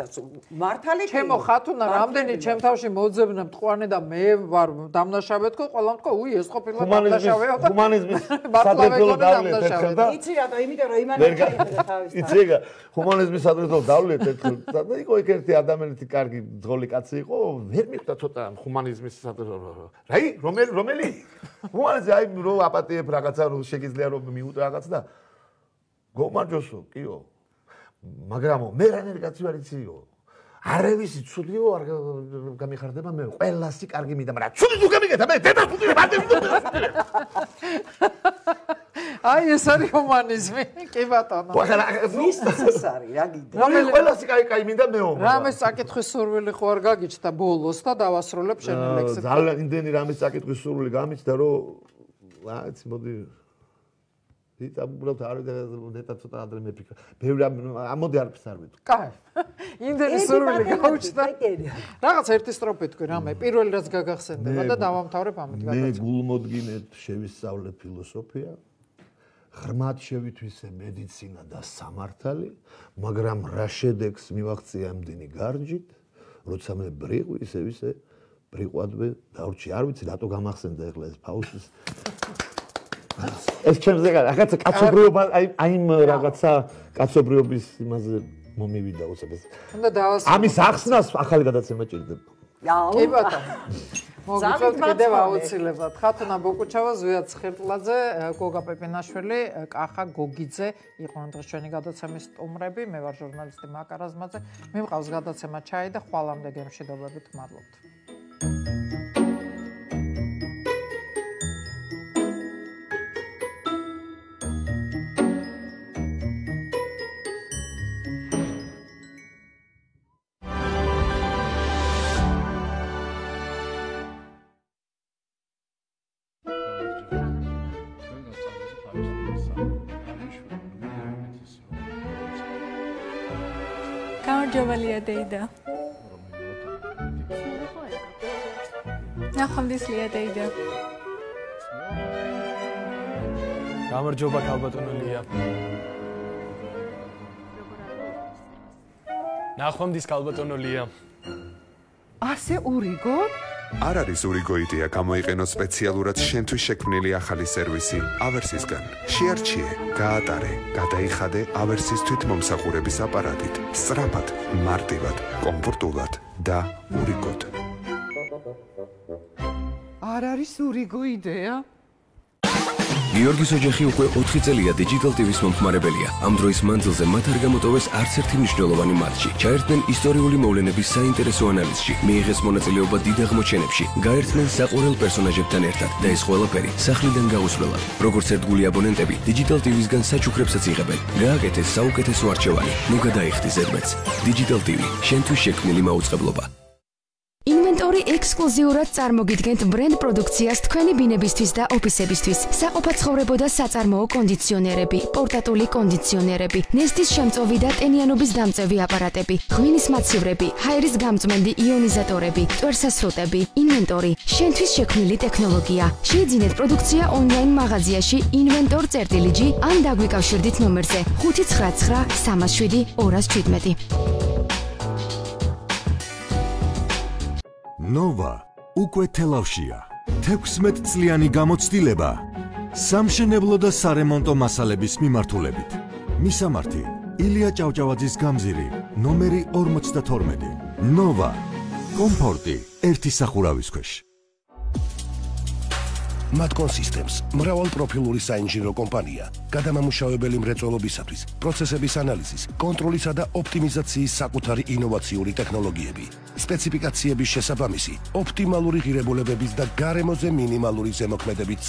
მართალი ჩემო ხათუნა რამდენი ჩემ თავში მოძებნა მტყვანე და მე ვარ დამნაშავე თქო, ყველამ თქო, უი ეს ყოფილა დამნაშავეა და ჰუმანიზმის სადრეფლო დავლეთ ერთხელ და იცი რატო, იმიტომ რომ იმან შეიძლება თავის თავის. იცი ეგა, ჰუმანიზმის სადრეფლო დავლეთ ერთხელ და იყო იქ ერთი ადამიანეთი კარგი ძღოლი კაცი იყო, ვერ მიხვდა ცოტა ჰუმანიზმის სადრეფლო. რაი, რომელი რომელი? ჰუმანიზმი აი რომ აპატიებ რაღაცა რომ შეგიძლია რომ მიუტო რაღაც და გომარჯოსო, კიო. მაგრამ მე რანერი კაცი ვარ იციო. არავისი ცუდიო არ გამიხარდება მე ყველასი კარგი მინდა, მაგრამ ცუდი თუ გამიგეთა მე დედა ცუდი არ დედა. აი ეს არის ჰუმანიზმი, კი ბატონო. ვის ეს არის, რა გიდე? რომელი ყველასი კაი კაი მინდა მეო. რამეს საკითხვის სურვილი ხო არ გაგიჩნდა ბოლოს და დავასრულებ შენი ლექსი. ძალიან იმდენი რამეს საკითხვის სურვილი გამიჩნდა რომ რაც მოდი იტა უბრალოდ არ ნეტა ცოტა ადრე მეფიქრა. ბევრი ამოდი არაფერს არ ვიტყვი. კაი. იმდენი სურვილი გაუჩნდა. რაღაც ერთი სტროფი თქვი რამე, პირველი რაც გაგახსენდება და დავამთავრებ ამით გადაწყვეტ. მე გულმოდგინედ შევისწავლე ფილოსოფია. ღრმად შევითვისე მედიცინა და სამართალი, მაგრამ რა შედეგს მივაღწია ამდენი გარჯით, როცა მე ბრიყვი ისე ისე ბრიყვადვე დავრჩი. არ ვიცი რატო გამახსენდა ეხლა ეს ფაუსტის ეს ჩემზე რაღაცა კაცობრიობა აი აი რაღაცა კაცობრიობის იმაზე მომივიდა უცებ. უნდა დავასრულო. ამის ახსნას ახალი გადაცემა ჭირდება. კი ბატონო. მოგიწევთ კიდევ აუცილებლად. ხათუნა ბოკუჩავა, ზვია ცხირტლაძე, გოგა პეპინაშვილი, კახა გოგიძე იყო დღეს ჩვენი გადაცემის სტუმრები. მე ვარ ჟურნალისტი მაკა რაზმაძე. მიმყავს გადაცემა ჩაი და ხვალამდე გემშვიდობებით მადლობთ. გამარჯობელია დეიდა. ნახვამდისლია დეიდა. გამარჯობა ქალბატონელია. ნახვამდის ქალბატონელია. ასე ურიგო? არ არის ურიგო იდეა გამოიყენო სპეციალურად შენთვის შექმნილი ახალი სერვისი ავერსისგან. შეარჩიე, გაატარე, გადაიხადე ავერსის თვითმომსახურების აპარატით. სწრაფად, მარტივად, კომფორტულად და ურიგოდ. არ არის ურიგო იდეა? გიორგის ოჯახი უკვე ოთხი წელია Digital ტი ვის მომხმარებელია. ამ დროის მანძილზე მათ არ გამოტოვეს არც ერთი მნიშვნელოვანი მატჩი. ჩაერთნენ ისტორიული მოვლენების საინტერესო ანალიზში, მიიღეს მონაწილეობა დიდ აღმოჩენებში, გაერთნენ საყურელ პერსონაჟებთან ერთად და ეს ყველაფერი სახლიდან გაუსვლელად. როგორც ერთგული აბონენტები, Digital ტი ვისგან საჩუქრებსაც იღებენ. გააკეთეს საუკეთესო არჩევანი. ნუ გადაიხდი ზედმეტს. Digital ტი ვი, შენთვის შექმნილი მაუწყებლობა. ინვენტორი ექსკლუზიურად წარმოგიდგენთ ბრენდ პროდუქციას თქვენი ბინებისთვის და ოფისებისთვის. საყოფაცხოვრებო და საწარმოო კონდიციონერები, პორტატული კონდიციონერები, ნესტის შემწოვი და ტენიანობის დამწევი აპარატები, ღვინის მაცივრები, ჰაერის გამწმენდი იონიზატორები, ტვერსასრუტები. ინვენტორი, შენთვის შექმნილი ტექნოლოგია. შეიძინეთ პროდუქცია ონლაინ მაღაზიაში inventor.gr ან დაგვიკავშირდით ნომერზე ხუთი ცხრა ცხრა სამას შვიდი ორას შვიდმეტი. ნოვა უკვე თელავშია. თექვსმეტ წლიანი გამოცდილება სამშენებლო და სარემონტო მასალების მიმართულებით. მისამართი: ილია ჭავჭავაძის გამზირი, ნომერი ორმოცდათორმეტი. ნოვა, კომფორტი ერთი სახურავის ქვეშ. Matcon Systems, მრავალპროფილური საინჟინრო კომპანია, გადამამუშავებელი მრეწველობისათვის, პროცესების ანალიზის, კონტროლისა და ოპტიმიზაციის საკუთარი ინოვაციური ტექნოლოგიები, სპეციფიკაციების შესაბამისი, ოპტიმალური ღირებულებების და გარემოზე მინიმალური ზემოქმედებით